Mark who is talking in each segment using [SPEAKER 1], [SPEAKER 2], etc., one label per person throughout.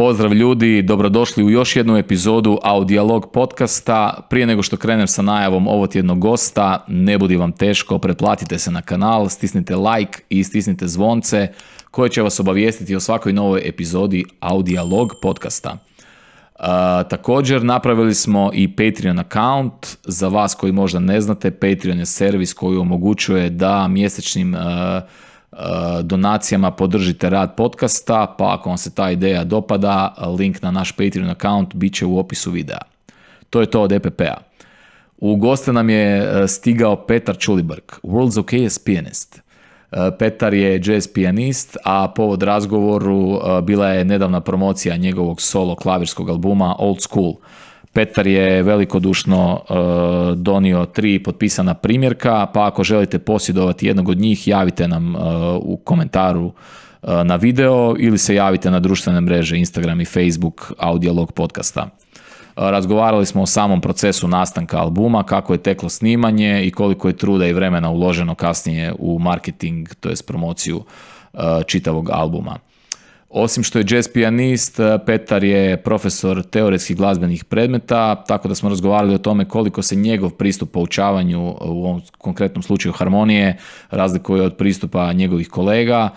[SPEAKER 1] Pozdrav ljudi, dobrodošli u još jednu epizodu Audiolog podcasta. Prije nego što krenem sa najavom ovotjednog gosta, ne budi vam teško, pretplatite se na kanal, stisnite like i stisnite zvonce koje će vas obavijestiti o svakoj novoj epizodi Audiolog podcasta. Također napravili smo i Patreon account. Za vas koji možda ne znate, Patreon je servis koji omogućuje da mjesečnim donacijama podržite rad podcasta, pa ako vam se ta ideja dopada, link na naš Patreon account bit će u opisu videa. To je to od EPP-a. U goste nam je stigao Petar Čulibrk, World's Okayest Pianist. Petar je jazz pijanist, a povod razgovoru bila je nedavna promocija njegovog solo klavirskog albuma Old School. Petar je velikodušno donio 3 potpisana primjerka, pa ako želite posjedovati jednog od njih, javite nam u komentaru na video ili se javite na društvene mreže Instagram i Facebook Audiolog podcasta. Razgovarali smo o samom procesu nastanka albuma, kako je teklo snimanje i koliko je truda i vremena uloženo kasnije u marketing, to jest promociju čitavog albuma. Osim što je jazz pijanist, Petar je profesor teoretskih glazbenih predmeta, tako da smo razgovarali o tome koliko se njegov pristup poučavanju, u ovom konkretnom slučaju harmonije, razlikuje od pristupa njegovih kolega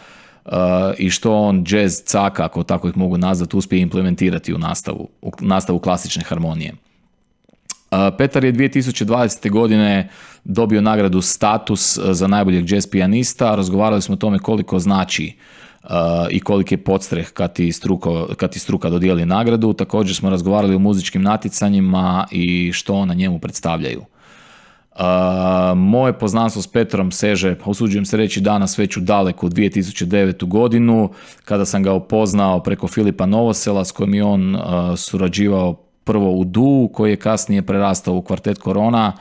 [SPEAKER 1] i što on jazz caka, ako tako ih mogu nazvati, uspije implementirati u nastavu klasične harmonije. Petar je 2020. godine dobio nagradu Status za najboljeg jazz pijanista. Razgovarali smo o tome koliko znači i koliki je podstreh kad ti struka dodijeli nagradu. Također smo razgovarali o muzičkim natjecanjima i što ona njemu predstavljaju. Moje poznanstvo s Petrom seže, usuđujem se reći, danas već u daleku 2009. godinu, kada sam ga upoznao preko Filipa Novosela, s kojim je on surađivao prvo u Duu, koji je kasnije prerastao u kvartet Korona,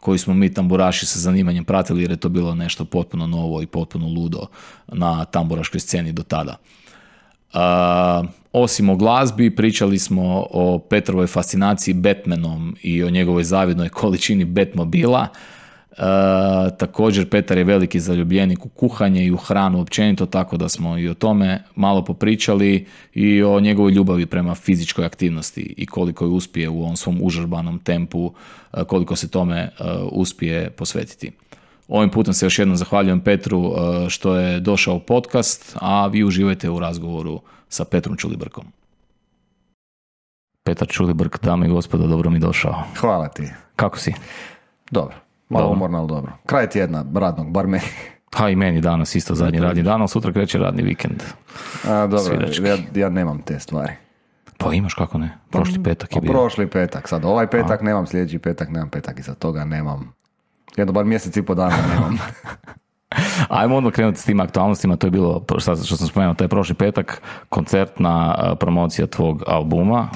[SPEAKER 1] koji smo mi tamburaši sa zanimanjem pratili, jer je to bilo nešto potpuno novo i potpuno ludo na tamburaškoj sceni do tada. Osim o glazbi, pričali smo o Petrovoj fascinaciji Batmanom i o njegovoj zavidnoj količini Batmobila. Također Petar je veliki zaljubljenik u kuhanje i u hranu općenito, tako da smo i o tome malo popričali i o njegovoj ljubavi prema fizičkoj aktivnosti i koliko je uspije u ovom svom užurbanom tempu, koliko se tome uspije posvetiti. Ovim putem se još jednom zahvaljujem Petru što je došao u podcast, a vi uživajte u razgovoru sa Petrom Čulibrkom. Petar Čulibrk, dame i gospodo, dobro mi došao.
[SPEAKER 2] Hvala ti.
[SPEAKER 1] Kako si?
[SPEAKER 2] Dobro. Malo umorno, ali dobro. Kraj tjedna radnog, bar meni.
[SPEAKER 1] Ha, i meni danas isto zadnji radni dan, ali sutra kreće radni vikend.
[SPEAKER 2] Dobro, ja nemam te stvari.
[SPEAKER 1] Pa imaš, kako ne? Prošli petak je bio.
[SPEAKER 2] Prošli petak, sad ovaj petak nemam, sljedeći petak nemam, petak iza toga nemam. Jedno bar mjesec i po dana nemam.
[SPEAKER 1] Ajmo odmah krenuti s tim aktualnostima. To je bilo, što sam spomenuo, taj prošli petak, koncertna promocija tvog albuma.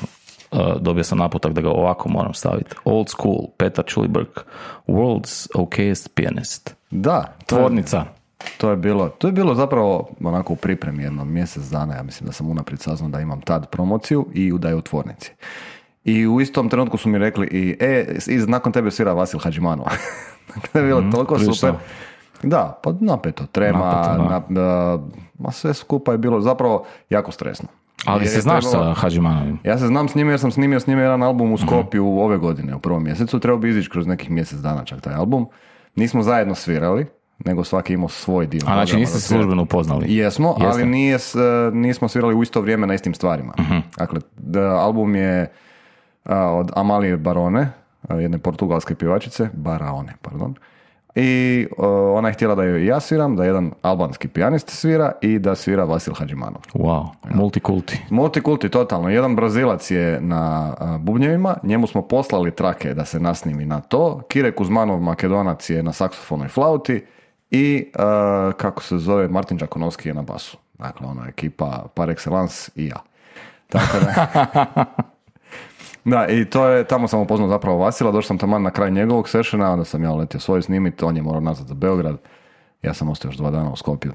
[SPEAKER 1] Dobio sam naputak da ga ovako moram staviti. Old School, Petar Čulibrk, World's Okayest Pianist.
[SPEAKER 2] Da.
[SPEAKER 1] Tvornica.
[SPEAKER 2] To je bilo zapravo onako u pripremi jedno mjesec dana. Ja mislim da sam unaprijed saznao da imam tad promociju i da je u tvornici. I u istom trenutku su mi rekli i nakon tebe svira Vasil Hadžimanov. To je bilo toliko super. Da, pa napeto, trema, sve skupa je bilo zapravo jako stresno.
[SPEAKER 1] Ali se znaš sa Hadžimanovim?
[SPEAKER 2] Ja se znam s njim jer sam snimio s njim jedan album u Skopju ove godine, u prvom mjesecu. Trebao bi izići kroz nekih mjesec dana čak taj album. Nismo zajedno svirali, nego svaki imao svoj dio.
[SPEAKER 1] A znači niste se službeno upoznali?
[SPEAKER 2] Jesmo, ali nismo svirali u isto vrijeme na istim stvarima. Dakle, album je od Amalije Barone, jedne portugalske pjevačice, Baraone, pardon. I ona je htjela da joj ja sviram, da jedan albanski pijanist svira i da svira Vasil Hadžimanov.
[SPEAKER 1] Wow, multikulti.
[SPEAKER 2] Multikulti, totalno. Jedan Brazilac je na bubnjevima, njemu smo poslali trake da se nasnimi na to. Kire Kuzmanov, Makedonac, je na saksofonoj flauti i, kako se zove, Martin Đakonovski je na basu. Dakle, ona ekipa par excellence i ja. Tako da... Da, i tamo sam upoznao zapravo Vasila, došao sam tamo na kraj njegovog sessiona, onda sam ja letio svoj snimiti, on je morao nazad za Beograd, ja sam ostao još 2 dana u Skopju.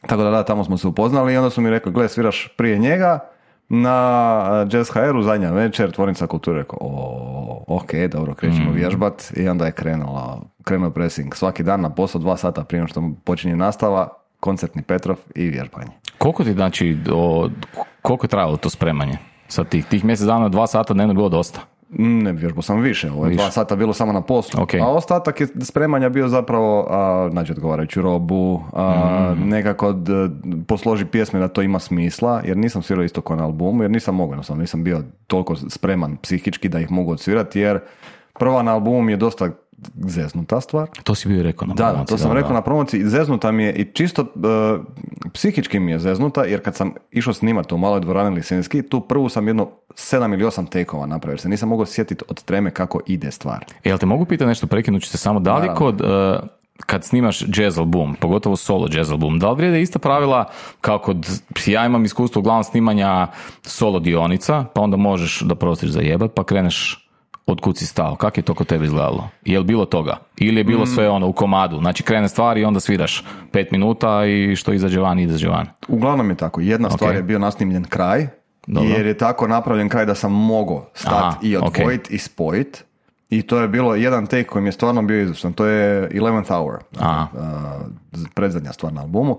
[SPEAKER 2] Tako da, tamo smo se upoznali i onda su mi rekli, gle, sviraš prije njega na Jazz HR-u zadnja večer, Tvornica kulture. Rekao, ok, dobro, krećemo vježbat i onda je krenuo pressing. Svaki dan na posao 2 sata prije što počinje nastava, koncertni Petrov i vježbanje.
[SPEAKER 1] Koliko ti znači Koliko je trajalo to spremanje? Sad tih mjesec dana, 2 sata dnevno bilo dosta?
[SPEAKER 2] Ne, vježbao sam više. Ovo je 2 sata bilo samo na poslu.
[SPEAKER 1] Okay.
[SPEAKER 2] A ostatak je spremanja bio zapravo naći odgovarajuću robu, nekako posloži pjesme da to ima smisla, jer nisam svirao isto kao na albumu, jer nisam mogao, nisam bio toliko spreman psihički da ih mogu odsvirati, jer prva na albumu je dosta zeznuta stvar.
[SPEAKER 1] To si bio rekao na promociji.
[SPEAKER 2] Da, to sam rekao na promociji. Zeznuta mi je i čisto psihički mi je zeznuta, jer kad sam išao snimati u maloj dvorani Lisinski, tu prvu sam jedno 7 ili 8 tekova napravio, jer se nisam mogao sjetiti od treme kako ide stvar.
[SPEAKER 1] Jel te mogu pitati nešto, prekinut ću se samo, da li kod... kad snimaš jazz album, pogotovo solo jazz album, da li vrijede ista pravila kao kod, ja imam iskustvo uglavnom snimanja solo dionica, pa onda možeš da prostiš zajebat, pa kreneš od kud si stao. Kako je to kod tebe izgledalo? Je li bilo toga? Ili je bilo sve ono u komadu? Znači krene stvar i onda sviraš 5 minuta i što izađe van, izađe van.
[SPEAKER 2] Uglavnom je tako. Jedna stvar je bio nasnimljen kraj, jer je tako napravljen kraj da sam mogao stati i odvojiti i spojiti. I to je bilo jedan take koji mi je stvarno bio izvrstan. To je 11th Hour. Predzadnja stvar na albumu.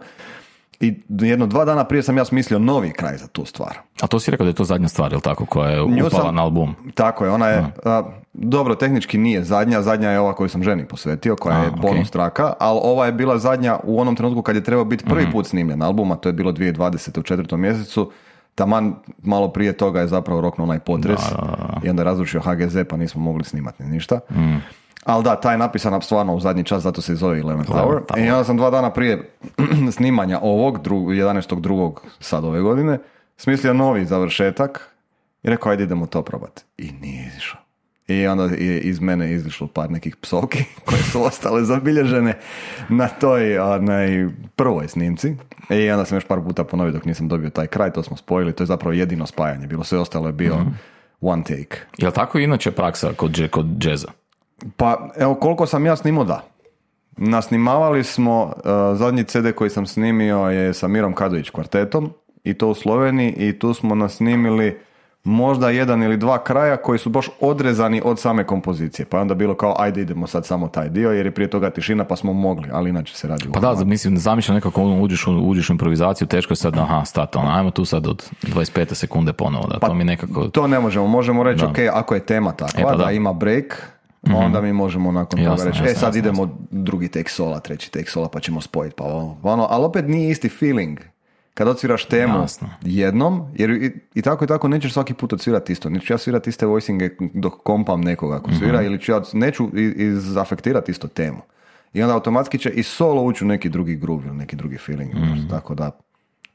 [SPEAKER 2] I 1-2 dana prije sam ja smislio novi kraj za tu stvar.
[SPEAKER 1] A to si rekao da je to zadnja stvar, je li tako, koja je upala na album?
[SPEAKER 2] Tako je, ona je, dobro, tehnički nije zadnja je ova koju sam ženi posvetio, koja je bonus traka, ali ova je bila zadnja u onom trenutku kad je trebao biti prvi put snimljen album, a to je bilo 2020. u 4. mjesecu. Taman malo prije toga je zapravo roknuo onaj potres i onda je razrušio HGZ, pa nismo mogli snimati ništa. Ali da, taj je napisan stvarno u zadnji čas, zato se i zove 11th Hour. I onda sam 2 dana prije snimanja ovog, 11.2. sad ove godine, smislio novi završetak i rekao, ajde idemo to probati. I nije izišao. I onda je iz mene izišlo par nekih psovki koje su ostale zabilježene na toj prvoj snimci. I onda sam još par puta ponovio dok nisam dobio taj kraj, to smo spojili, to je zapravo jedino spajanje. Bilo sve ostalo je bio one take.
[SPEAKER 1] Je li tako inače praksa kod džeza?
[SPEAKER 2] Pa, evo, koliko sam ja snimao, da. Nasnimavali smo, zadnji CD koji sam snimio je sa Mirom Kadović kvartetom, i to u Sloveniji, i tu smo nasnimili možda 1 ili 2 kraja koji su baš odrezani od same kompozicije. Pa je onda bilo kao, ajde idemo sad samo taj dio, jer je prije toga tišina, pa smo mogli, ali inače se radi.
[SPEAKER 1] Pa da, mislim, zamišljam nekako uđeš u improvizaciju, teško je sad, stati, ajmo tu sad od 25 sekunde ponovo, da, pa, to mi nekako...
[SPEAKER 2] To ne možemo reći, ok, ako je tema takva, da ima break, onda mi možemo nakon toga reći, sad idemo drugi tek sola, treći tek sola, pa ćemo spojiti, pa ono, ali opet nije isti feeling. Kad odsviraš temu jednom, jer i tako nećeš svaki put odsvirati isto. Neću ja svirati iste voicinge dok kompam nekoga ako svira, ili ću ja neću izafektirati isto temu. I onda automatski će i solo ući u neki drugi groove ili neki drugi feeling. Tako da,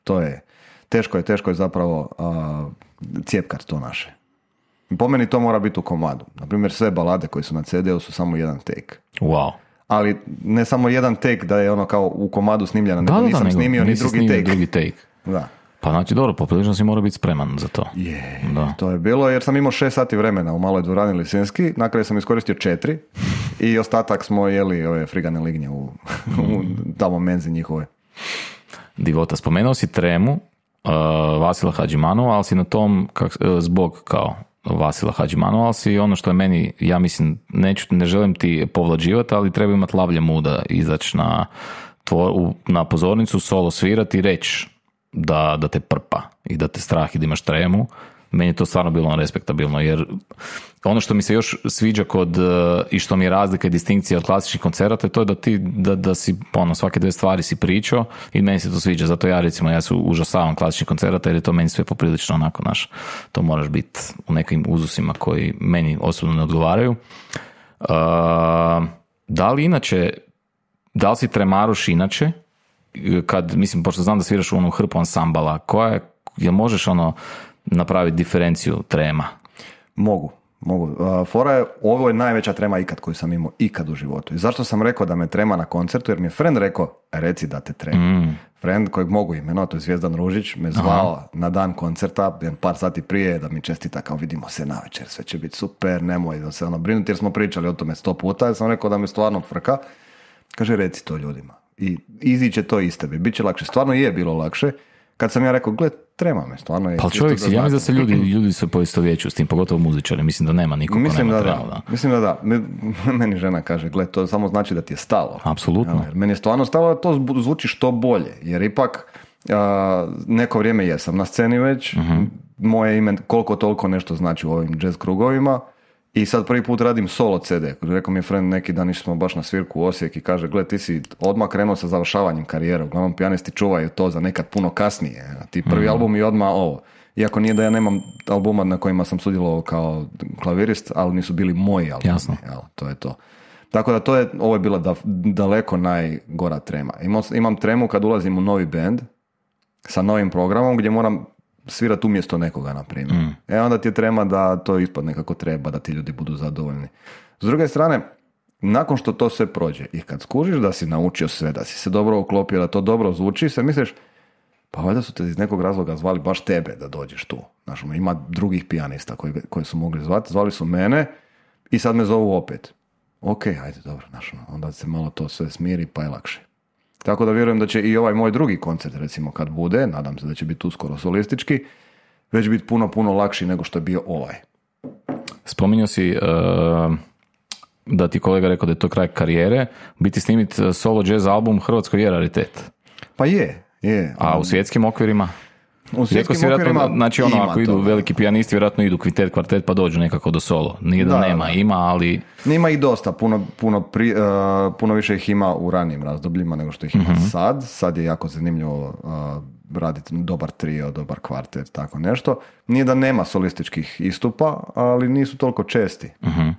[SPEAKER 2] to je, teško je zapravo cijepkat to naše. Po meni to mora biti u komadu. Naprimjer, sve balade koje su na CD-u su samo jedan take.
[SPEAKER 1] Wow.
[SPEAKER 2] Ali ne samo jedan take da je ono kao u komadu snimljena, nego nisam snimio ni drugi take. Da.
[SPEAKER 1] Pa znači dobro, poprilično si mora biti spreman za to.
[SPEAKER 2] To je bilo jer sam imao 6 sati vremena u maloj dvorani Lisinski, na kraju sam iskoristio 4 i ostatak smo jeli ove frigane lignje u tamo menzi njihove.
[SPEAKER 1] Divota, spomenuo si tremu Vasila Hadžimanova, ali si na tom zbog kao Vasila Hadžimanova, ali si ono što je meni, ja mislim, ne želim ti povlađivati, ali treba imati lavlje muda, izaći na pozornicu, solo svirati i reći da te prpa i da te strah i da imaš tremu. Meni je to stvarno bilo respektabilno, jer ono što mi se još sviđa i što mi je razlika i distinkcija od klasičnih koncerata je to da ti da si svake 2 stvari si pričao i meni se to sviđa, zato ja se užasavam klasičnih koncerata jer je to meni sve poprilično onako to moraš biti u nekim uzusima koji meni osobno ne odgovaraju. Da li si tremaruš inače, mislim, pošto znam da sviraš u hrpu ansambala, jel možeš napraviti diferenciju trema?
[SPEAKER 2] Mogu. Fora je, ovo je najveća trema ikad koju sam imao ikad u životu. I zašto sam rekao da me trema na koncertu? Jer mi je friend rekao, reci da te trema. Friend kojeg mogu imenovati, to je Zvijezdan Ružić, me zvao na dan koncerta, par sati prije, da mi čestita kao vidimo se navečer, sve će biti super, nemoj da se brinuti, jer smo pričali o tome 100 puta, jer sam rekao da me stvarno frka. Kaže, reci to ljudima. I iziće to iz tebe. Biće lakše. Stvarno je bilo lakše. Kad sam ja rekao, gled, trema me, stvarno je.
[SPEAKER 1] Pa čovjek si, ja mislim da se ljudi se poistovjećuju s tim, pogotovo muzičari, mislim da nema niko ko nema tremu.
[SPEAKER 2] Mislim da da. Meni žena kaže, gled, to samo znači da ti je stalo.
[SPEAKER 1] Apsolutno.
[SPEAKER 2] Jer meni je stvarno stalo da to zvuči što bolje, jer ipak Neko vrijeme jesam na sceni već, moje ime koliko toliko nešto znači u ovim jazz krugovima i sad prvi put radim solo CD. Rekao mi je friend neki dan, išli smo baš na svirku u Osijek i kaže, gle, ti si odmah krenuo sa završavanjem karijere, uglavnom pijanisti čuvaju to za nekad puno kasnije, ti prvi album i odmah ovo. Iako nije da ja nemam albuma na kojima sam sudjelovao kao klavirist, ali nisu bili moji albumi.
[SPEAKER 1] Jasno.
[SPEAKER 2] Jel, to je to. Tako da ovo je bila daleko najgora trema. Imam tremu kad ulazim u novi band sa novim programom gdje moram svirati umjesto nekoga, na primjer. Onda ti je trema da to ispadne kako treba, da ti ljudi budu zadovoljni. S druge strane, nakon što to sve prođe i kad skužiš da si naučio sve, da si se dobro uklopio, da to dobro zvuči, se misliš, pa valjda su te iz nekog razloga zvali baš tebe da dođeš tu. Znaš, ima drugih pijanista koji su mogli zvali su mene i sad me zovu opet. Ok, ajde, dobro, znaš, onda se malo to sve smiri pa je lakše. Tako da vjerujem da će i ovaj moj drugi koncert, recimo, kad bude, nadam se da će biti uskoro solistički, već biti puno, puno lakši nego što je bio ovaj.
[SPEAKER 1] Spominjao si da ti kolega rekao da je to kraj karijere, biti snimit solo jazz album Hrvatskoj je raritet.
[SPEAKER 2] Pa je.
[SPEAKER 1] A u svjetskim okvirima?
[SPEAKER 2] U svjetskim okvirima
[SPEAKER 1] znači ako idu veliki pijanisti, vjerojatno idu kvintet, kvartet pa dođu nekako do solo. Nije da nema, ima, ali...
[SPEAKER 2] Ima i dosta, puno više ih ima u ranijim razdobljima nego što ih ima sad. Sad je jako zanimljivo raditi dobar trio, dobar kvartet, tako nešto. Nije da nema solističkih istupa, ali nisu toliko česti.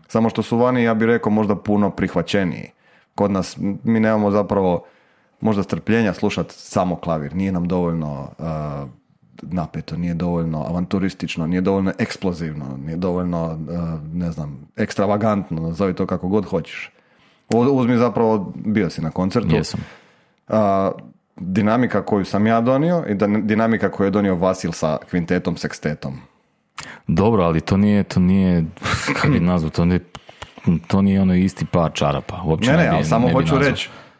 [SPEAKER 2] Samo što su vani, ja bih rekao, možda puno prihvaćeniji. Kod nas mi nemamo zapravo možda strpljenja slušati samo klavir. Nije nam dovoljno napeto, nije dovoljno avanturistično, nije dovoljno eksplozivno, nije dovoljno, ne znam, ekstravagantno, nazovi to kako god hoćeš. Uzmi zapravo, bio si na koncertu.
[SPEAKER 1] Jesam.
[SPEAKER 2] Dinamika koju sam ja donio i dinamika koju je donio Vasil sa kvintetom, sekstetom.
[SPEAKER 1] Dobro, ali to nije kako bi nazvao, to nije ono isti par čarapa. Uopće
[SPEAKER 2] ne, ali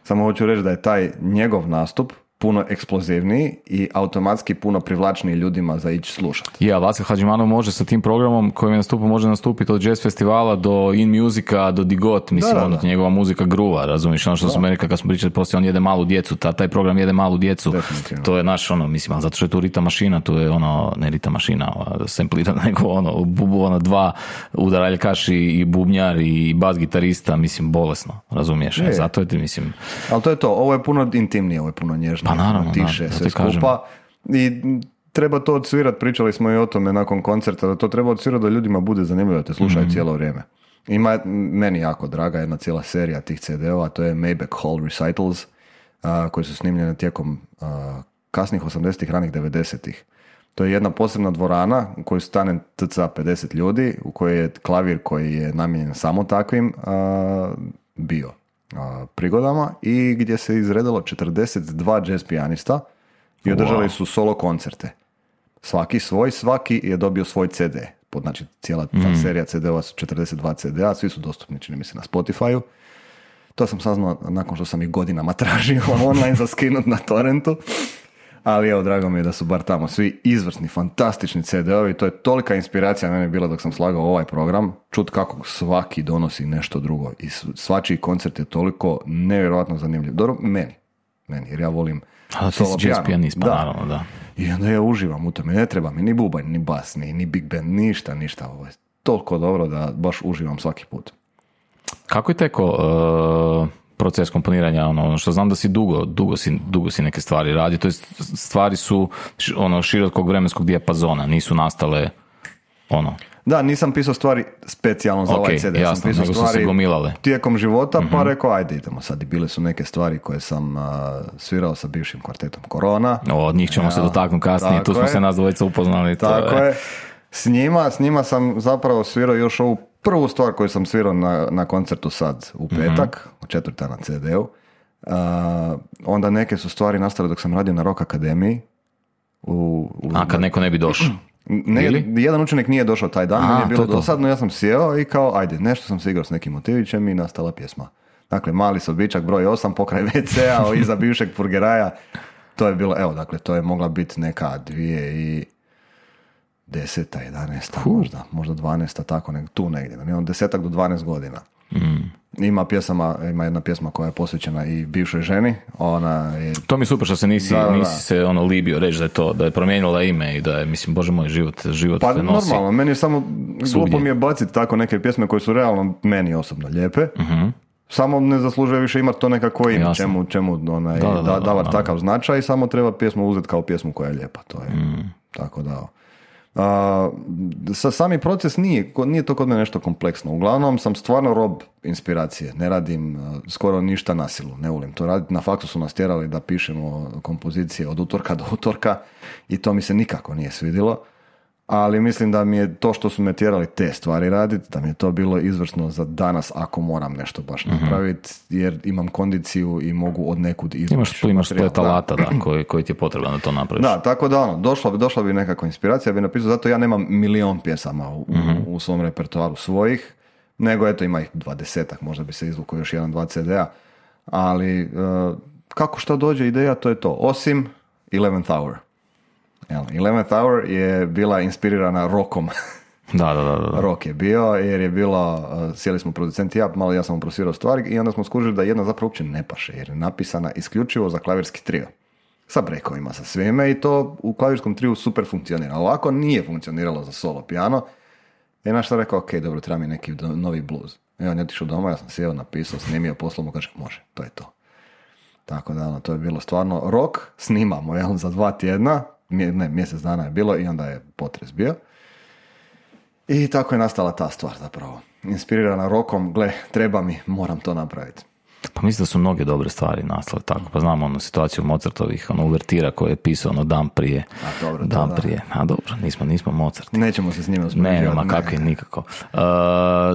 [SPEAKER 2] samo hoću reći da je taj njegov nastup puno eksplozivniji i automatski puno privlačniji ljudima za ići slušati.
[SPEAKER 1] Ja, Vasil Hadžimanov može sa tim programom kojim je nastupio, može nastupiti od jazz festivala do in musika, do digot, mislim, njegova muzika gruva, razumiješ, ono što smo rekli kad smo pričali, poslije on jede malu djecu, taj program jede malu djecu, to je naš, mislim, ali zato što je tu rita mašina, tu je ne rita mašina, samplirana, nego dva udaraljkaši i bubnjar i bas gitarista, mislim, bolesno, razumiješ, zato je ti, mislim...
[SPEAKER 2] Ali to je to, ovo je puno intimnije, ovo je puno nježnije.
[SPEAKER 1] Pa naravno,
[SPEAKER 2] tiše, sve skupa i treba to odsvirati, pričali smo i o tome nakon koncerta, da to treba odsvirati da ljudima bude zanimljivo da te slušaju cijelo vrijeme. Ima meni jako draga jedna cijela serija tih CD-ova, to je Maybach Hall Recitals, koji su snimljene tijekom kasnih 80-ih, ranih 90-ih. To je jedna posebna dvorana u kojoj stane tca 50 ljudi, u kojoj je klavir koji je namijenjen samo takvim bio prigodama i gdje se izredalo 42 jazz pijanista i održali su solo koncerte. Svaki je dobio svoj CD. Znači, cijela ta serija CD-ova su 42 CD-a, svi su dostupni, čini mi se, na Spotify-u. To sam saznao nakon što sam ih godinama tražio online za skinut na torrentu. Ali evo, drago mi je da su bar tamo svi izvrsni, fantastični CD-ovi. To je tolika inspiracija meni bila dok sam slagao ovaj program. Čut kako svaki donosi nešto drugo. I svačiji koncert je toliko nevjerojatno zanimljiv. Dobro, meni, jer ja volim solo pijano.
[SPEAKER 1] Pijanist, pa naravno, da.
[SPEAKER 2] I onda ja uživam u tome. Ne treba mi ni bubanj, ni bas, ni big band, ništa. Ovo je toliko dobro da baš uživam svaki put.
[SPEAKER 1] Kako je teko proces komponiranja, ono što znam da si dugo si neke stvari radi, to jest stvari su širokog vremenskog dijapazona, nisu nastale
[SPEAKER 2] Da, nisam pisao stvari specijalno za ovaj CD,
[SPEAKER 1] jasno,
[SPEAKER 2] sam pisao stvari tijekom života, pa rekao ajde idemo sad, i bile su neke stvari koje sam svirao sa bivšim kvartetom Korona.
[SPEAKER 1] Od njih ćemo se dotaknuti kasnije, tu smo se nas dvojica upoznali.
[SPEAKER 2] Tako je. S njima sam zapravo svirao još ovu prvu stvar koju sam svirao na koncertu sad u petak, u četvrta na CD-u. Onda neke su stvari nastale dok sam radio na Rock Akademiji.
[SPEAKER 1] Kad neko ne bi došao?
[SPEAKER 2] Jedan učenik nije došao taj dan, meni je bilo dosadno, ja sam sjeo i kao, ajde, nešto sam se igrao s nekim motivićem i nastala pjesma. Dakle, Mali sobičak broj 8, pokraj WC-a, iza bivšeg purgeraja. To je bilo, evo, dakle, to je mogla biti neka 2010. 11. možda 12. tako tu negdje, 10 do 12 godina. Ima jedna pjesma koja je posvećena i bivšoj ženi. Ona je...
[SPEAKER 1] To mi je super što se nisi se libio reći da je promijenila ime i da je, mislim, bože moj, život
[SPEAKER 2] pa
[SPEAKER 1] te nosi.
[SPEAKER 2] Normalno, meni je samo glupo mi je baciti tako neke pjesme koje su realno meni osobno lijepe. Samo ne zaslužuje više imati to nekako ime, čemu davati takav značaj, samo treba pjesmu uzeti kao pjesmu koja je lijepa. To je tako da... Sami proces nije to kod mene nešto kompleksno. Uglavnom sam stvarno rob inspiracije. Ne radim skoro ništa na silu. Ne volim to raditi. Na faksu su nas tjerali da pišemo kompozicije od utorka do utorka i to mi se nikako nije svidjelo. Ali mislim da mi je to što su me tjerali te stvari raditi, da mi je to bilo izvrsno za danas ako moram nešto baš napraviti, jer imam kondiciju i mogu od nekud izvući.
[SPEAKER 1] Imaš splet alata koji ti je potreban da to napraviš.
[SPEAKER 2] Da, tako da došla bi nekakva inspiracija, bi napisao, zato ja nemam milion pjesama u svom repertoaru svojih, nego eto ima ih 20-ak, možda bi se izvukao još 1-2 CD-a, ali kako što dođe ideja, to je to, osim 11th Hour. 11th Hour je bila inspirirana rockom.
[SPEAKER 1] Da.
[SPEAKER 2] Rock je bio, jer je bilo, sjeli smo producenti ja sam prosvirao stvari i onda smo skužili da jedna zapravo uopće ne paše, jer je napisana isključivo za klavirski trio. Sa brekovima, sa svime i to u klavirskom triju super funkcionira. Ovako nije funkcioniralo za solo piano. I naš sam rekao, ok, dobro, treba mi neki novi blues. I on je otišao doma, ja sam sjeo, napisao, snimio, poslao mu, kaže, može, to je to. Tako da, to je bilo stvarno rock, snimamo, za 2 tjedna, mjesec dana je bilo i onda je potres bio. I tako je nastala ta stvar zapravo. Inspirirana rockom, gle, treba mi, moram to napraviti.
[SPEAKER 1] Pa mislim da su mnoge dobre stvari nastale tako. Pa znamo situaciju Mozartovih, uvertira koje je pisao dan prije. Prije. A dobro, nismo Mozarti.
[SPEAKER 2] Nećemo se s njima uspoređivati.
[SPEAKER 1] Ne, kakvi, nikako.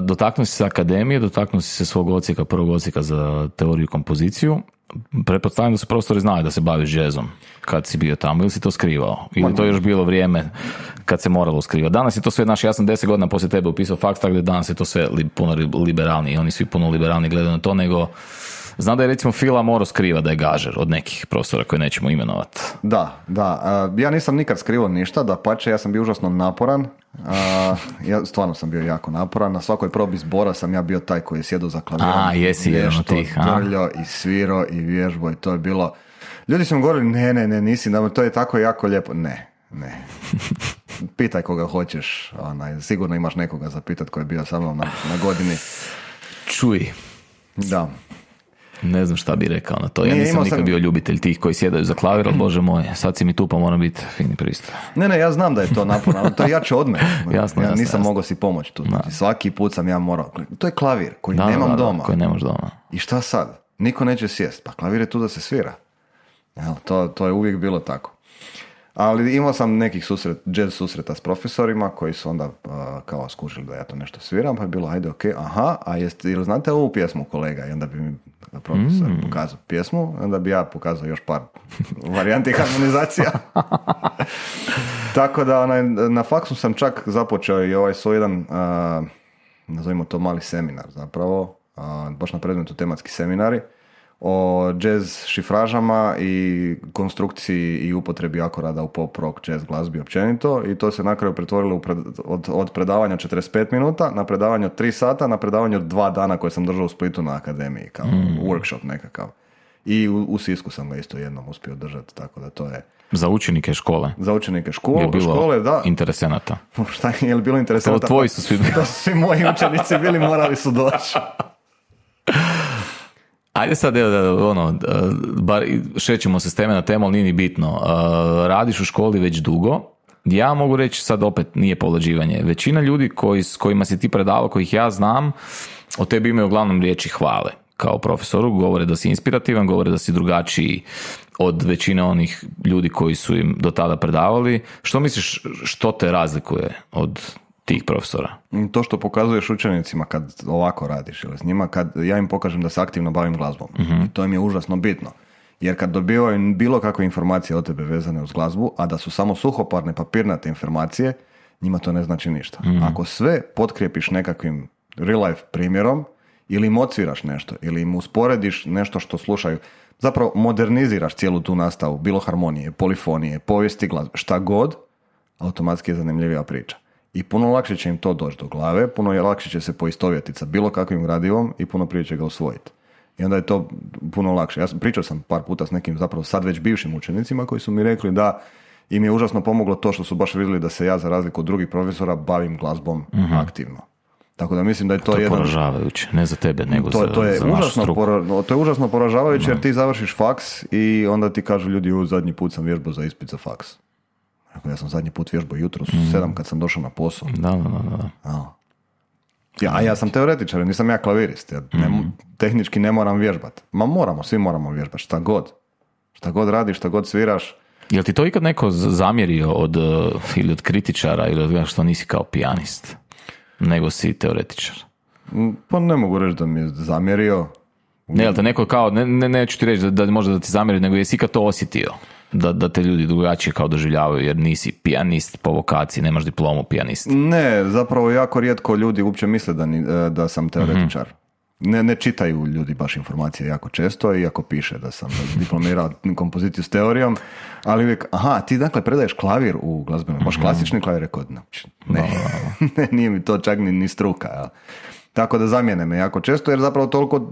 [SPEAKER 1] Dotaknuo si se akademije, dotaknuo si se svog prvog odsjeka za teoriju i kompoziciju. Pretpostavljam da su profesori znali da se baviš jazzom kad si bio tamo, ili si to skrivao? Ili to još bilo vrijeme kad se moralo skrivati? Danas je to sve, ja sam 10 godina poslije tebe upisao faks, tako da danas je to sve puno liberalniji. Oni svi puno liberalniji gledaju na to, nego znam da je recimo Fila morao skrivati da je gažer od nekih profesora koje nećemo imenovati.
[SPEAKER 2] Da. Ja nisam nikad skrivao ništa, dapače, ja sam bio užasno naporan. Ja stvarno sam bio jako naporan. Na svakoj probi zbora sam ja bio taj koji je sjedio za klavirom.
[SPEAKER 1] Jesi jedan od tih.
[SPEAKER 2] Drljao i svirao i vježbo i to je bilo... Ljudi su mi govorili, ne, nisi, to je tako jako lijepo. Ne. Pitaj koga hoćeš. Sigurno imaš nekoga za pitat koji je bio sa mnom na godini.
[SPEAKER 1] Čuj.
[SPEAKER 2] Da.
[SPEAKER 1] Ne znam šta bi rekao na to. Ja nisam nikad bio ljubitelj tih koji sjedaju za klavir, ali bože moj, sad si mi tu pa moram biti fini pristup.
[SPEAKER 2] Ne, ja znam da je to naporno, ali to je jače od mene.
[SPEAKER 1] Jasno.
[SPEAKER 2] Nisam mogao si pomoći tu. Svaki put sam ja morao. To je klavir koji nemam doma.
[SPEAKER 1] Koji nemaš doma.
[SPEAKER 2] I šta sad? Niko neće sjest. Pa klavir je tu da se svira. To je uvijek bilo tako. Ali imao sam nekih jazz susreta s profesorima koji su onda kao skužili da ja to nešto sviram, pa je bilo, ajde, ok, ili znate ovu pjesmu, kolega? I onda bi mi profesor pokazao pjesmu, onda bi ja pokazao još par varijanti harmonizacija. Tako da na faksu sam čak započeo i ovaj svoj jedan, nazovimo to mali seminar zapravo, baš na predmetu tematski seminari, o jazz šifražama i konstrukciji i upotrebi akorada u pop, rock, jazz glazbi općenito i to se na kraju pretvorilo od predavanja 45 minuta na predavanje od 3 sata na predavanje od 2 dana koje sam držao u Splitu na akademiji kao workshop nekakav. I u Sisku sam ga isto jednom uspio držati, tako da to je...
[SPEAKER 1] Za učenike škole?
[SPEAKER 2] Za učenike škole, da.
[SPEAKER 1] Interesenata?
[SPEAKER 2] Šta je li bilo interesenata?
[SPEAKER 1] To tvoji su svi bili.
[SPEAKER 2] To su svi moji učenici bili, morali su doći.
[SPEAKER 1] Ajde sad, bar šećemo se s teme na temu, ali nije ni bitno. Radiš u školi već dugo. Ja mogu reći, sad opet nije povlađivanje. Većina ljudi s kojima si ti predavao, kojih ja znam, o tebi imaju uglavnom riječi hvale. Kao profesoru, govore da si inspirativan, govore da si drugačiji od većine onih ljudi koji su im do tada predavali. Što misliš, što te razlikuje od tih profesora?
[SPEAKER 2] To što pokazuješ učenicima kad ovako radiš ili s njima, kad ja im pokažem da se aktivno bavim glazbom. I to im je užasno bitno. Jer kad dobivaju bilo kakve informacije o tebe vezane uz glazbu, a da su samo suhoparne papirnate informacije, njima to ne znači ništa. Ako sve potkrijepiš nekakvim real life primjerom, ili im odsviraš nešto, ili im usporediš nešto što slušaju, zapravo moderniziraš cijelu tu nastavu, bilo harmonije, polifonije, povijesti glazbe, šta god, automatski je zanimljivija priča. I puno lakše će im to doći do glave, puno je lakše će se poistovjetiti sa bilo kakvim gradivom i puno prije će ga usvojiti. I onda je to puno lakše. Pričao sam par puta s nekim zapravo sad već bivšim učenicima koji su mi rekli da im je užasno pomoglo to što su baš vidjeli da se ja za razliku od drugih profesora bavim glazbom aktivno. Tako da mislim da je to jedan...
[SPEAKER 1] poražavajuće, ne za tebe, nego za našu struku.
[SPEAKER 2] To je užasno poražavajuće jer ti završiš faks i onda ti kažu ljudi, zadnji put sam vježbao za ispit za faks. Ja sam zadnji put vježbao jutros u 7 kad sam došao na posao.
[SPEAKER 1] Da.
[SPEAKER 2] Ja sam teoretičar, nisam ja klavirist. Ja tehnički ne moram vježbati. Svi moramo vježbati, šta god radiš, šta god sviraš.
[SPEAKER 1] Jel ti to ikad neko zamjerio ili od kritičara ili od što nisi kao pijanist, nego si teoretičar?
[SPEAKER 2] Pa ne mogu reći da mi je zamjerio.
[SPEAKER 1] Ne, jel te neko kao, neću ti reći da možda da ti zamjeri, nego jesi ikad to osjetio? Da te ljudi drugačije kao doživljavaju jer nisi pijanist po vokaciji, nemaš diplomu pijanist.
[SPEAKER 2] Ne, zapravo jako rijetko ljudi uopće misle da sam teoretičar. Ne čitaju ljudi baš informacije jako često, iako piše da sam diplomirao kompoziciju s teorijom, ali uvijek, ti dakle predaješ klavir u glazbenu, baš klasični klavir, rekao, ne, nije mi to čak ni struka, jel? Tako da zamijene me jako često, jer zapravo toliko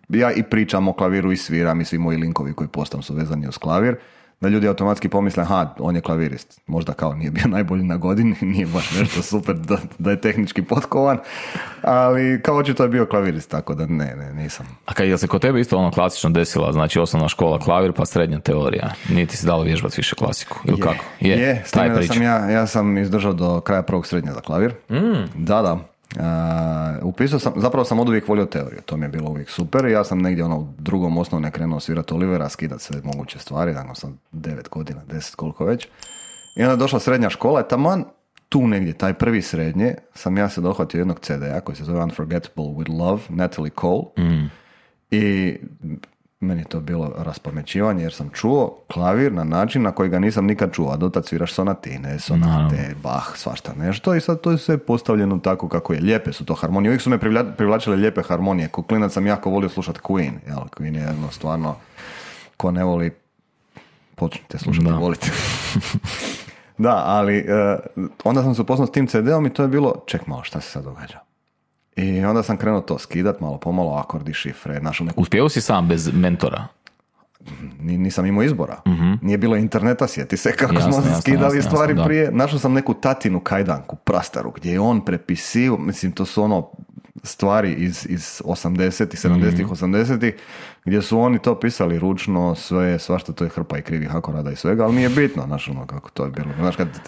[SPEAKER 2] ja i pričam o klaviru i sviram i svi moji linkovi koji postam su vezani uz klavir, da ljudi automatski pomisle, on je klavirist. Možda kao nije bio najbolji na godini, nije baš nešto super da je tehnički potkovan, ali kao očito je bio klavirist, tako da ne, nisam.
[SPEAKER 1] A jel se kod tebe isto klasično desila, znači osnovna škola klavir pa srednja teorija? Nije ti se dalo vježbati više klasiku? Ili kako?
[SPEAKER 2] Je, s time da sam izdržao do kraja prvog srednje za klavir. Da. Upisao sam, zapravo sam od uvijek volio teoriju, to mi je bilo uvijek super i ja sam negdje u drugom osnovne krenuo svirati Olivera, skidati sve moguće stvari, dakle sam 9 godina, 10 koliko već. I onda je došla srednja škola i taman tu negdje, taj prvi srednje, sam ja se dohvatio jednog CD-a koji se zove Unforgettable with Love, Natalie Cole. I meni je to bilo raspamećivanje jer sam čuo klavir na način na koji ga nisam nikad čuo, a dotad sviraš sonatine, Bach, svašta nešto i sad to je sve postavljeno tako kako je. Lijepe su to harmonije, uvijek su me privlačile lijepe harmonije. Ko klinac sam jako volio slušati Queen, jel? Queen je jedno stvarno, ko ne voli, počnite slušati, volite. Da, ali onda sam se upoznao s tim CD-om i to je bilo, ček malo, šta se sad događa? I onda sam krenuo to skidat, malo pomalo, akordi, šifre, našao neku...
[SPEAKER 1] Uspio si sam bez mentora?
[SPEAKER 2] Nisam imao izbora. Nije bilo interneta, sjeti se kako smo skidali stvari prije. Našao sam neku tatinu kajdanku, prastaru, gdje je on prepisio, mislim, to su stvari iz 80-ih, 70-ih, 80-ih, gdje su oni to pisali ručno, svašta, to je hrpa i krivih akorada i svega, ali nije bitno, kako to je bilo.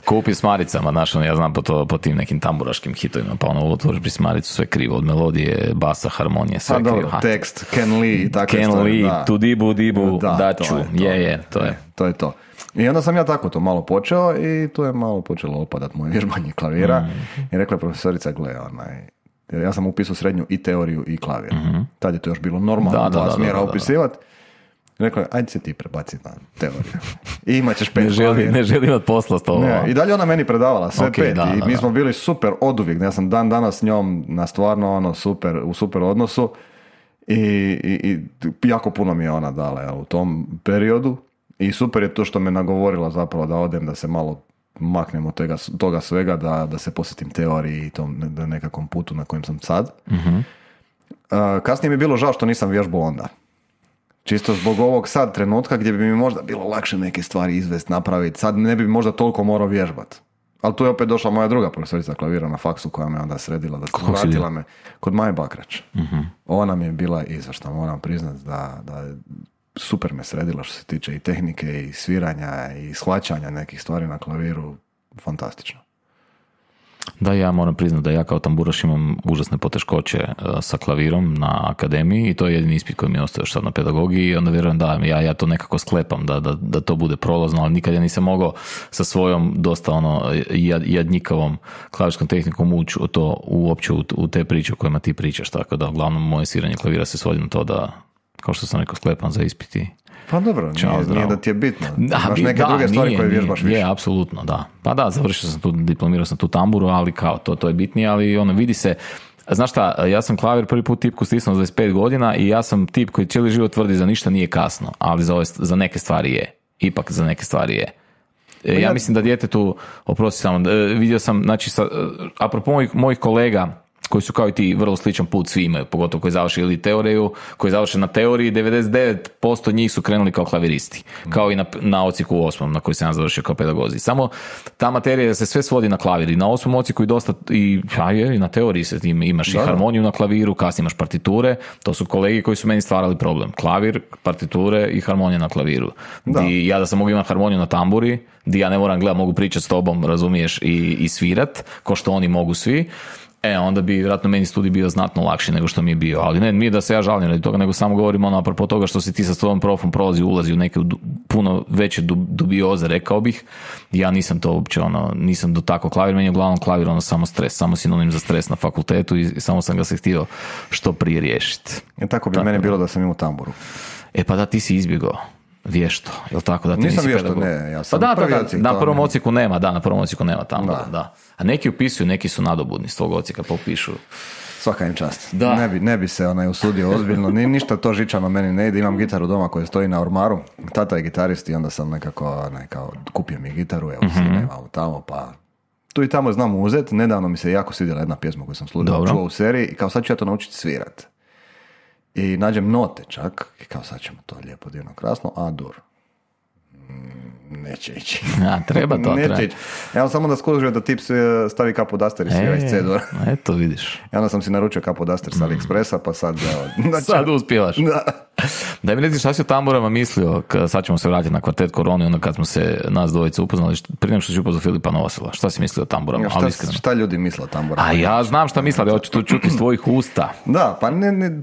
[SPEAKER 1] Kupi s maricama, ja znam po tim nekim tamburaškim hitovima, pa otvoriš Prismaricu, sve krivo, od melodije, basa, harmonije, sve krivo.
[SPEAKER 2] Tekst, Ken Lee i takve
[SPEAKER 1] Ken
[SPEAKER 2] stvari.
[SPEAKER 1] Ken Lee, tu dibu, daću,
[SPEAKER 2] to je to. I onda sam ja tako to malo počeo i to je malo počelo opadat moje vježbanje klavira i rekla je profesorica, gle, ja sam upisao srednju i teoriju i klavir. Tad je to još bilo normalno, dva smjera upisivati. Rekla je, ajde se ti prebaciti na teoriju. I imat ćeš 5 klavir.
[SPEAKER 1] Ne želi imati posla s tobom.
[SPEAKER 2] I dalje ona meni predavala sve 5. I mi smo bili super oduvijek. Ja sam dan danas s njom na stvarno u super odnosu. I jako puno mi je ona dala u tom periodu. I super je to što me nagovorila zapravo da odem, da se malo maknem od toga svega, da se posjetim teoriji i tom nekakvom putu na kojem sam sad. Kasnije mi je bilo žao što nisam vježbao onda. Čisto zbog ovog sad trenutka gdje bi mi možda bilo lakše neke stvari izvest, napraviti. Sad ne bi možda toliko morao vježbati. Ali tu je opet došla moja druga profesorica klavira na faksu koja me onda sredila, vratila me kod Maje Bakrać. Ona mi je bila izvršna, moram priznati da super me sredila što se tiče i tehnike i sviranja i shvaćanja nekih stvari na klaviru, fantastično.
[SPEAKER 1] Da, ja moram priznati da ja kao tamburaš imam užasne poteškoće sa klavirom na akademiji i to je jedini ispit koji mi je ostao još sad na pedagogiji i onda vjerujem da ja to nekako sklepam da to bude prolazno, ali nikad ja nisam mogao sa svojom dosta jadnjikavom klavirskom tehnikom ući uopće u te priče o kojima ti pričaš, tako da uglavnom moje sviranje klavira se svodi na to da, kao što sam rekao, sklepam za ispiti.
[SPEAKER 2] Pa dobro, nije da ti je bitno. Imaš neke druge stvari koje vježbaš više.
[SPEAKER 1] Je, apsolutno, da. Pa da, završio sam tu, diplomirao sam tu tamburu, ali kao, to je bitnije, ali vidi se, znaš šta, ja sam klavir prvi put tipku stisnuo 25 godina i ja sam tip koji cijeli život tvrdi za ništa nije kasno, ali za neke stvari je. Ipak za neke stvari je. Ja mislim da djetetu, oprosti samo, vidio sam, znači, apropo mojih kolega, koji su kao i ti vrlo sličan put svi imaju, pogotovo koji završe ili teoriju, koji završe na teoriji, 99% njih su krenuli kao klaviristi, kao i na ocijeku u 8. na koji sam ja završio kao pedagozi. Samo ta materija da se sve svodi na klavir i na 8. ocijeku i dosta, i na teoriji se imaš i harmoniju na klaviru, kasnije imaš partiture, to su kolegi koji su meni stvarali problem. Klavir, partiture i harmonija na klaviru. I ja da sam mogu imati harmoniju na tamburi, di ja ne moram gledati, mogu pričati s tobom, razumiješ, i svirat, ko što oni mogu svi, onda bi vjerojatno meni studij bio znatno lakši nego što mi je bio, ali ne, nije da se ja žalim radi toga, nego samo govorim apropo toga što si ti sa svojom profom ulazi u neke puno veće dubioze, rekao bih. Ja nisam to uopće, nisam dotakao klavir, meni je uglavnom klavir samo stres, samo sinonim za stres na fakultetu i samo sam ga se htio što prije riješiti.
[SPEAKER 2] Tako bi meni bilo da sam imao tamburu.
[SPEAKER 1] Pa da, ti si izbjegao. Vješto, jel tako da ti
[SPEAKER 2] nisam
[SPEAKER 1] nisi
[SPEAKER 2] vješto, ne, ja sam
[SPEAKER 1] prvi ocijek. Na prvom ocijeku nema, na prvom ocijeku nema tamo, da. A neki upisuju, neki su nadobudni s tvog ocijeka, pa upišu.
[SPEAKER 2] Svaka im čast. Ne bi se usudio ozbiljno, ništa to žičano meni ne ide, imam gitaru doma koja stoji na ormaru, tata je gitarist i onda sam nekako kupio mi gitaru, evo sine, tamo, pa tu i tamo znam uzeti, nedavno mi se jako svidjela jedna pjesma koju sam čuo u seriji i kao sad ću ja to naučiti svirat. I nađem note čak, i kao sad ćemo to lijepo, divno, krasno, A dur. Neće ići.
[SPEAKER 1] Treba to,
[SPEAKER 2] neće ići. Ja samo da skužio da tip stavi kapodaster i svira iz C-dur.
[SPEAKER 1] Eto, vidiš.
[SPEAKER 2] I onda sam si naručio kapodaster sa AliExpressa, pa sad...
[SPEAKER 1] sad uspijevaš.
[SPEAKER 2] Da.
[SPEAKER 1] Daj mi reći šta si o tamburama mislio, sad ćemo se vratiti na kvartet Koroni, onda kad smo se nas dvojice upoznali, prije nego što si upoznao Filipa Novosela, šta si mislio o tamburama?
[SPEAKER 2] Šta ljudi misle o tamburama?
[SPEAKER 1] A ja znam šta misle, ali hoću to čuti iz tvojih usta.
[SPEAKER 2] Da, pa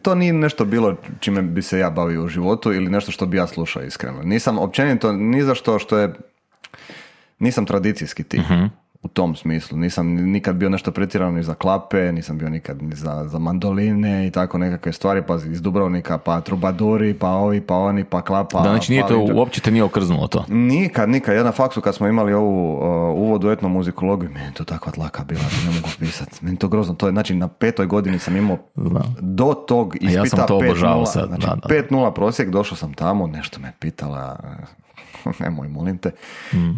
[SPEAKER 2] to nije nešto bilo čime bi se ja bavio u životu ili nešto što bi ja slušao iskreno. Nisam općenito ni za što je... Nisam tradicijski tip. U tom smislu. Nisam nikad bio nešto pretjerano ni za klape, nisam bio nikad ni za mandoline i tako nekakve stvari, pa iz Dubrovnika, pa trubaduri, pa ovi, pa oni, pa klapa.
[SPEAKER 1] Da, znači nije to, uopće te nije okrznulo to?
[SPEAKER 2] Nikad. Ja na faksu kad smo imali ovu uvod u etnomuzikologiju, meni to takva tlaka bila, da ne mogu pisati. Meni to grozno. To je, znači, na 5. godini sam imao do tog ispita 5.0.
[SPEAKER 1] Ja sam to obožavao sad.
[SPEAKER 2] Znači, 5.0 prosjek, došao sam tamo, nešto me pitala... nemoj, molim te.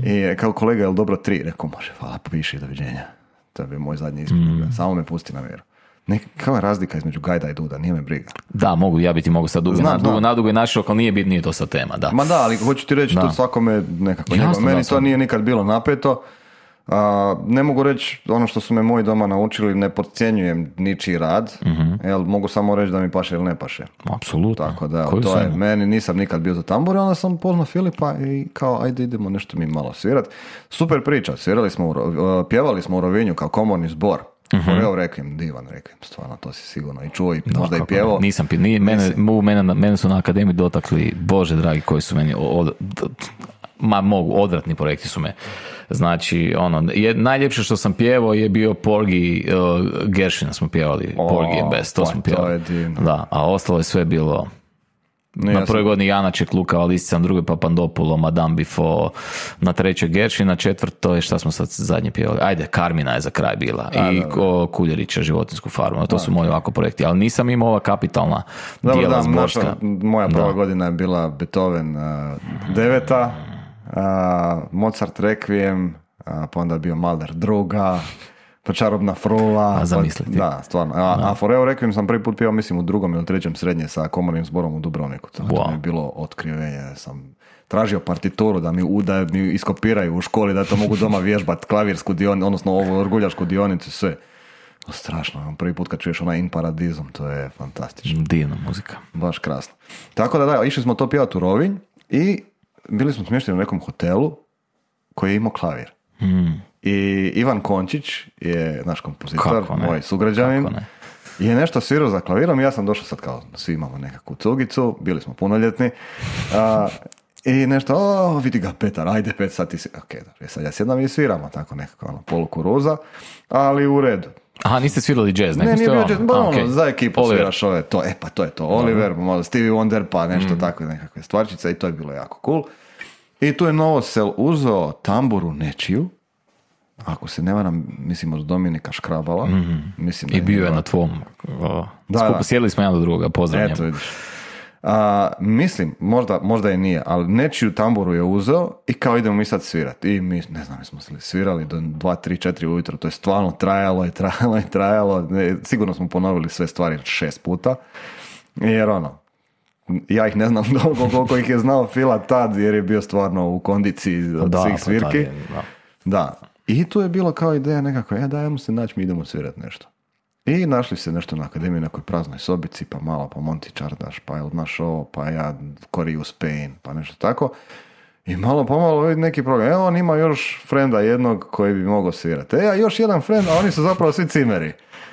[SPEAKER 2] I kao kolega, je li dobro 3? Rekao, može, hvala, piši, doviđenja. To je bio moj zadnji ispit. Samo me pusti na vjeru. Kakva je razlika između Gajda i Duda, nije me briga.
[SPEAKER 1] Da, ja bi ti mogu sad nadugo i našao, ali nije to sad tema. Da.
[SPEAKER 2] Ma da, ali hoću ti reći, to svakome nekako. Jasno, meni to nije nikad bilo napeto. Ne mogu reći ono što su me moji doma naučili, ne podcjenjujem ničiji rad, mogu samo reći da mi paše ili ne paše.
[SPEAKER 1] Apsolutno.
[SPEAKER 2] Tako da, to je, meni nisam nikad bio za tambur, onda sam poznao Filipa i kao, ajde idemo nešto mi malo svirat. Super priča, pjevali smo u Rovinju kao komorni zbor. Foreo Requiem, divan Requiem, stvarno, to si sigurno i čuo i možda i pjevao.
[SPEAKER 1] Nisam mene su na akademiji dotakli, Bože dragi, koji su meni odvratni projekti su me. Znači, najljepše što sam pjevao je bio Porgy, Gershwina smo pjevali, Porgy and Bess, to smo pjevali. Da, a ostalo je sve bilo... Na prvoj godini Janaček, Luka Valistica, na drugoj Papandopulo, Madame Bifo, na trećoj Gershwin, na četvrtoj, šta smo sad zadnje pjevali? Ajde, Karmina je za kraj bila. I Kuljerića, Životinjsku farmu. To su moji ovako projekti. Ali nisam imao ova kapitalna dijela zborska.
[SPEAKER 2] Moja prva godina je bila Beethoven 9. Mozart Requiem, pa onda je bio Mahler druga, pa Čarobna frula.
[SPEAKER 1] A zamisliti.
[SPEAKER 2] Da, stvarno. A Foreo Requiem sam prvi put pjevao, mislim, u 2. ili 3. srednje sa komornim zborom u Dubrovniku. To mi je bilo otkrivenje. Sam tražio partituru da mi iskopiraju u školi, da to mogu doma vježbati, klavirsku dionicu, odnosno ovu orguljašku dionicu, sve. Strašno, prvi put kad čuješ onaj In Paradizom, to je fantastično.
[SPEAKER 1] Divna muzika.
[SPEAKER 2] Baš krasno. Tako da, išli smo to pjevati u Rovinj i bili smo smješteni u nekom hotelu koji je imao klavir. I Ivan Končić je naš kompozitor, moj sugrađanin, je nešto svirao za klavirom i ja sam došao sad kao, svi imamo nekakvu cugicu, bili smo punoljetni, i nešto, vidi ga Petar, ajde Pet, sad ti si, ok, dobro, sad ja sjedam i sviramo, tako nekako, polukuruza, ali u redu.
[SPEAKER 1] Aha, niste svirali jazz?
[SPEAKER 2] Ne, nije bio jazz, za ekipu Oliver. Sviraš ove, to je to, Oliver, malo Stevie Wonder, pa nešto tako, nekakve stvarčice i to je bilo jako cool. I tu je Novosel uzeo tamburu nečiju, ako se ne varam, mislim od Dominika Škrabala. Mislim da
[SPEAKER 1] i bio je na tvom. Sjedili smo jedan do drugoga, pozdravljam.
[SPEAKER 2] Eto vidiš. Mislim, možda je nije, ali nečiju tamburu je uzeo i kao idemo mi sad svirati. I mi, ne znam, mi smo svirali do 2, 3, 4 ujutro, to je stvarno trajalo. Sigurno smo ponovili sve stvari 6 puta, jer ja ih ne znam koliko ih je znao Fila tad, jer je bio stvarno u kondiciji od svih svirki. Da. I tu je bilo kao ideja nekako, dajemo se naći, mi idemo svirati nešto. I našli se nešto na akademiji, nekoj praznoj sobici, pa malo, pa Monty Čardaš, pa jel naš ovo, pa ja Koriju Spain, pa nešto tako. I malo pomalo vidi neki program. On ima još frenda jednog koji bi mogao svirati. A još jedan frend, a oni su zapravo svi cimeri.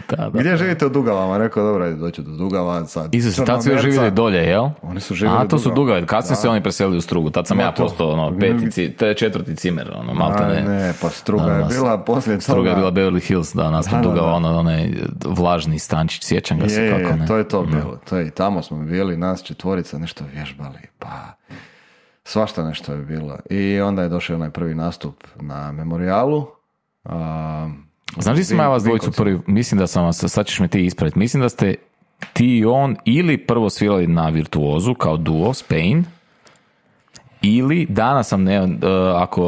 [SPEAKER 2] Da. Gdje živite u Dugavama? Rekao, dobro, doću do Dugava.
[SPEAKER 1] Isuse, tad su još živjeli dolje, jel?
[SPEAKER 2] Oni su živjeli
[SPEAKER 1] to su Dugave. Kad su se oni preselili u Strugu? Tad sam ja postao četvrti cimer.
[SPEAKER 2] Ne, pa Struga je bila poslije toga.
[SPEAKER 1] Struga je bila Beverly Hills, naspred Dugava, onaj vlažni stančić, sjećam ga se kako ne.
[SPEAKER 2] To je to bilo. I tamo smo bili, nas 4 nešto vježbali, pa svašta nešto je bilo. I onda je došao onaj prvi nastup na Memorialu.
[SPEAKER 1] Znaš li sam ja vas dvojicu prvi, mislim da sam vas, sad ćeš me ti ispraviti, mislim da ste ti i on ili prvo svirali na Virtuozu kao duo, Spain, ili danas sam,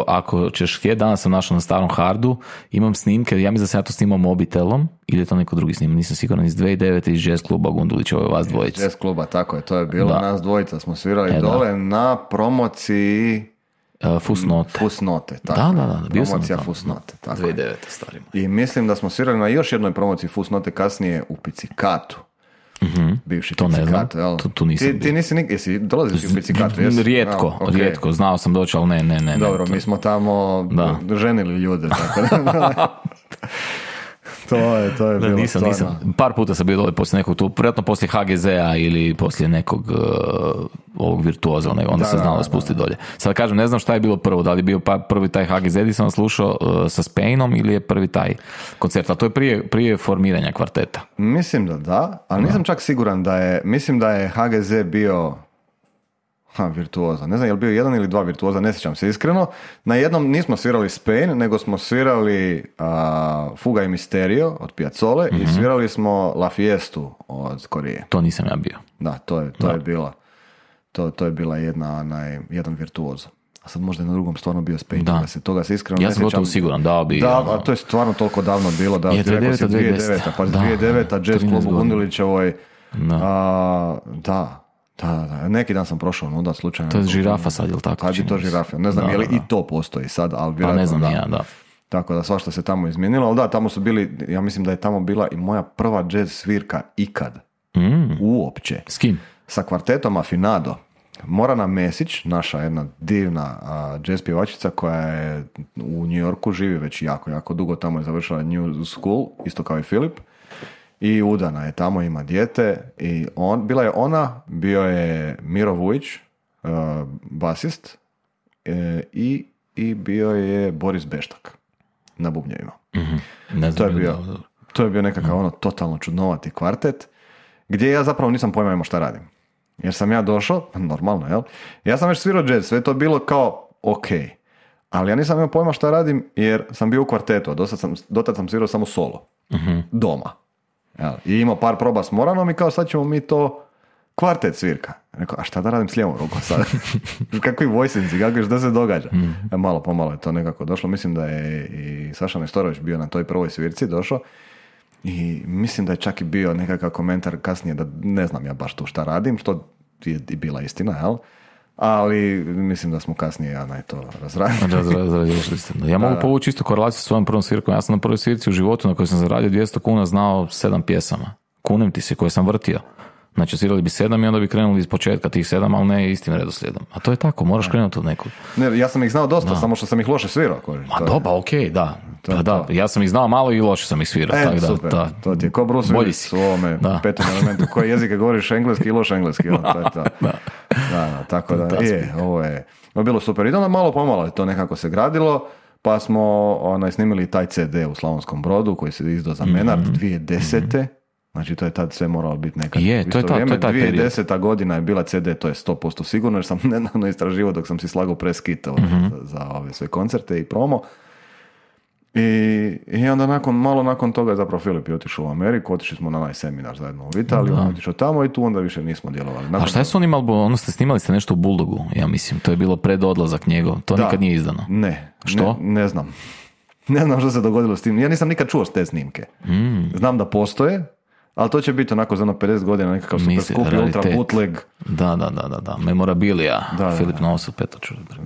[SPEAKER 1] ako ćeš htjeti, danas sam našao na starom hardu, imam snimke, ja mislim da sam ja to snimao mobitelom, ili je to neko drugi snimak, nisam siguran, iz 2009. iz jazz kluba Gundulić, ovo je vas dvojica.
[SPEAKER 2] Jazz kluba, tako je, to je bilo, nas dvojica smo svirali dole na promociji Fusnote, tako.
[SPEAKER 1] Da, bio sam
[SPEAKER 2] promocija Fusnote, tako.
[SPEAKER 1] 2009. starimo.
[SPEAKER 2] I mislim da smo svirali na još jednoj promociji Fusnote kasnije u Picikatu. Bivši
[SPEAKER 1] to
[SPEAKER 2] Picikat,
[SPEAKER 1] ne znam, tu nisam
[SPEAKER 2] ti nisi jesi dolazio u Picikatu?
[SPEAKER 1] Rijetko, znao sam doći, ali ne.
[SPEAKER 2] Dobro, mi smo tamo ženili ljude, tako da. To je bilo
[SPEAKER 1] nisam. Par puta sam bio dole poslije nekog tu, vjerojatno poslije HGZ-a ili poslije nekog ovog Virtuoza, onda se znalo spustiti dolje. Sad kažem, ne znam šta je bilo prvo, da li je bio prvi taj HGZ gdje sam slušao sa Spainom ili je prvi taj koncert, a to je prije formiranja kvarteta.
[SPEAKER 2] Mislim da, ali nisam čak siguran mislim da je HGZ bio Virtuoza. Ne znam je li bio jedan ili dva Virtuoza, ne sjećam se iskreno. Na jednom nismo svirali Spain, nego smo svirali Fuga i Misterio od Piazzole i svirali smo La Fiestu od Korije.
[SPEAKER 1] To nisam ja bio.
[SPEAKER 2] Da, to je bila to je bila jedan Virtuozo. A sad možda je na drugom stvarno bio Spain, toga se iskreno ne sjećam.
[SPEAKER 1] Ja sam gotovo siguran,
[SPEAKER 2] a to je stvarno toliko davno bilo, da je 2009. Pa 2009. Jazz Club u Gundulićevoj. Da. Neki dan sam prošao nuda slučajno.
[SPEAKER 1] To je Žirafa sad, je li tako?
[SPEAKER 2] Kad je to Žirafa? Ne znam je li i to postoji sad, ali vjerojatno
[SPEAKER 1] ne znam ja, da.
[SPEAKER 2] Tako da svašta se tamo izmijenilo, ali tamo su bili, ja mislim da je tamo bila i moja prva jazz svirka ikad. Uopće.
[SPEAKER 1] S kim?
[SPEAKER 2] Sa kvartetom Afinado. Morana Mesić, naša jedna divna jazz pjevačica koja je u New Yorku, živi već jako dugo, tamo je završila New School, isto kao i Filip. I udana je tamo, ima dijete i bila je ona, bio je Miro Vujić, basist, i bio je Boris Beštak na bubnjevima. To je bio nekakav totalno čudnovati kvartet, gdje ja zapravo nisam pojma imao šta radim. Jer sam ja došao, normalno, jel? Ja sam već svirao jazz, sve to bilo kao ok, ali ja nisam imao pojma šta radim jer sam bio u kvartetu, a dotad sam svirao samo solo, doma. I imao par proba s Moranom i kao sad ćemo mi to kvartet svirka. Rekao, a šta da radim s lijevom rukom sad? Kakvi vojsinci, šta se događa? Malo pomalo je to nekako došlo. Mislim da je i Saša Nestorović bio na toj prvoj svirci došao i mislim da je čak i bio nekakav komentar kasnije da ne znam ja baš tu šta radim, što je i bila istina, jel? Ali mislim da smo kasnije to
[SPEAKER 1] razradili. Ja mogu povući isto korelaciju s svojom prvom svirkom. Ja sam na prvoj svirci u životu na kojoj sam zaradio 200 kuna znao 7 pjesama. Kunem ti se, koje sam vrtio. Znači, svirali bi 7 i onda bi krenuli iz početka tih 7, ali ne istim redoslijedom. A to je tako, moraš krenuti od nekog.
[SPEAKER 2] Ne, ja sam ih znao dosta, samo što sam ih loše svirao.
[SPEAKER 1] Okej, da. Ja sam ih znao malo i loše sam ih svirao.
[SPEAKER 2] Super, to ti je ko Bruce Willis u ovome petom elementu. Koje jezike govoriš, engleski i loš engleski. Tako da, ovo je bilo super. I onda malo pomalo je to nekako se gradilo, pa smo snimili taj CD u Slavonskom Brodu koji se izdao za Menard 2010. Znači to je tad sve moralo biti nekad.
[SPEAKER 1] To je taj
[SPEAKER 2] 2010. godina je bila CD, to je 100% sigurno, jer sam nedavno istraživao dok sam si slagao press kit za ove sve koncerte i promo. I onda malo nakon toga zapravo Filip je otišao u Ameriku, otišli smo na onaj seminar zajedno u Italiju, on je otišao tamo i tu onda više nismo djelovali.
[SPEAKER 1] A šta je s onim albumom? Ono snimali ste nešto u Bulldogu, ja mislim, to je bilo pred odlazak njegov, to nikad nije izdano.
[SPEAKER 2] Ne.
[SPEAKER 1] Što?
[SPEAKER 2] Ne znam. Ne znam što se dogodilo s tim. Ja nisam nikad čuo s te snimke. Znam da postoje, ali to će biti onako za 50 godina nekakav super skupi ultra bootleg.
[SPEAKER 1] Da. Memorabilija. Filip Novosel, Petar Čulibrk.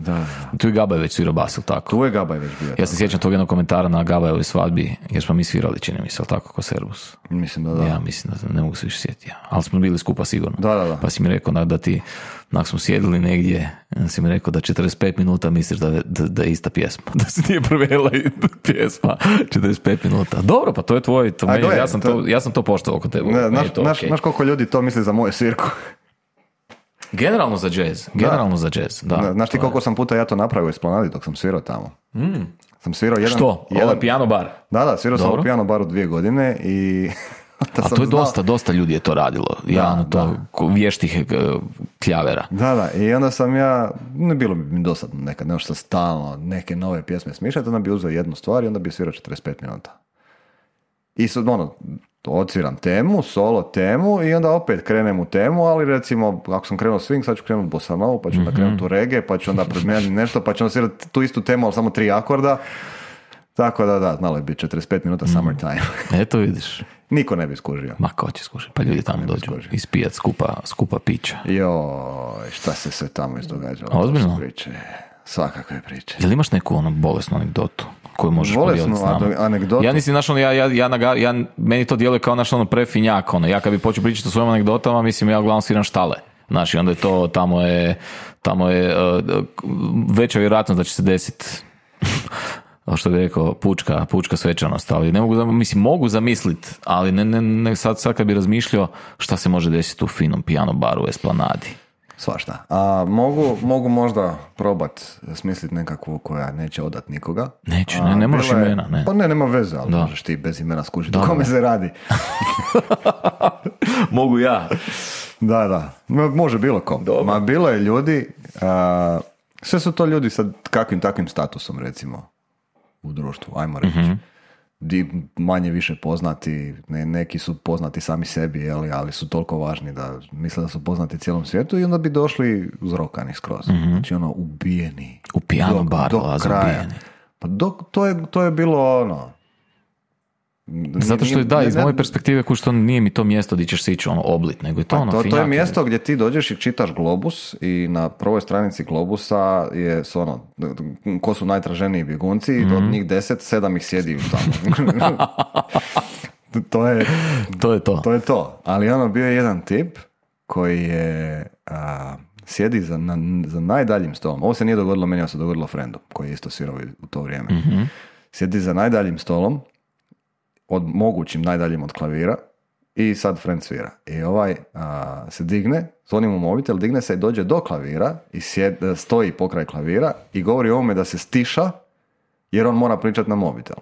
[SPEAKER 1] Tu je Gabaj već svirao bas, ili tako?
[SPEAKER 2] Tu je Gabaj već bio.
[SPEAKER 1] Ja se sjećam tog jednog komentara na Gabajevoj svadbi, jer smo mi svirali, čini mi se, ali tako, ko Servus.
[SPEAKER 2] Mislim da.
[SPEAKER 1] Ja mislim da ne mogu se više sjetiti. Ali smo bili skupa sigurno.
[SPEAKER 2] Da.
[SPEAKER 1] Pa si mi rekao da ti, ako smo sjedili negdje, si mi rekao da 45 minuta misliš da je ista pjesma. Da se nije promijenila pjesma 45 minuta. Dobro, pa to je tvoj, ja sam to poštovao kod tebe.
[SPEAKER 2] Znaš koliko ljudi to misli za moju svirku?
[SPEAKER 1] Generalno za jazz. Da.
[SPEAKER 2] Znaš ti koliko sam puta ja to napravio u Esplanadi dok sam svirao tamo? Sam svirao
[SPEAKER 1] Što? Ovaj piano bar?
[SPEAKER 2] Da, svirao sam u piano baru 2 godine i...
[SPEAKER 1] A to je dosta ljudi je to radilo. Vještih kljavera.
[SPEAKER 2] Da, i onda sam ne bilo bi mi dosadno nekad, nešto stalno, neke nove pjesme smišljati, onda bi uzeo jednu stvar i onda bi svirao 45 minuta. I odsviram temu, solo temu i onda opet krenem u temu, ali recimo, ako sam krenuo swing, sad ću krenuti bossa novu, pa ću onda krenuti u reggae, pa ću onda promijeniti nešto, pa ću onda svirati tu istu temu, ali samo 3 akorda. Tako da, znalo je biti 45 minuta summertime.
[SPEAKER 1] Eto vidiš.
[SPEAKER 2] Niko ne bi skužio.
[SPEAKER 1] Ma ko će skužiti? Pa ljudi tamo dođu ispijat skupa pića.
[SPEAKER 2] Joj, šta se sve tamo izdogađalo?
[SPEAKER 1] Ozbiljno?
[SPEAKER 2] Svakakve priče.
[SPEAKER 1] Jel imaš neku bolesnu anegdotu koju možeš podijeliti s nama?
[SPEAKER 2] Anegdotu?
[SPEAKER 1] Ja nisam meni to djeluje kao prefinjak. Ja kad bi počeo pričati o svojim anegdotama, mislim ja uglavnom sviram štale. Znači, onda je to, tamo je veća vjerojatnost da će se desiti što bi rekao, pučka svečanost, ali ne mogu zamisliti, ali ne sad kad bi razmišljao šta se može desiti u finom piano baru u Esplanadi.
[SPEAKER 2] Svašta. A mogu možda probat smisliti nekakvu koja neće odat nikoga.
[SPEAKER 1] Neće, ne moraš imena. Ne.
[SPEAKER 2] Pa nema veze, ali možeš ti bez imena skužiti o kome se radi.
[SPEAKER 1] Mogu ja.
[SPEAKER 2] Da. Može bilo kom. Ma bilo je ljudi, sve su to ljudi sa kakvim takvim statusom, recimo, u društvu, ajmo reći. Manje više poznati, neki su poznati sami sebi, ali su toliko važni da misle da su poznati cijelom svijetu i onda bi došli uzrokani skroz. Znači ubijeni.
[SPEAKER 1] U piano baru,
[SPEAKER 2] do kraja. Ubijeni. Pa to je bilo
[SPEAKER 1] Zato što iz moje perspektive što nije mi to mjesto gdje ćeš se ići oblit, nego je to
[SPEAKER 2] to je mjesto gdje ti dođeš i čitaš Globus i na prvoj stranici Globusa je ko su najtraženiji bjegunci i od njih 10, 7 ih sjedi tamo. To je to. Ali bio je jedan tip koji je sjedi za najdaljim stolom. Ovo se nije dogodilo meni, ovo se dogodilo frendu koji je isto svirao u to vrijeme. Sjedi za najdaljim stolom, od mogućim najdaljim od klavira i sad friend svira. I se digne, zvoni mu mobitel, digne se i dođe do klavira i stoji pokraj klavira i govori ovome da se stiša jer on mora pričati na mobitel.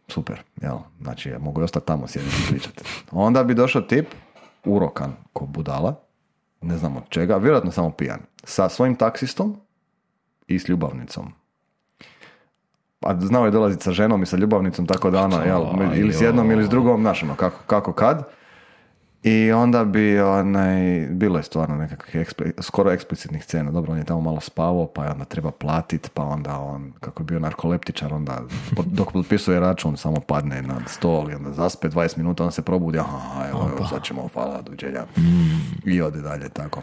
[SPEAKER 2] Super, jel? Znači, ja mogu ostati tamo sjediti i pričati. Onda bi došao tip, urokan ko budala, ne znam od čega, vjerojatno samo pijan, sa svojim taksistom i s ljubavnicom. A znao je dolaziti sa ženom i sa ljubavnicom, tako da ili s jednom ili s drugom, znaš kako kad. I onda bi bilo je stvarno nekakvih skoro eksplicitnih scena. Dobro, on je tamo malo spavao, pa je onda treba platiti, pa onda on, kako je bio narkoleptičar, onda dok potpisuje račun samo padne na stol i onda zaspe 20 minuta, onda se probudi, evo, sad ćemo, hvala, dođenja. I ode dalje, tako.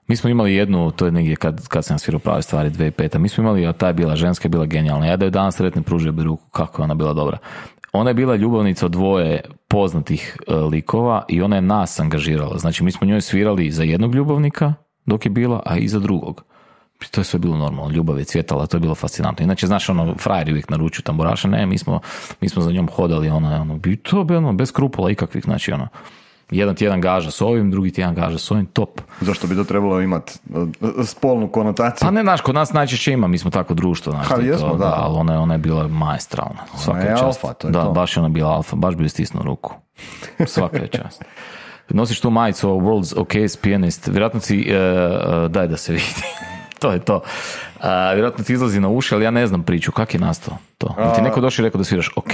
[SPEAKER 1] Mi smo imali jednu, to je negdje kad sam svirao Prave stvari 2005. Mi smo imali, a ta je bila ženska, je bila genijalna. Ja da je danas sretne pružio bi ruku, kako je ona bila dobra. Ona je bila ljubavnica od 2 poznatih likova i ona je nas angažirala. Znači, mi smo njoj svirali za jednog ljubavnika dok je bila, a i za drugog. To je sve bilo normalno, ljubav je cvjetala, to je bilo fascinantno. Inače, znaš, frajeri uvijek naručuju tamburaša, ne, mi smo za njom hodali, to je bilo bez skrupula ikakvih, znači, jedan tjedan gaža s ovim, drugi tjedan gaža s ovim, top.
[SPEAKER 2] Zašto bi to trebalo imati spolnu konotaciju?
[SPEAKER 1] Pa ne, znaš, kod nas najčešće ima, mi smo tako društvo, znaš,
[SPEAKER 2] jesmo, da.
[SPEAKER 1] Ali ona je bila maestralna. Svaka je čast.
[SPEAKER 2] Alfa, to je
[SPEAKER 1] da,
[SPEAKER 2] to.
[SPEAKER 1] baš je ona bila alfa, baš bi joj stisnuo ruku. Svaka je čast. Nosiš tu majicu World's Okayest Pianist, vjerojatno si, daj da se vidi. To je to. Vjerojatno ti izlazi na uši, ali ja ne znam priču. Kak je nastao to? Da ti neko došao i rekao da sviraš ok.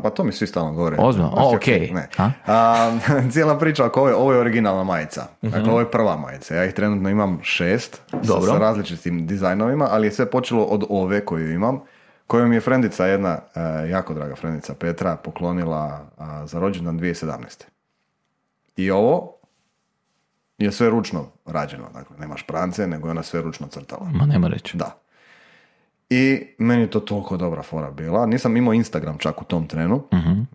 [SPEAKER 2] Pa to mi svi stalno govore.
[SPEAKER 1] Ozbiljno? Ok.
[SPEAKER 2] Ne. Cijela priča oko ovo je originalna majica. Dakle, ovo je prva majica. Ja ih trenutno imam 6 sa različitim dizajnovima, ali je sve počelo od ove koju imam, koju mi je frendica, jedna jako draga frendica Petra, poklonila za rođendan 2017. I ovo je sve ručno rađeno. Dakle, nema šprance, nego je ona sve ručno crtala.
[SPEAKER 1] Ma nema reći.
[SPEAKER 2] Da. I meni je to toliko dobra fora bila. Nisam imao Instagram čak u tom trenu,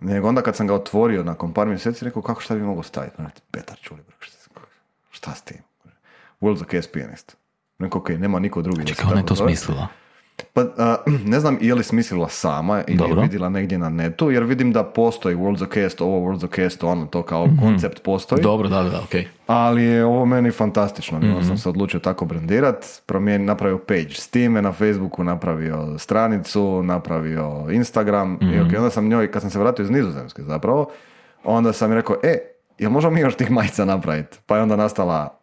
[SPEAKER 2] nego onda kad sam ga otvorio nakon par mjeseci, rekao kako šta bi mogao staviti? Petar Čulibrk, šta s tim? World's the Case Pianist. Rekao, ok, nema niko drugi.
[SPEAKER 1] Čekaj, ona je to smislila.
[SPEAKER 2] Pa, ne znam je li smislila sama ili je vidjela negdje na netu, jer vidim da postoji World's the Case, ovo World's the Case, ono, to kao koncept postoji.
[SPEAKER 1] Dobro, da, ok.
[SPEAKER 2] Ali je ovo meni fantastično, sam se odlučio tako brandirat, napravio page s time, na Facebooku napravio stranicu, napravio Instagram, i ok, onda sam njoj, kad sam se vratio iz Nizozemske zapravo, onda sam mi rekao, jel možemo mi još tih majica napraviti? Pa je onda nastala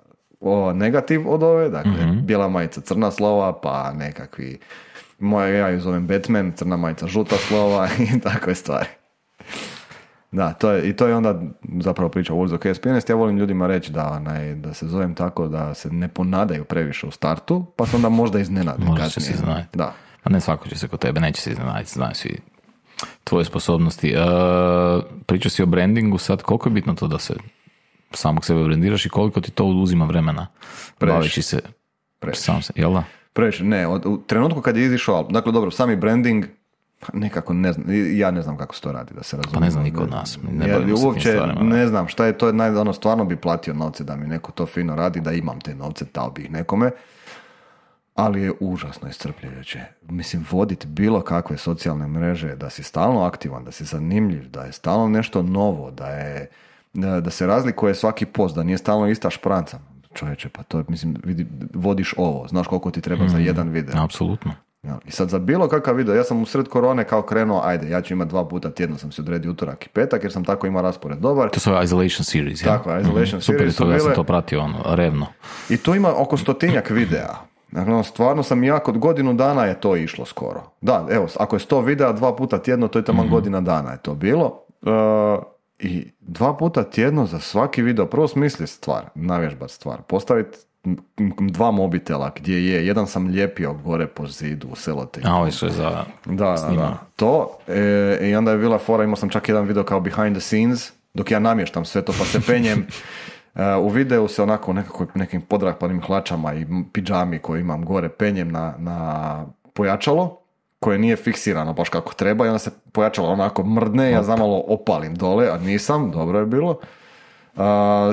[SPEAKER 2] negativ od ove, dakle, bijela majica, crna slova, pa nekakvi, ja ju zovem Batman, crna majica, žuta slova i takve stvari. Da, to je onda zapravo priča o World's the Case Pianist. Ja volim ljudima reći da se zovem tako da se ne ponadaju previše u startu, pa se onda možda iznenade.
[SPEAKER 1] Možda će se iznenaditi.
[SPEAKER 2] Da.
[SPEAKER 1] Pa ne svako će se kod tebe, neće se iznenaditi, znaju svi tvoje sposobnosti. Pričao si o brandingu sad, koliko je bitno to da se samog sebe brandiraš i koliko ti to uzima vremena? Baveći se sam se, jel da?
[SPEAKER 2] Previše, ne, u trenutku kad je izišao album, dakle dobro, sami branding, nekako ne znam, ja ne znam kako se to radi, da se razumije.
[SPEAKER 1] Pa ne znam niko od nas.
[SPEAKER 2] Uopće ne znam šta je to, stvarno bi platio novce da mi neko to fino radi, da imam te novce, dao bi ih nekome, ali je užasno iscrpljujuće. Mislim, voditi bilo kakve socijalne mreže, da si stalno aktivan, da si zanimljiv, da je stalno nešto novo, da se razlikuje svaki post, da nije stalno ista špranca. Čovječe, pa to je, mislim, vodiš ovo, znaš koliko ti treba za jedan video.
[SPEAKER 1] Apsolutno.
[SPEAKER 2] Ja, i sad za bilo kakav video, ja sam u sred korone kao krenuo, ajde, ja ću imati 2 puta tjedno, sam se odredio utorak i petak, jer sam tako imao raspored dobar.
[SPEAKER 1] To su Isolation Series, ja?
[SPEAKER 2] Tako, Isolation Series
[SPEAKER 1] su bile. Ja sam to pratio, revno.
[SPEAKER 2] I tu ima oko 100-tinjak videa. Dakle, stvarno sam kod godinu dana je to išlo skoro. Da, evo, ako je 100 videa 2 puta tjedno, to je tamo godina dana je to bilo. I 2 puta tjedno za svaki video, prvo smisli stvar, navježbat stvar, postaviti 2 mobitela gdje je, jedan sam lijepio gore po zidu u selotejpu.
[SPEAKER 1] A ovo su je za snimanje.
[SPEAKER 2] Da. To, i onda je bila fora, imao sam čak jedan video kao behind the scenes, dok ja namještam sve to pa se penjem. U videu se onako nekim podrapanim hlačama i pidžami koji imam gore penjem na pojačalo, koje nije fiksirano baš kako treba i onda se pojačalo onako mrdne, ja zamalo opalim dole, a nisam, dobro je bilo.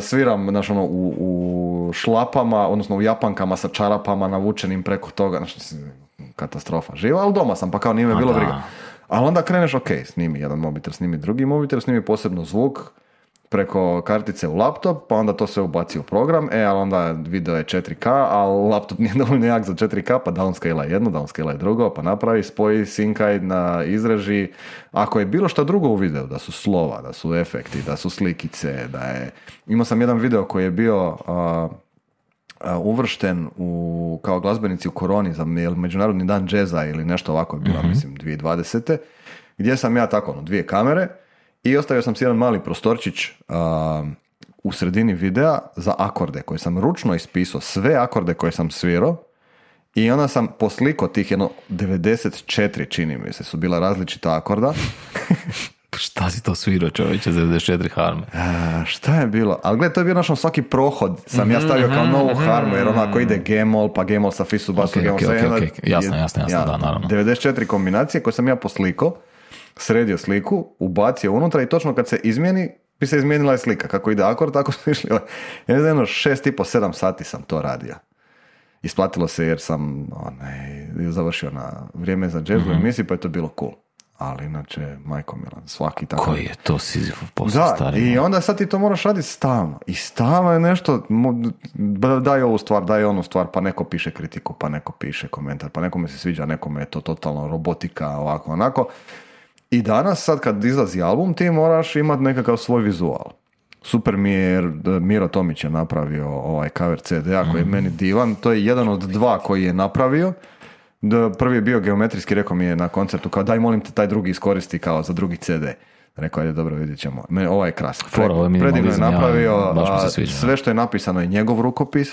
[SPEAKER 2] Sviram u šlapama, odnosno u japankama sa čarapama navučenim preko toga, katastrofa živa, ali doma sam, pa kao nije me bilo briga. Ali onda kreneš, ok, snimi jedan mobitel, snimi drugi mobitel, snimi posebno zvuk preko kartice u laptop, pa onda to sve ubaci u program, ali onda video je 4K, ali laptop nije dovoljno jak za 4K, pa downscale jedno, downscale drugo, pa napravi, spoji, sinkaj, izreži. Ako je bilo što drugo u videu, da su slova, da su efekti, da su slikice, imao sam jedan video koji je bio uvršten kao glazbenici u koroni za Međunarodni dan džeza ili nešto ovako je bilo, mislim, 2020. Gdje sam ja tako, 2 kamere, i ostavio sam si jedan mali prostorčić u sredini videa za akorde koje sam ručno ispisao, sve akorde koje sam svirao, i onda sam poslikao tih 94, čini mi se, su bila različita akorda.
[SPEAKER 1] Šta si to svirao, čovječe, za 94 harme?
[SPEAKER 2] Šta je bilo? Ali gledaj, to je bio svaki prohod sam ja stavio kao novu harmu, jer onako ide G-mol, pa G-mol sa fisu, basu, G-mol sa jedna.
[SPEAKER 1] Jasno, da, naravno.
[SPEAKER 2] 94 kombinacije koje sam ja poslikao, sredio sliku, ubacio unutra i točno kad se izmijeni, bi se izmijenila je slika. Kako ide akord, tako su išli. Ja ne znam, 6,5-7 sati sam to radio. Isplatilo se jer sam završio na vrijeme za jazz u emisiji, pa je to bilo cool. Ali inače, majko Milan, svaki tako.
[SPEAKER 1] Koji je to Sizifov posao stari?
[SPEAKER 2] I onda sad ti to moraš raditi stalno. I stalno je nešto, daj ovu stvar, daj onu stvar, pa neko piše kritiku, pa neko piše komentar, pa nekome se sviđa, nekome je to totalno robotika, ovako, onako. I danas, sad kad izlazi album, ti moraš imati nekakav svoj vizual. super mi je jer Miro Tomić je napravio ovaj cover CD-a koji je meni divan. To je jedan od dva koji je napravio. Prvi je bio geometrijski, rekao mi je na koncertu kao daj molim te taj drugi iskoristi kao za drugi CD. Rekao je dobro, vidjet ćemo. Ovaj je krasan. Predivno je napravio, sve što je napisano je njegov rukopis.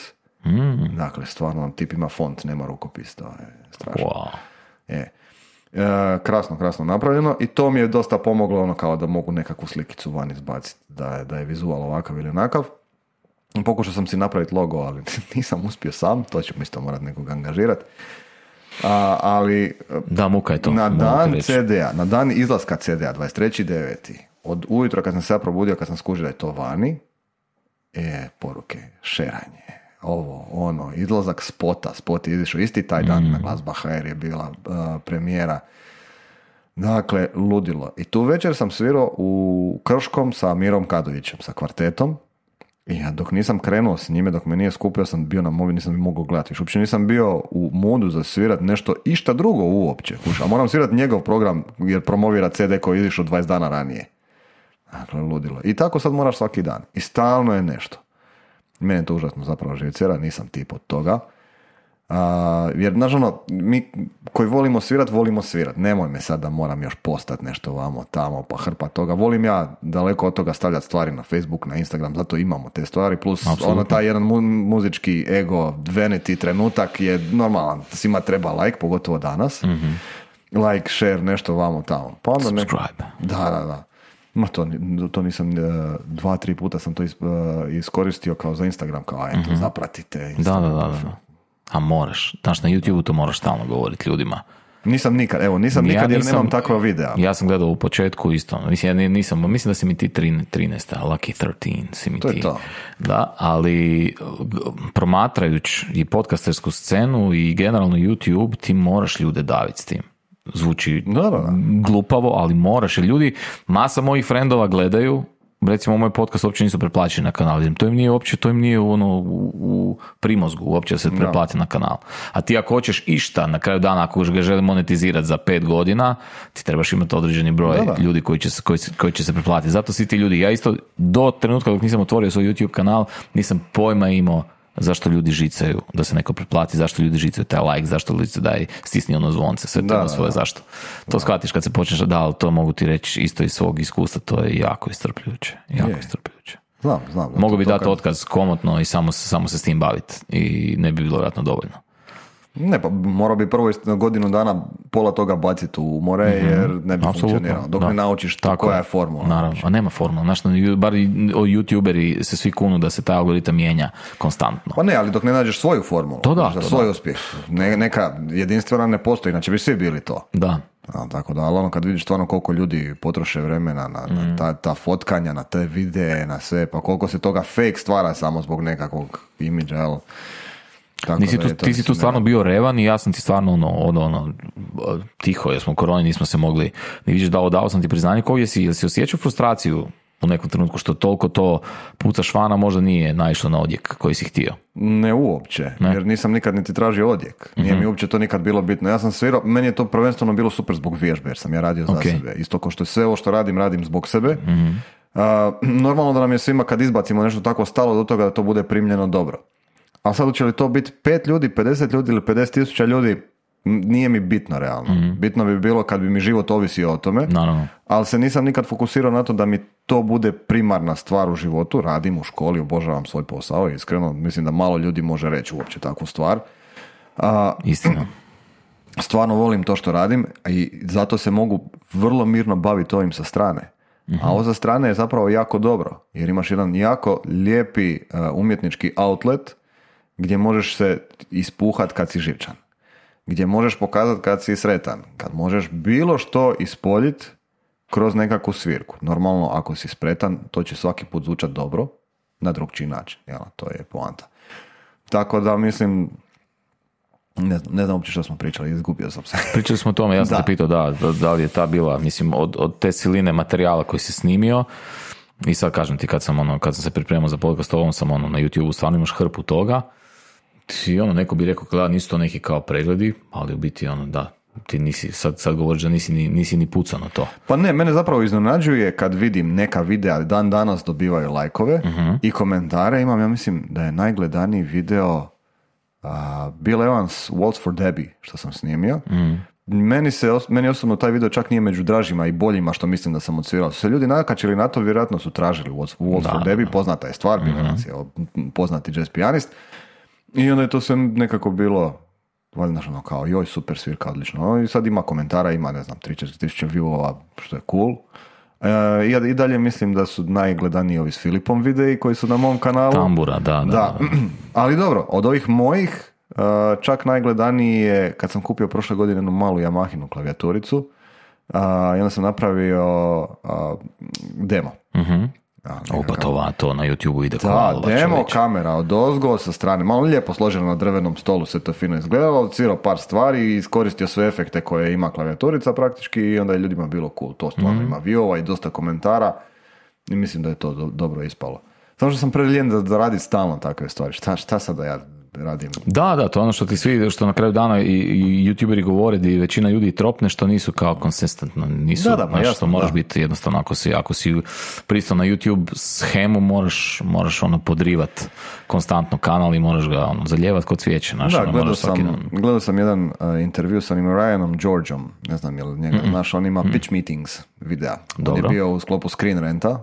[SPEAKER 2] Dakle, stvarno tip ima font, nema rukopis, to je strašno. Krasno napravljeno i to mi je dosta pomoglo ono kao da mogu nekakvu slikicu van izbaciti, da je vizual ovakav ili onakav. Pokušao sam si napraviti logo, ali nisam uspio sam, to ću isto morat nekog angažirati. Ali
[SPEAKER 1] da, muka je to.
[SPEAKER 2] Na dan CD-a, na dan izlaska CD-a, 23.9. od ujutro kad sam se ja probudio, kad sam skužio da je to vani, poruke, šeranje, izlazak spot je izišao isti taj dan na Glazba HR je bila premijera. Dakle, ludilo. I tu večer sam svirao u Krškom sa Mirom Kadovićem, sa kvartetom. I ja dok nisam krenuo s njime, dok me nije skupio, sam bio na mobil, nisam mi mogao gledati. Uopće nisam bio u modu za svirat nešto išta drugo uopće. A moram svirati njegov program jer promovira CD koji je izišao 20 dana ranije. Dakle, ludilo. I tako sad moraš svaki dan. I stalno je nešto. Mene to užasno zapravo živcera, nisam tip od toga. Jer, znaš mi koji volimo svirat. Nemoj me sad da moram još postati nešto vamo, tamo, pa hrpa toga. Volim ja daleko od toga stavljati stvari na Facebook, na Instagram, zato imamo te stvari. Plus, taj jedan muzički ego, vanity trenutak je normalan. Svima treba like, pogotovo danas. Mm-hmm. Like, share, nešto vamo, tamo. Pa onda
[SPEAKER 1] subscribe.
[SPEAKER 2] Da. Ma to nisam, 2-3 puta sam to iskoristio kao za Instagram, kao eto, zapratite Instagram.
[SPEAKER 1] Da. A moraš, znaš, na YouTube to moraš stalno govoriti ljudima.
[SPEAKER 2] Nisam nikad jer nemam takva videa.
[SPEAKER 1] Ja sam gledao u početku isto, mislim da si mi ti 13, Lucky 13 si mi
[SPEAKER 2] to
[SPEAKER 1] ti.
[SPEAKER 2] Je to.
[SPEAKER 1] Da, ali promatrajući i podcastersku scenu i generalno YouTube, ti moraš ljude daviti s tim. Zvuči glupavo, ali moraš, jer ljudi, masa mojih frendova gledaju, recimo moj podcast uopće nisu pretplaćeni na kanal, to im nije u primozgu uopće da se pretplati na kanal. A ti ako hoćeš išta na kraju dana, ako ga želi monetizirati za 5 godina, ti trebaš imati određeni broj ljudi koji će se pretplatiti. Zato svi ti ljudi, ja isto do trenutka dok nisam otvorio svoj YouTube kanal, nisam pojma imao zašto ljudi žicaju da se neko pretplati, zašto ljudi žicaju taj like, zašto ljudi se daj stisni ono zvonce, sve to ima svoje zašto. To shvatiš kad se počneš ali to mogu ti reći isto iz svog iskustva, to je jako iscrpljujuće.
[SPEAKER 2] Znam.
[SPEAKER 1] Mogu bi dati otkaz komotno i samo se s tim baviti i ne bi bilo vjerojatno dovoljno.
[SPEAKER 2] Ne, pa morao bi prvo godinu dana pola toga baciti u more, jer ne bi funkcioniralo. Dok ne naučiš koja je formula.
[SPEAKER 1] Naravno, a nema formula. Znaš, bar youtuberi se svi kunu da se taj algoritam mijenja konstantno.
[SPEAKER 2] Pa ne, ali dok ne nađeš svoju formulu, za svoj uspjeh. Neka jedinstvena ne postoji, inače bi svi bili to.
[SPEAKER 1] Da.
[SPEAKER 2] Tako da, ali kad vidiš stvarno koliko ljudi potroše vremena na ta fotkanja, na te videe, na sve, pa koliko se toga fake stvara samo zbog nekakvog imidža, jel?
[SPEAKER 1] Ti si tu stvarno bio revan i ja sam ti stvarno tiho, jer smo u koroni, nismo se mogli ni vidiš, dao sam ti priznanje. Jel si osjećao frustraciju u nekom trenutku što toliko to puca švana možda nije naišlo na odjek koji si htio?
[SPEAKER 2] Ne uopće, jer nisam nikad niti tražio odjek. Nije mi uopće to nikad bilo bitno. Ja sam svirao, meni je to prvenstveno bilo super zbog vježbe, jer sam ja radio za sebe. Isto kao što sve ovo što radim zbog sebe. Normalno da nam je svima kad izbacimo nešto tako stalo do toga da to bude primljeno dobro. A sad će li to biti 5 ljudi, 50 ljudi ili 50,000 ljudi, nije mi bitno realno. Bitno bi bilo kad bi mi život ovisio o tome, ali se nisam nikad fokusirao na to da mi to bude primarna stvar u životu. Radim u školi, obožavam svoj posao, iskreno mislim da malo ljudi može reći uopće takvu stvar.
[SPEAKER 1] Istina.
[SPEAKER 2] Stvarno volim to što radim i zato se mogu vrlo mirno baviti ovim sa strane. A ovo sa strane je zapravo jako dobro, jer imaš jedan jako lijepi umjetnički outlet gdje možeš se ispuhat kad si živčan, gdje možeš pokazati kad si sretan, kad možeš bilo što ispoljiti kroz nekakvu svirku. Normalno, ako si spretan, to će svaki put zvučati dobro, na drugčiji način. Jel? To je poanta. Tako da, mislim, ne znam uopće što smo pričali, izgubio sam se.
[SPEAKER 1] Pričali smo o tome, ja sam te pitao da li je ta bila, mislim, od te siline materijala koji si snimio. I sad kažem ti, kad sam se pripremao za podcast, ovom sam na YouTube stvarno imaš hrpu toga. I neko bi rekao, da nisu to neki kao pregledi, ali u biti Ti nisi, sad govoriš da nisi ni pucao na to.
[SPEAKER 2] Pa ne, mene zapravo iznenađuje kad vidim neka videa dan danas dobivaju lajkove i komentare. Imam, ja mislim da je najgledaniji video Bill Evans Waltz for Debbie, što sam snimio. Meni osobno taj video čak nije među dražima i boljima što mislim da sam odsvirao. Su se ljudi nakačili na to, vjerojatno su tražili Waltz for Debbie, poznata je stvar, Bill Evans je poznati jazz pijanist. I onda je to sve nekako bilo, valjda ono kao, joj, super svirka, odlično. I sad ima komentara, ima, ne znam, 3-4 tisuće viewova, što je cool. I dalje mislim da su najgledaniji ovi s Filipom videi koji su na mom kanalu.
[SPEAKER 1] Tambura, da.
[SPEAKER 2] Ali dobro, od ovih mojih, čak najgledaniji je kad sam kupio prošle godine jednu malu Yamahinu klavijaturicu i onda sam napravio demo.
[SPEAKER 1] Pa to na YouTube-u ide
[SPEAKER 2] da, demo čovječ. Kamera od ozgo sa strane, malo lijepo složeno na drvenom stolu, sve to fino izgledalo, odsvirao par stvari i iskoristio sve efekte koje ima klavijaturica praktički i onda je ljudima bilo cool, to stvarno ima viewova i dosta komentara i mislim da je to dobro ispalo. Samo što sam preljen da radi stalno takve stvari, šta sad da ja radim?
[SPEAKER 1] Da, to je ono što ti svi, što na kraju dana i youtuberi govore da i većina ljudi tropne što nisu kao konsistentno, nisu,
[SPEAKER 2] pa jasno,
[SPEAKER 1] moraš biti jednostavno, ako si pristao na YouTube shemu, moraš ono podrivat konstantno kanal i moraš ga zaljevat kod cvijeće.
[SPEAKER 2] Gledao sam jedan intervju sa onim Ryanom Georgeom, ne znam je li njega, on ima pitch meetings videa. On je bio u sklopu Screen Renta,